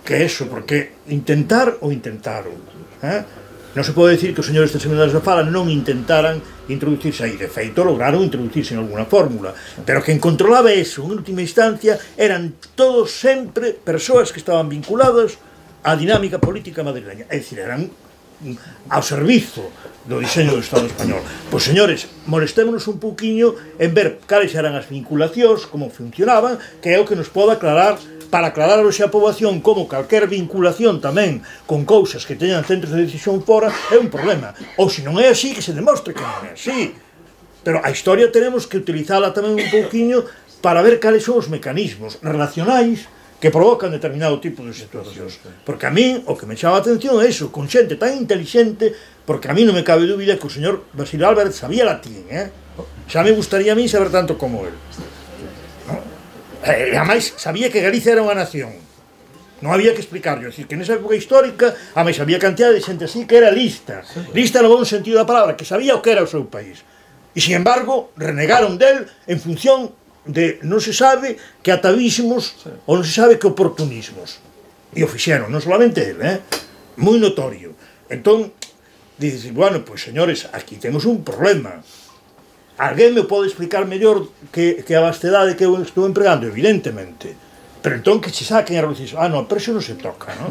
Que eso, porque intentar ou intentaron, eh? Non se pode decir que os señores das hermandades da fala non intentaran introducirse aí. De feito, lograron introducirse en alguna fórmula. Pero quen controlaba eso, en última instancia, eran todos sempre persoas que estaban vinculadas á dinámica política madrileña. É dicir, eran ao servizo do diseño do Estado español. Pois, señores, molestémonos un pouquiño en ver cales eran as vinculacións, como funcionaban, que é o que nos pode aclarar, para aclarar hoxe a poboación como calquer vinculación tamén con cousas que teñan centros de decisión fora é un problema. Ou se non é así, que se demostre que non é así. Pero a historia tenemos que utilizala tamén un pouquiño para ver cales son os mecanismos relacionais que provocan determinado tipo de situacións. Porque a mí, o que me chama a atención é iso, con xente tan inteligente, porque a mí non me cabe dúbida que o señor Basilio Álvarez sabía latín, eh? Xa me gustaría a mí saber tanto como él. E, ademais, sabía que Galicia era unha nación. Non había que explicarlo. É dicir, que nesa época histórica, ademais, había cantidad de xente así que era lista. Lista no bon sentido da palabra, que sabía o que era o seu país. E, sin embargo, renegaron del en función de non se sabe que atavismos ou non se sabe que oportunismos. E o fixeron, non solamente ele, eh? Moi notorio. Entón, dices, bueno, pois, señores, aquí temos un problema. Alguén me pode explicar mellor que, que a vastedade que eu estou empregando, evidentemente. Pero entón que se saquen a reducir. Ah, non, pero eso non se toca, non?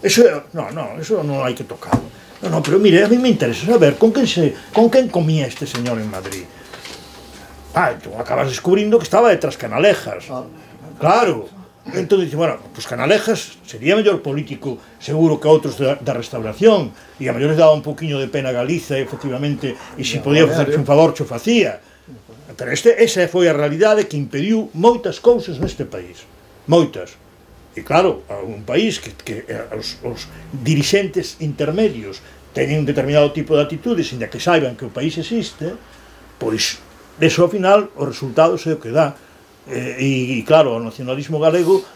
Eso, non, non, eso non hai que tocarlo. Non, non, pero mire, a mí me interesa saber con quen, se, con quen comía este señor en Madrid. Ah, entón acabas descubrindo que estaba detrás Canalejas. Claro. Entón dice, bueno, pues Canalejas sería mellor político seguro que outros da, da restauración, e a mellores daba un poquinho de pena a Galiza, efectivamente, e se podía facerse un favor, xo facía. Pero este, esa foi a realidade que impediu moitas cousas neste país, moitas. E claro, un país que, que os, os dirixentes intermedios teñen un determinado tipo de atitudes, inda que saiban que o país existe, pois, eso ao final, o resultado é o que dá. E, e claro, o nacionalismo galego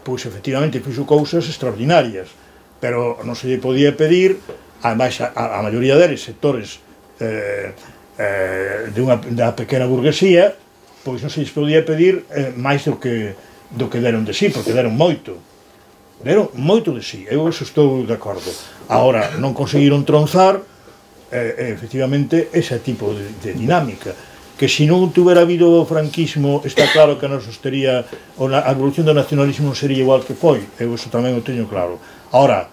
pois efectivamente fixo cousas extraordinarias, pero non se lle podía pedir, ademais a, a maioría deles sectores eh, eh, de unha, da pequena burguesía, pois non se lles podía pedir eh, máis do que, do que deron de sí, porque deron moito deron moito de sí, eu eso estou de acordo. Agora, non conseguiron tronzar eh, efectivamente ese tipo de, de dinámica, que se non tuvera habido o franquismo, está claro que non sostería, a evolución do nacionalismo non sería igual que foi, eu eso tamén o teño claro. Ahora,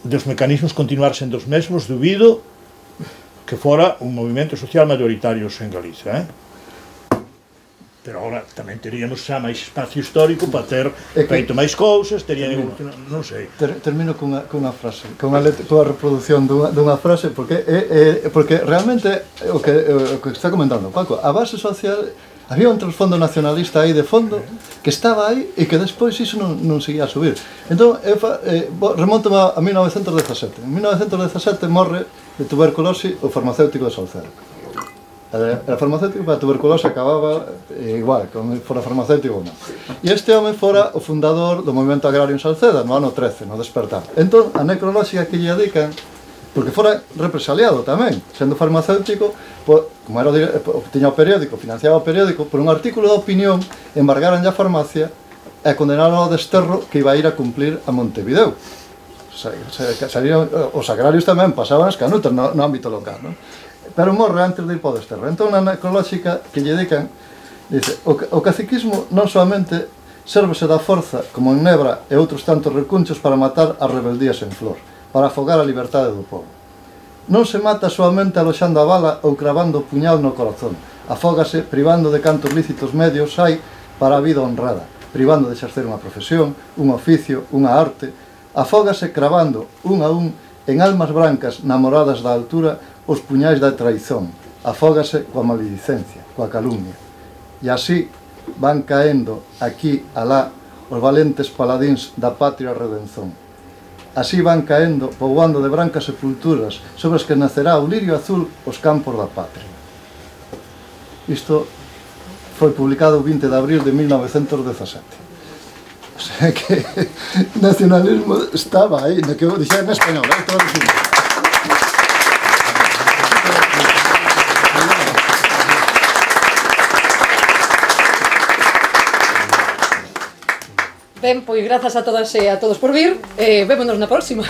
dos mecanismos continuar sendo os mesmos, dubido que fora un movimento social mayoritario en Galicia, eh? pero agora tamén teríamos xa máis espacio histórico para ter feito máis cousas, terían evolucionado, non sei. Ter, termino cunha, cunha frase, cunha, let, cunha reproducción dunha, dunha frase, porque é, é, porque realmente o que, o que está comentando Paco, a base social, había un trasfondo nacionalista aí de fondo que estaba aí e que despois iso non, non seguía a subir. Entón, eu fa, eh, remonto a mil novecentos dezasete. En mil novecentos dezasete morre de tuberculose o farmacéutico de Salceda. A farmacéutico para a tuberculose acababa eh, igual, como fora farmacéutico ou non. E este home fora o fundador do movimento agrario en Salceda, no ano trece, no despertar. Entón, a necrolóxica que lle dedican, porque fora represaliado tamén, sendo farmacéutico, po, como era o, tiña o periódico, financiaba o periódico, por un artículo de opinión, embargaran a farmacia e condenaron ao desterro que iba a ir a cumplir a Montevideo. Salían, os agrarios tamén pasaban as canutas no, no ámbito local, non? Pero morre antes de ir para o desterro. Entón, na necrolóxica que lle dedican, dice, o, o caciquismo non solamente sérvese da forza, como en Nebra e outros tantos recunchos, para matar as rebeldías en flor, para afogar a liberdade do povo. Non se mata solamente aloxando a bala ou cravando o puñal no corazón. Afógase privando de cantos lícitos medios hai para a vida honrada, privando de exercer unha profesión, un oficio, unha arte. Afógase cravando, un a un, en almas brancas namoradas da altura, os puñais da traizón. Afógase coa maledicencia, coa calumnia. E así van caendo aquí, alá, os valentes paladíns da patria redenzón. Así van caendo, poboando de brancas sepulturas, sobre as que nacerá o lirio azul os campos da patria. Isto foi publicado o vinte de abril de mil novecentos dezasete. O sea que nacionalismo estaba aí, no que dixera en español, eh, todo o Ben, pois grazas a todas e a todos por vir, e vémonos na próxima.